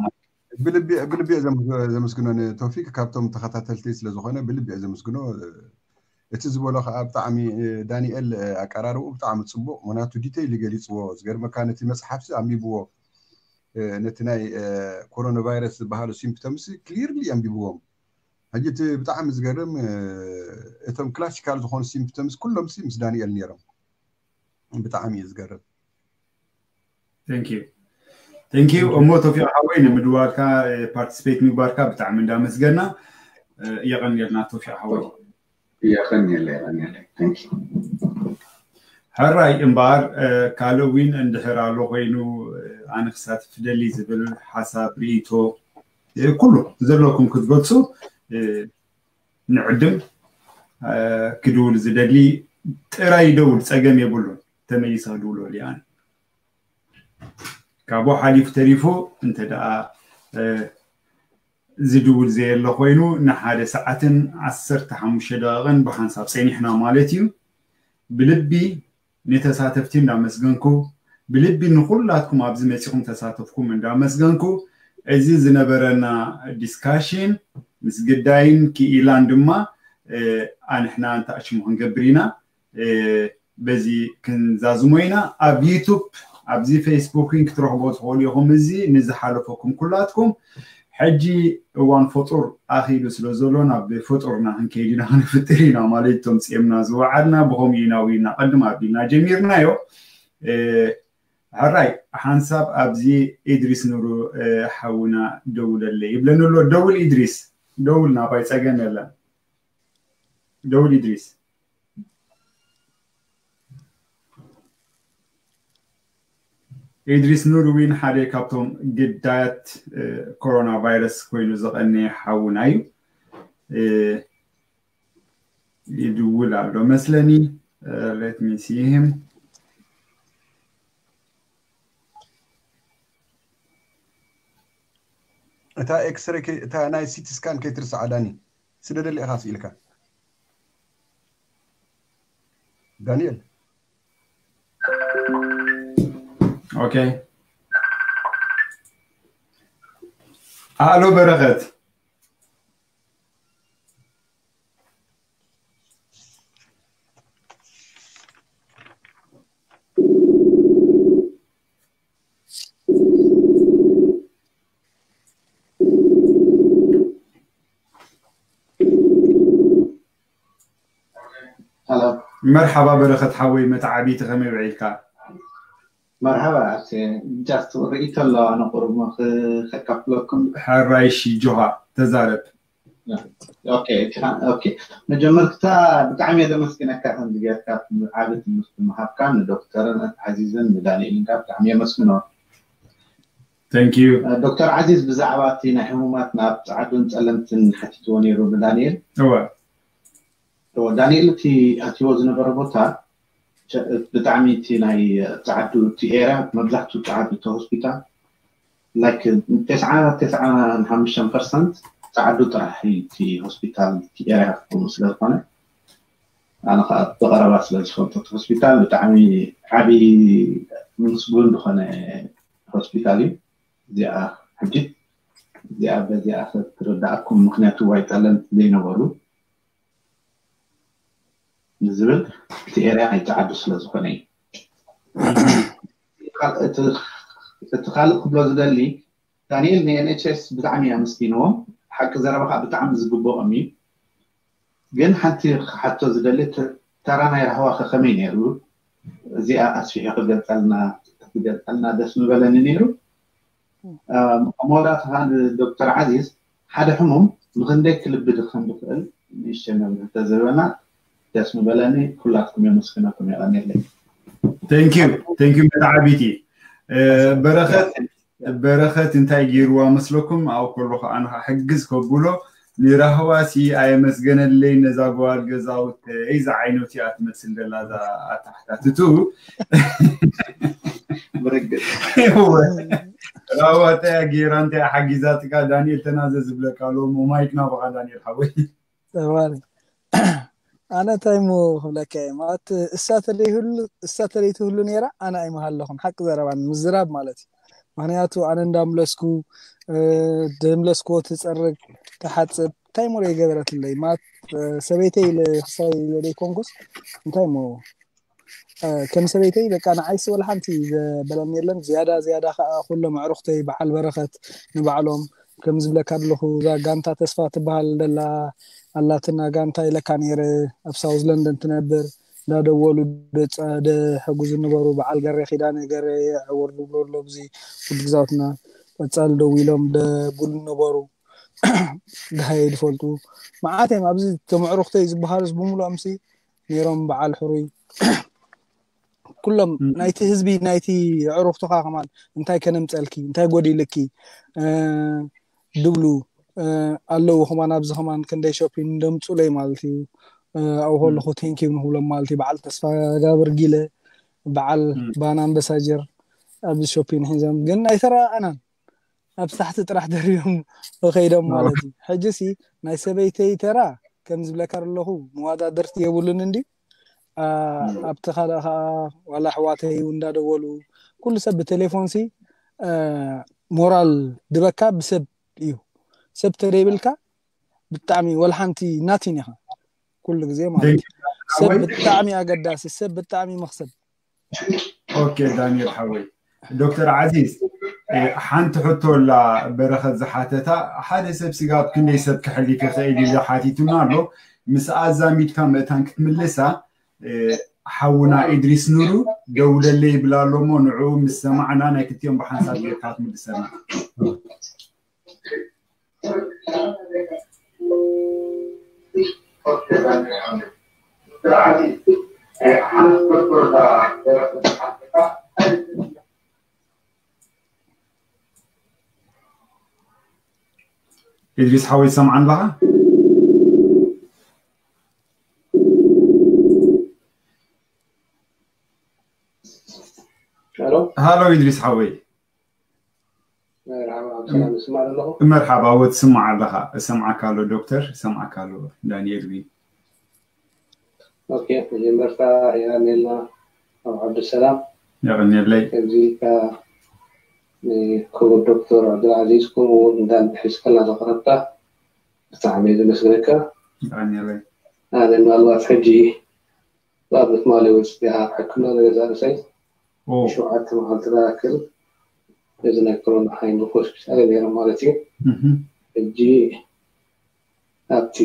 ብልቢ ብልቢ እየ ዘም- ዘመስግኖ ንቶፊቅ፣ ካብቶም ተኸታተልቲ ስለ ዝኾነ ብልቢ እየ ዘመስግኖ። እቲ ዝበሎ ከዓ ብጣዕሚ ዳንኤል ኣቀራርብኡ ብጣዕሚ ፅቡቅ፣ ምክንያቱ ዲቴይል ገሊፅዎ። ዝገርመካ ነቲ መፅሓፍሲ ኣንቢብዎ፣ ነቲ ናይ ኮሮና ቫይረስ ዝበሃሉ ሲምፕተምስ ክሊርሊ ኣንቢብዎም። ሕጂ እቲ ብጣዕሚ ዝገርም እቶም ክላሲካል ዝኾኑ ሲምፕተምስ ኩሎምሲ ምስ ዳንኤል ነይሮም። ብጣዕሚ እዩ ዝገርም። Thank you እሞ ቶፊቅ ሓወይ ንምድዋልካ ፓርቲስፔት ምግባርካ ብጣዕሚ እንዳመስገና። የቐንየልና ቶፊቅ ሓወይ። የቐንየለ የቐንየለ። Thank you። ሕራይ እምበኣር ካልእ ዊን እንድሕር ኣሎ ኮይኑ ኣነ ክሳትፍ ደሊ ዝብል ሓሳብ ርእይቶ ኩሉ ዘለኩም ክትገልፁ ንዕድም። ክድውል ዝደሊ ጥራይ ይደውል፣ ፀገም የብሉን። ተመሊሰ ክድውለሉ እየ ኣነ። ካብኡ ሓሊፉ ተሪፉ እንተ ደኣ ዝድውል ዘየለ ኮይኑ ንሓደ ሰዓትን ዓሰርተ ሓሙሽተ ደቂቕን ብሓንሳብ ፀኒሕና ማለት እዩ። ብልቢ ንተሳተፍቲ እንዳመስገንኩ፣ ብልቢ ንኹላትኩም ኣብዚ መፂኹም ተሳተፍኩም እንዳመስገንኩ፣ እዚ ዝነበረና ዲስካሽን ምስ ግዳይን ክኢላን ድማ ኣንሕና እንተኣሽሙ ክንገብር ኢና። በዚ ክንዛዝሞ ኢና። ኣብ ዩቱብ ኣብዚ ፌስቡክን ክትረኽቦ ትኽእሉ ኢኹም። እዚ ንዝሓለፈኩም ኩላትኩም ሕጂ እዋን ፈጡር ኣኺሉ ስለ ዘሎ ናብ ፈጡርና ክንከይድ ኢና ክንፍጥር ኢና ማለት እቶም ፅምና ዝወዓልና ብኸምኡ ኢና ዊና ቅድም ኣቢልና ጀሚርናዮ። ሕራይ ሓንሳብ ኣብዚ ኢድሪስ ኑሩ ሓውና ደውለለ ይብለኒ ኣሎ። ደውል ኢድሪስ ደውል ናባይ ፀገም የለን። ደውል ኢድሪስ። ኢድሪስ ኑር ዊን ሓደ ካብቶም ግዳያት ኮሮና ቫይረስ ኮይኑ ዝቐነየ ሓውና እዩ። ይድውል ኣሎ መስለኒ። Let me see him። እታ ኤክስሬ እታ ናይ ሲቲ ስካን ከይትርስዓ ዳኒ። ስደደሊ ኢኻ ስኢልካ ዳንኤል። ኦኬ። ኣሎ በረኸት። መርሓባ በረኸት ሓወይ መተዓቢቲ ከመይ ውዒልካ? መርሓባ። ጃስት ርእይቶ ኣለዋ ንቁሩብ ከካፍለኩም። ሕራይ ሺ ጆሃ ተዛረብ። መጀመርታ ብጣዕሚ እየ ዘመስግነካ ከምዚ ጌርካ ዓቢ ትምህርቲ ምሃብካ ንዶክተርን ዓዚዝን ንዳንኤልን ካ ብጣዕሚ የመስግኖ። ዶክተር ዓዚዝ ብዛዕባ እቲ ናይ ሕሙማት ናብ ፃዓዱን ፀለምትን ሓቲትዎ ነይሩ ንዳንኤል። ዳንኤል እቲ ኣትዎ ዝነበረ ቦታ ብጣዕሚ እቲ ናይ ፃዓዱ እቲ ኤርያ መብዛሕትኡ ፃዓዱ እቲ ሆስፒታል ላይክ ተስዓ ተስዓ ሓሙሽተ ፐርሰንት ፃዓዱ ጥራሕ እቲ ሆስፒታል እቲ ኤርያ ክኸውን ስለ ዝኾነ ኣነ ከዓ ብቐረባ ስለ ዝፈልጦ እቲ ሆስፒታል ብጣዕሚ ዓብዪ ምስጉን ዝኾነ ሆስፒታል እዩ። እዚኣ ሕጂ እዚኣ በዚኣ ክትርዳእኩም ምክንያቱ ዋይ ጠለምቲ ዘይነበሩ ንዝብል እቲ ኤርያ ናይ ፃዓዱ ስለ ዝኾነ እዩ። እቲ ካልእ ክብሎ ዝደሊ ዳንኤል ን NHS ብጣዕሚ ኣመስጊንዎም። ሓቂ ዘረባ ከዓ ብጣዕሚ ዝግብኦም እዩ። ግን ሓንቲ ክሓቶ ዝደሊ ተራ ናይ ራህዋ ከ ከመይ ነይሩ? እዚኣ ኣስፊሑ ክገልፀልና ክገልፀልና ደስ ምበለኒ ነይሩ። መወዳእታ ከዓ ንዶክተር ዓዚዝ ሓደ ሕሙም ንክንደይ ክልቢ ድኸም ዝኽእል ንእሽተይ መብርሂ ተዝህበና ደስ ምበለኒ። ኩላትኩም የመስግነኩም። የቐንየለይ። Thank you መተዓቢቲ። በረኸት በረኸት እንታይ ገይርዋ መስለኩም? ኣብኡ ከሎ ከዓ ንክሕግዝ ከብሎ ንራህዋሲ ኣየመስገነለይ ነዛ ጓል ገዛውተይ ዝዓይነቱ እያ ትመስል ዘላ እዛ ኣተሓታትቱ። ብርግጥ ራህዋ እንታይ ገይራ እንታይ ሓጊዛትካ? ዳንኤል ተናዘ ዝብለካ ኣሎ። ማይክ ናባኻ ዳንኤል ሓወይ። ተባሪ ኣነ እንታይ ሞ ክብለካ እየ ማለት እሳ ተለይህሉ እሳ ተለይትህሉ ነይራ ኣነ ኣይምሃለኹን ሓቂ ዘረባን ምዝራብ ማለት እዩ። ምክንያቱ ኣነ እንዳምለስኩ ድምለስክዎ ትፀርግ ትሓፅብ እንታይ ሞ የገበረትለይ ማለት ሰበይተይ ኢለ ክሳይ ኢለ ዘይኮንኩስ እንታይ ሞ ከም ሰበይተይ በቃ ንዓይሲ ወላ ሓንቲ ዘበለኒ የለን። ዝያዳ ዝያዳ ከዓ ኩሎም ኣዕሩኽተይ በዓል በረኸት ንባዕሎም ከም ዝብለካ ኣለኹ እዛ ጋንታ ተስፋ ትበሃል ደላ ኣላትና ጋንታ ኢለካ ነይረ ኣብ ሳውዝ ለንደን ትነብር እንዳደወሉ ደጸ- ደሕጉዝ ነበሩ። በዓል ገሬ ኪዳነ ገሬ ዕውር ዝብሎ ኣሎ ብዚ ውድ ግዛውትና ቀጻል ደው ኢሎም ደጉሉ ነበሩ። ድሃየ ዝፈልጡ መዓት እዮም። ኣብዚ ተመዕሩኽተይ ዝበሃሉስ ብምሉኦም ሲ ነይሮም በዓል ሕሩይ ኩሎም ናይቲ ህዝቢ ናይቲ ዕሩኽትኻ ከማን እንታይ ከነምፀልኪ እንታይ ጎዲልኪ ድብሉ ኣለዉ ከማን ኣብዚ ከማን ክንደይ ሾፒን እንደምፁለይ ማለት እዩ። ኣብኡ ከለኹ ቴንኪዩ ንክብሎም ማለት እዩ። በዓል ተስፋ ጋብር ጊለ በዓል ባና ኣምበሳጀር ኣብዚ ሾፒን ሒዞም ግን ኣይተረኣኣናን ኣብ ሳሕቲ ጥራሕ ደሪቦም ከይዶም ማለት እዩ። ሕጂ ሲ ናይ ሰበይተይ ተራ ከም ዝብለካ ኣለኹ መዋዳድርቲ የብሉን እንዲ ኣብቲ ካልእ ከዓ ዋላ ኣሕዋተይ እንዳደወሉ ኩሉ ሰብ ብቴሌፎን ሲ ሞራል ድበካ ብሰብ እዩ። ሰብ ተደይብልካ ብጣዕሚ ወላ ሓንቲ ናቲን ኢኻ ኩሉ ግዜ ማለት እዩ። ሰብ ብጣዕሚ ኣገዳሲ፣ ሰብ ብጣዕሚ መክሰብ። ኦኬ ዳንኤል ሓወይ ዶክተር ዓዚዝ ሓንቲ ሕቶ ላ በረኸት ዝሓተታ ሓደ ሰብ ስጋብ ክንደይ ሰብ ክሕል ክኽእል ኢሉ ሓቲቱና ኣሎ። ምስ ኣዛሚድካ ምእታን ክትምልሳ ሓውና ኢድሪስ ኑሩ ደውለለይ ይብል ኣሎ እሞ ንዕኡ ምስ ሰማዕና ናይ ክልቲኦም ብሓንሳብ ጌርካ ክትምልሰና። ኢድሪስ ሓወይ ትሰምዓኒ ኣለኻ? ሃሎ ኢድሪስ ሓወይ። መርሓባ ወ ትስማዕ ኣለኻ? እሰምዓካ ኣሎ ዶክተር፣ እሰምዓካ ኣሎ ዳንኤል ቢ። ኦኬ፣ መጀመርታ የቐንየልና ኣብ ዓብዱሰላም። የቐንየለይ። ከምዚ ኢልካ ንክቡር ዶክተር ዓብዱልዓዚዝ ከምኡ እውን እንዳን ሒዝካልና ዘቕረብካ ብጣዕሚ እየ ዘመስግነካ። የቐንየለይ። ኣነ ምናልባት ሕጂ ብኣብነት ማሊ ወፂኣ ሕክምና ንገዛ ርእሰይ ሸውዓተ መዓልቲ ዝኣክል ነዚ ናይ ኮሮና ሓይሊ ሆስፒታል ነይረ ማለት እዩ። ሕጂ ኣብቲ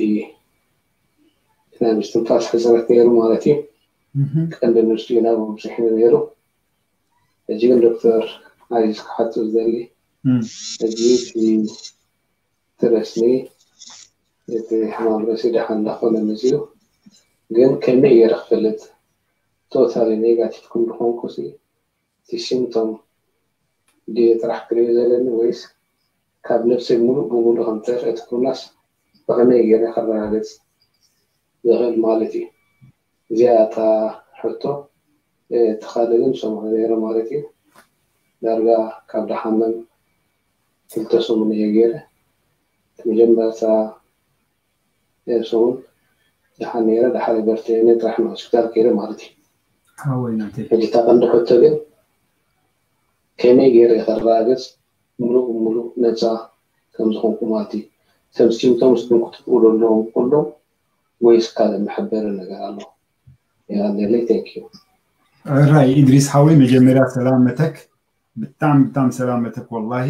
ናይ ምስትንፋስ ሕፅረት ነይሩ ማለት እዩ። ቀንዲ ንሱ ኢና ብብዝሒ ነይሩ። ሕጂ ግን ዶክተር ዓዚዝ ክሓቶ ዝደሊ ሕጂ እቲ ትረስኒ እቲ ሕማም ርእሲ ደሓን እንዳኾነ መፂኡ ግን ከመይ ገይረ ክፈልጥ ቶታሊ ኔጋቲቭ ከም ዝኾንኩ እቲ ሲምቶም ድየ ጥራሕ ክሪኦ ዘለኒ ወይስ ካብ ነብሰይ ሙሉእ ብሙሉእ ከም ጠፍአ እቲ ኩርናስ ብኸመይ ገይረ ከረጋግፅ ዝኽእል ማለት እዩ? እዚኣ እታ ሕቶ እቲ ካልእ ግን ሰሙዕ ነይረ ማለት እዩ። ዳርጋ ካብ ደሓመም ክልተ ሰሙን እየ ገይረ። እቲ መጀመርታ ሰሙን ደሓን ነይረ፣ ደሓር በርቲዐ ጥራሕ ንሆስፒታል ከይደ ማለት እዩ። ሓወይ ናተይ ሕጂ እታ ቀንዲ ሕቶ ግን ከመይ ገይረ ከረጋግፅ ሙሉእ ብሙሉእ ነፃ ከም ዝኾንኩ ማለት እዩ። እቶም ሲምፕቶምስ ግን ክትብሉ ኣለዎም ኩሎም ወይስ ካልእ መሐበሪ ነገር ኣሎ? የቐንየለይ። Thank you። ሕራይ ኢድሪስ ሓወይ መጀመርያ ሰላመተክ ብጣዕሚ ብጣዕሚ ሰላመተክ ወላሂ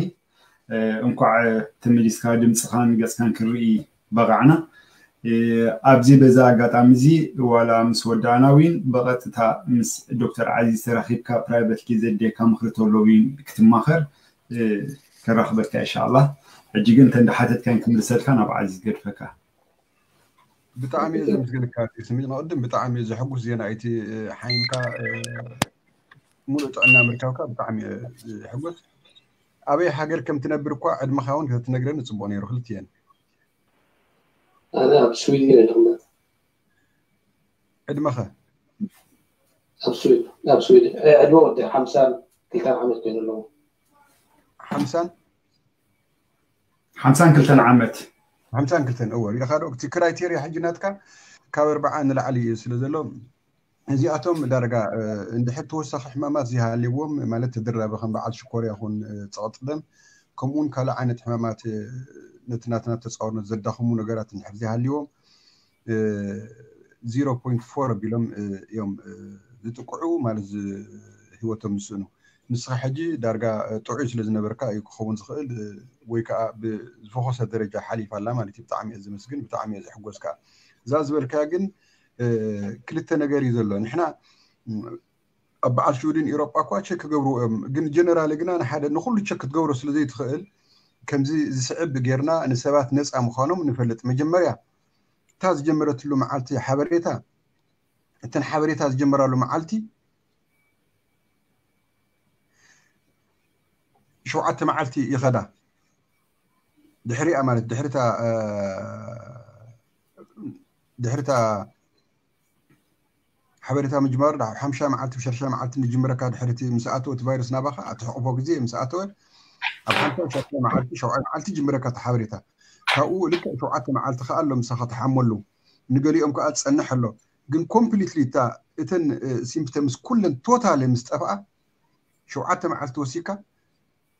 እንኳዕ ተመሊስካ ድምፅኻን ገፅካን ክርኢ በቃዕና። ኣብዚ በዛ ኣጋጣሚ እዚ ዋላ ምስ ወዳእና እውን ብቐጥታ ምስ ዶክተር ዓዚዝ ተራኺብካ ፕራይቨት ጊዜ ዘድልየካ ምኽሪ ተሎ እውን ክትማኸር ከራኽበካ ኢንሻኣላህ። ሕጂ ግን እንተ እንዳሓተትካን ክምልሰልካ ናብ ዓዚዝ ገድፈካ። ብጣዕሚ እየ ዘመስግነካ ስሚ ንቅድም ብጣዕሚ ዘሐጉስ ዜና እዩ እቲ ሓይምካ ሙሉእ ጥዕና ምርካብካ ብጣዕሚ እየ ዝሕጎስ። ኣበይ ሃገር ከም ትነብር እኳ ዕድመኻ እውን ከተትነግረኒ ፅቡቅ ነይሩ ክልትኤን። ኣነ ኣብ ስዊድን እየ ዝቕመጥ። ዕድመኸ? ኣብ ስዊድን ኣብ ስዊድን ዕድመ ወዲ ሓምሳን ክልተን ዓመት ኮይኑ ኣለዎ። ሓምሳን ሓምሳን ክልተን ዓመት። ሓምሳን ክልተን እወ፣ ሪኢኻ ዶ? እቲ ክራይቴርያ ሕጂ ናትካ ካብ ኣርብዓ ንላዕሊ እዩ ስለ ዘሎ፣ እዚኣቶም ዳርጋ እንድሕር ተወሳኺ ሕማማት ዘይሃልዎም፣ ማለት ተደራቢ ከም በዓል ሽኮር ይኹን ጸቕጢ ደም፣ ከምኡውን ካልእ ዓይነት ሕማማት ነቲ ናትና ተጻዋርነት ዘዳኽሙ ነገራት እንድሕር ዘይሃልዎም፣ ዜሮ ፖይንት ፎር ኣቢሎም እዮም ዝጥቅዑ፣ ማለት ህይወቶም ዝስእኑ። ንስኻ ሕጂ ዳርጋ ጥዑይ ስለ ዝነበርካ እዩ ክኸውን ዝኽእል፣ ወይ ከዓ ብዝፈኾሰ ደረጃ ሓሊፋ ኣላ ማለት እዩ። ብጣዕሚ እየ ዝመስግን፣ ብጣዕሚ እየ ዝሕጎስ ከዓ። እዛ ዝበልካያ ግን ክልተ ነገር እዩ ዘሎ። ንሕና ኣብ በዓል ሽውድን ኢሮጳ እኳ ቸክ ክገብርዎ እዮም፣ ግን ጀነራል ግና ንሓደ ንኩሉ ቸክ ክትገብሮ ስለ ዘይትኽእል፣ ከምዚ ዝስዕብ ጌርና ንሰባት ነፃ ምዃኖም ንፈልጥ። መጀመርያ እታ ዝጀመረትሉ መዓልቲ ሓበሬታ፣ እተን ሓበሬታ ዝጀመራሉ መዓልቲ ሸውዓተ መዓልቲ ይኸዳ። ድሕሪኣ ማለት ድሕሪታ ድሕሪታ ሓበሬታ ምጅማሩ ዳ ሓምሻ መዓልቲ ሸርሻ መዓልቲ ንጅምረካ። ድሕርቲ ምስ ኣተወ እቲ ቫይረስ ናባኻ ኣትሕቕፎ ግዜ ምስ ኣተወ ኣብ ሓምሻ ሸርሻ መዓልቲ ሸውዓይ መዓልቲ ጅምረካ እቲ ሓበሬታ። ካብኡ ልክዕ ሸውዓተ መዓልቲ ከዓ ኣሎ ምሳኻ ትሓመሉ፣ ንገሊኦም ከዓ ትጸንሕ ኣሎ። ግን ኮምፕሊትሊ እታ እተን ሲምፕተምስ ኩለን ቶታሊ ምስ ጠፍኣ ሸውዓተ መዓልቲ ወሲካ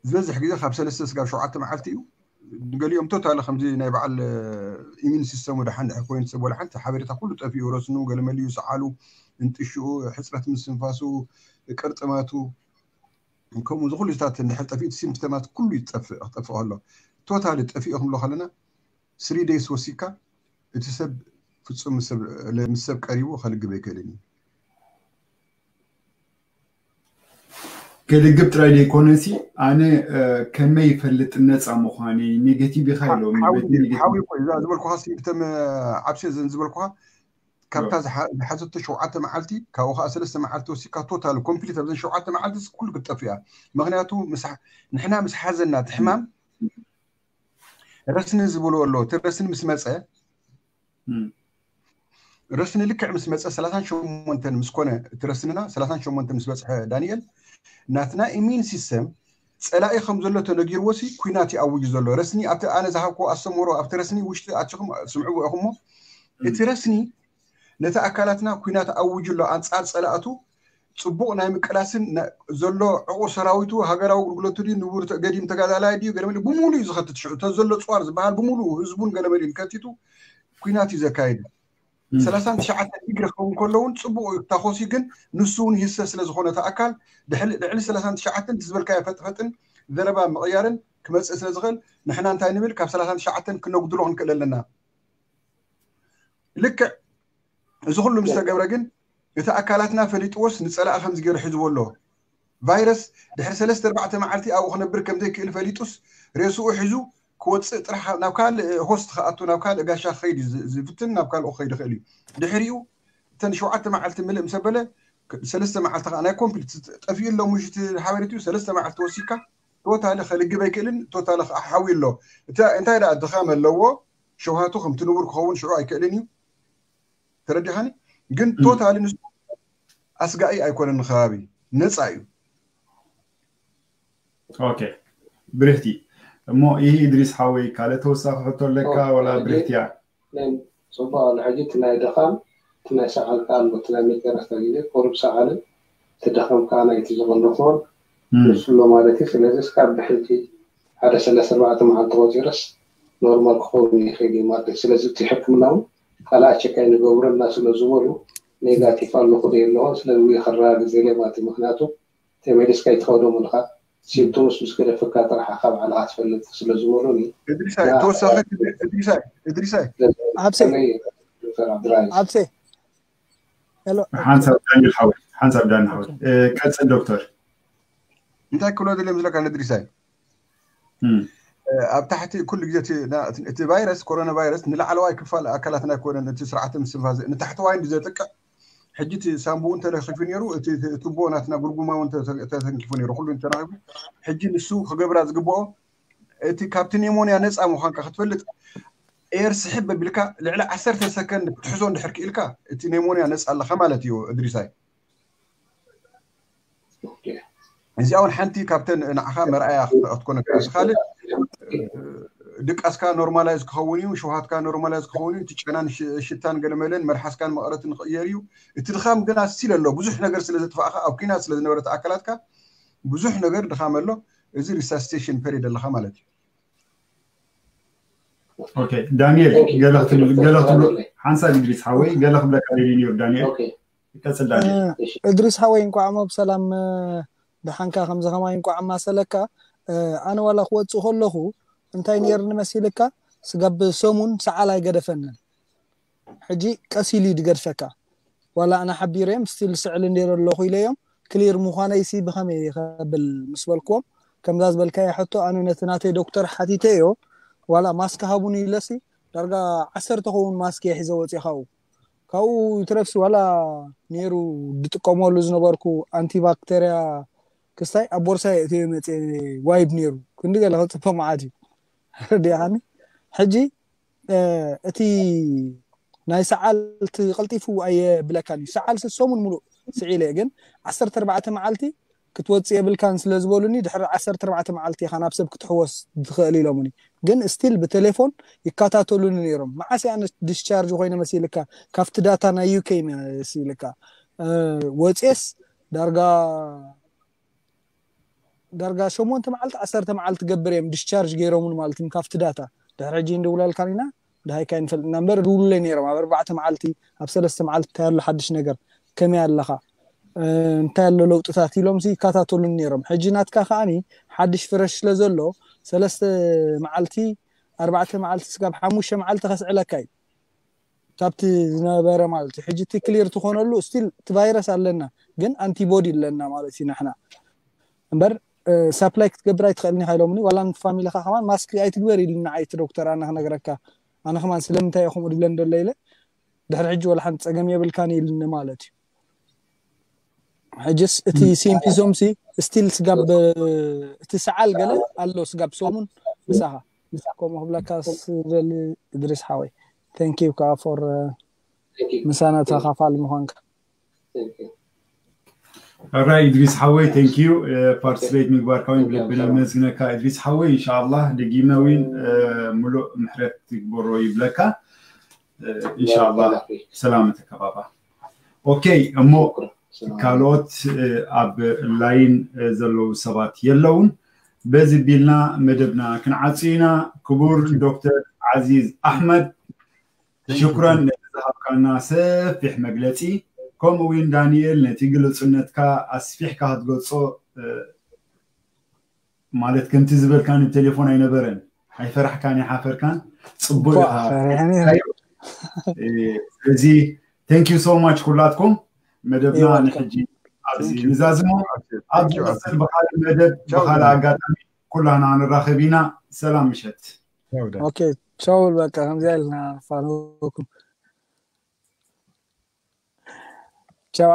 ዝበዝሕ ግዜ ካብ ሰለስተ ስጋብ ሸውዓተ መዓልቲ እዩ። ንገሊኦም ቶታሊ ከምዚ ናይ በዓል ኢሚን ሲስተሙ ደሓን ድሕር ኮይኑ ሰብ ወላ ሓንቲ ሓበሬታ ኩሉ ጠፊኡ፣ ረስኑ ገለመሊኡ ሰዓሉ እንጥሽኡ ሕፅረት ምስንፋሱ ቅርጥማቱ ከምኡ ዝኩሉ ዝታት እንድሕር ጠፊኡ ሲምፕተማት ኩሉ ይጠፍእ ክጠፍእ ከሎ ቶታሊ ጠፊኡ ክንብሎ ከለና ስሪ ደይስ ወሲካ እቲ ሰብ ፍጹም ምስ ሰብ ቀሪቡ ከልግብ ኣይክእልን እዩ። ከልግብ ጥራይ ዘይኮነሲ ኣነ ከመይ ይፈልጥ ነፃ ምዃነይ ኔጌቲቭ ኢኻ ኢሎም ሓዊ እኮ እዛ ዝበልኩኻ ሲምፕተም ዓብሴ ዝበልኩኻ ካብታ ዝሓዘቶ ሸውዓተ መዓልቲ ካብኡ ከዓ ሰለስተ መዓልቲ ወሲካ ቶታል ኮምፕሊት ኣብዘን ሸውዓተ መዓልቲ ኩሉ ክትጠፍእ እያ። ምክንያቱ ንሕና ምስ ሓዘና እቲ ሕማም ረስኒ ዝብልዎ ኣሎ። እቲ ረስኒ ምስ መፀ ረስኒ ልክዕ ምስ መፀ ሰላሳን ሸሞንተን ምስ ኮነ እቲ ረስንና ሰላሳን ሸሞንተን ምስ በፅሐ ዳንኤል ናትና ኢሚን ሲስተም ፀላኢ ከም ዘሎ ተነጊርዎ ሲ ኩናት ይኣውጅ ዘሎ ረስኒ ኣብቲ ኣነ ዝሃብኩ ኣስተምህሮ ኣብቲ ረስኒ ውሽጢ ኣትኹም ስምዕዎ ኢኹሞ እቲ ረስኒ ነቲ ኣካላትና ኩናት ኣውጅ ኣሎ ኣንፃር ፀላእቱ ፅቡቕ ናይ ምቅላስን ዘሎ ዕቑር ሰራዊቱ ሃገራዊ ኣገልግሎቱ ድዩ ንቡር ገዲም ተጋዳላይ ድዩ ገለመለ ብሙሉ እዩ ዝኸትት ሽዑ እተ ዘሎ ፅዋር ዝበሃል ብሙሉ ህዝቡን ገለመሊን ከቲቱ ኩናት እዩ ዘካየደ። ሰላሳን ትሽዓተን ዲግሪ ክኸውን ከሎ እውን ፅቡቕ እዩ ታኾሲ ግን ንሱ እውን ይህሰ ስለ ዝኾነ እቲ ኣካል ልዕሊ ሰላሳን ትሽዓተን ትዝበልካዮ ፈጥፈጥን ዘረባ ምቕያርን ክመፅእ ስለ ዝኽእል ንሕና እንታይ ንብል ካብ ሰላሳን ትሽዓተን ክነጉድሎ ክንክእል ኣለና። ልክዕ እዚ ኩሉ ምስ ተገብረ ግን እቲ ኣካላትና ፈሊጥዎስ ንፀላኢ ከምዚ ገይሩ ሒዝዎ ኣሎ። ቫይረስ ድሕሪ ሰለስተ ኣርባዕተ መዓልቲ ኣብኡ ክነብር ከም ዘይክእል ፈሊጡስ ሬስኡ ሒዙ ክወፅእ ጥራሕ ናብ ካልእ ሆስት ክኣቱ ናብ ካልእ ጋሻ ክኸይድ እዩ ዝፍትን ናብ ካልኡ ክኸይድ ይኽእል እዩ። ድሕሪኡ እተን ሸውዓተ መዓልቲ ምልእ ምስ ኣበለ ሰለስተ መዓልቲ ከዓ ናይ ኮምፕሊት ጠፊኡ ኣሎ ምሽ እቲ ሓበሬትኡ ሰለስተ መዓልቲ ወሲካ ቶታሊ ከልግብ ኣይክእልን ቶታሊ ከዓ ሓዊ ኣሎ። እንታይ ደኣ ድኻም ኣለዎ ሸውሃቱ ከምቲ ንቡር ክኸውን ሽዑ ኣይክእልን እዩ። ተረዲኻኒ? ግን ቶታሊ ንሱ ኣስጋኢ ኣይኮነን ንከባቢ ነፃ እዩ። ኦኬ ብርህቲ እሞ ይህ ኢድሪስ ሓወይ ካልእ ተወሳኺ ሕቶ ኣለካ ወላ ብርህቲ እያ? ጽቡቅ ኣሎ ሕጂ እቲ ናይ ደኻም እቲ ናይ ሰዓል ከኣ ኣሎ እቲ ናይ መጨረስታ ግዜ ቁሩብ ሰዓልን እቲ ደኻም ከኣ ናይቲ ዝቐንዶ ክኾን ንሱ ኣሎ ማለት እዩ። ስለዚ እስካብ ብሕጂ ሓደ ሰለስተ ኣርባዕተ መዓልቲ ቆጺረስ ኖርማል ክኸውን ይኽእል እዩ ማለት እዩ። ስለዚ እቲ ሕክምና እውን ካልኣ ቸክ ኣይንገብረልና ስለ ዝበሉ ኔጋቲቭ ኣለኹ ዶ የለኹን ስለዚ ውይ ከረጋግጽ ኢለ ማለት እዩ። ምክንያቱ ተመሊስካ ኣይትኸዶም ኢልካ ሲምፕቶምስ ምስ ገደፈካ ጥራሕ ካብ ባዕልኻ ትፈልጥ ስለ ዝበሉኒ እድሪሳይ ተወሳኺ እድሪሳይ እድሪሳይ ኣብሴ ኣብሴ ሓንሳብ ዳኒ ሓወይ ሓንሳብ ዳኒ ሓወይ ቀፅል ዶክተር እንታይ ክብሎ ደልየ ምስለካ ንእድሪሳይ ኣብ ታሕቲ ኩሉ ግዜ እቲ ቫይረስ ኮሮና ቫይረስ ንላዕለዋይ ክፋል ኣካላትና ኣይኮነን እቲ ስርዓተ ምስትንፋስ ንታሕተዋይ እንዲ ዘጥቅዕ ሕጂ እቲ ሳንቡኡ እንተለኺፉ ነይሩ እቲ ቱቦ ናትና ጉርጉማ እውን ተተንኪፉ ነይሩ ኩሉ እንተራኺቡ ሕጂ ንሱ ክገብራ ዝግብኦ እቲ ካብቲ ኔሞንያ ነፃ ምዃንካ ክትፈልጥ ኤር ስሕብ ኣቢልካ ልዕሊ ዓሰርተ ሰከንድ ክትሕዞ እንድሕር ክኢልካ እቲ ኔሞንያ ነፃ ኣለኻ ማለት እዩ። እድሪሳይ፣ እዚኣ እውን ሓንቲ ካብተን ንዓኻ መርኣያ ክትኮነካ። እዚ ካልእ ድቃስካ ኖርማላይዝ ክኸውን እዩ፣ ሸውሃትካ ኖርማላይዝ ክኸውን እዩ። እቲ ጨናን ሽታን ገለመለን መልሓስካን መቐረትን ክቕየር እዩ። እቲ ድኻም ግን ኣስቲል ኣሎ። ብዙሕ ነገር ስለ ዘጥፋእካ፣ ኣብ ኲናት ስለ ዝነበረት ኣካላትካ ብዙሕ ነገር ድኻም ኣሎ። እዚ ሪሳስቴሽን ፔሪድ ኣለኻ ማለት እዩ። ኦኬ ዳንኤል፣ ገለ ክትብል ገለ ክትብሎ ሓንሳብ ኢድሪስ ሓወይ ገለ ክብለካ ደልዩ ነይሩ። ዳንኤል ይቀጽል። ዳንኤል እድሪስ ሓወይ እንኳዕ ሞ ብሰላም ደሓንካ፣ ከምዚ ከማይ እንኳዕ ኣማሰለካ። ኣነ ዋላ ክወፅእ ከለኹ እንታይ ነይርኒ መሲልካ፣ ስጋብ ሰሙን ሰዓል ኣይገደፈንን። ሕጂ ቀስ ኢሉ እዩ ድገድፈካ። ዋላ ኣነ ሓቢረዮም ስቲል ስዕል እንዴረ ኣለኹ ኢለዮም። ክሊር ምዃነይሲ ብኸመይ ይኸብል ምስ በልክዎም፣ ከምዛ ዝበልካዮ ሕቶ ኣነ ነቲ ናተይ ዶክተር ሓቲተዮ። ዋላ ማስክ ሃቡኒ ኢለሲ ዳርጋ ዓሰርተ ኸውን ማስክ እየ ሒዘ ወፂእ። ካብኡ ካብኡ ይትረፍሲ ዋላ ነይሩ ድጥቀመሉ ዝነበርኩ ኣንቲባክተርያ ክስታይ ኣብ ቦርሳይ እትዮ መፅእ ዋይብ ነይሩ። ክንዲ ገለ ክፅበ መዓት እዩ። ረዲኻኒ። ሕጂ እቲ ናይ ሰዓል እቲ ቀልጢፉ ኣየብለካን እዩ። ሰዓል ሰሙን ሙሉእ ስዒለ ግን ዓሰርተ ኣርባዕተ መዓልቲ ክትወፅእ የብልካን ስለ ዝበሉኒ ድሕሪ ዓሰርተ ኣርባዕተ መዓልቲ ኢኻ ናብ ሰብ ክትሕወስ ትኽእል ኢሎምኒ። ግን ስቲል ብቴሌፎን ይከታተሉኒ ነይሮም። መዓስ ኣነ ዲስቻርጅ ኮይነ መሲልካ ካብቲ ዳታ ናይ ዩኬ መሲልካ ወፅኤስ ዳርጋ ዳርጋ ሸሞንተ መዓልቲ ዓሰርተ መዓልቲ ገብር እዮም ዲስቻርጅ ገይሮምን ማለት እዩ ካብቲ ዳታ። ድሕሪ ሕጂ እንደውላልካን ኢና ድሃይካ ይንፈልጥ እና እምበር ድውሉለይ ነይሮም ኣብ ኣርባዕተ መዓልቲ ኣብ ሰለስተ መዓልቲ እንታይ ኣሎ ሓድሽ ነገር ከመይ ኣለኻ እንታይ ኣሎ ለውጥታት ኢሎም ሲ ይከታተሉን ነይሮም። ሕጂ ናትካ ከዓኒ ሓድሽ ፍረሽ ስለ ዘሎ ሰለስተ መዓልቲ ኣርባዕተ መዓልቲ ስጋብ ሓሙሽተ መዓልቲ ከስዕለካ እዩ ካብቲ ዝነበረ ማለት እዩ። ሕጂ እቲ ክሊር ትኾነሉ ስቲል እቲ ቫይረስ ኣለና ግን ኣንቲቦዲ ኣለና ማለት እዩ ንሕና እምበር ሳፕላይ ክትገብር ኣይትኽእልን ኢኻ ኢሎምኒ። ዋላ ፋሚሊኻ ከማን ማስክ ኣይትግበር ኢሉኒ ንዓይ እቲ ዶክተር ኣነ ክነግረካ ኣነ ከማን ስለምንታይ እየ ከምኡ ድብለን ደሎ ኢለ ድሕሪ ሕጂ ወላ ሓንቲ ፀገም የብልካን ኢልኒ ማለት እዩ። ሕጅስ እቲ ሲምፒቶምሲ ስቲል ስጋብ እቲ ሰዓል ገለ ኣሎ ስጋብ ሰሙን ምሳኻ ከምኡ ክብለካ ስደሊ እድሪስ ሓወይ። Thank you ከዓ for ምሳና ተኻፋሊ ምዃንካ። ራይ እድሪስ ሓወይ thank you ፓርቲስፔት ምግባርካ እውን ብልቢ ነመስግነካ። እድሪስ ሓወይ እንሻላ ደጊመ እውን ምሉእ ምሕረት ትግበሮ ይብለካ። እንሻላ ሰላም ተከባባ። ኦኬ እሞ ካልኦት ኣብ ላይን ዘለዉ ሰባት የለውን። በዚ ቢልና መደብና ክንዓጹ ኢና። ክቡር ዶክተር ዓዚዝ ኣሕመድ ሽኩረን ነቲ ዝሃብካና ሰፊሕ መግለጺ፣ ከምኡ እውን ዳንኤል ነቲ ግልጹነትካ ኣስፊሕካ ክትገልጾ ማለት ከምቲ ዝበልካኒ ብቴሌፎን ኣይነበረን። ኣይፈራሕካን ኣይሓፈርካን ጽቡቅ ኢኻ። ስለዚ thank you so much ኩላትኩም። መደብና ንሕጂ ኣብዚ ንዛዝሞ። ኣብ ዝመፅእ ብካልእ መደብ ብካልእ ኣጋጣሚ ኩላና ንራኸብ ኢና። ሰላም ምሸት። ኦኬ ቻው በቃ ከምዚኣ ኢልና ፋኖኩም ቻው።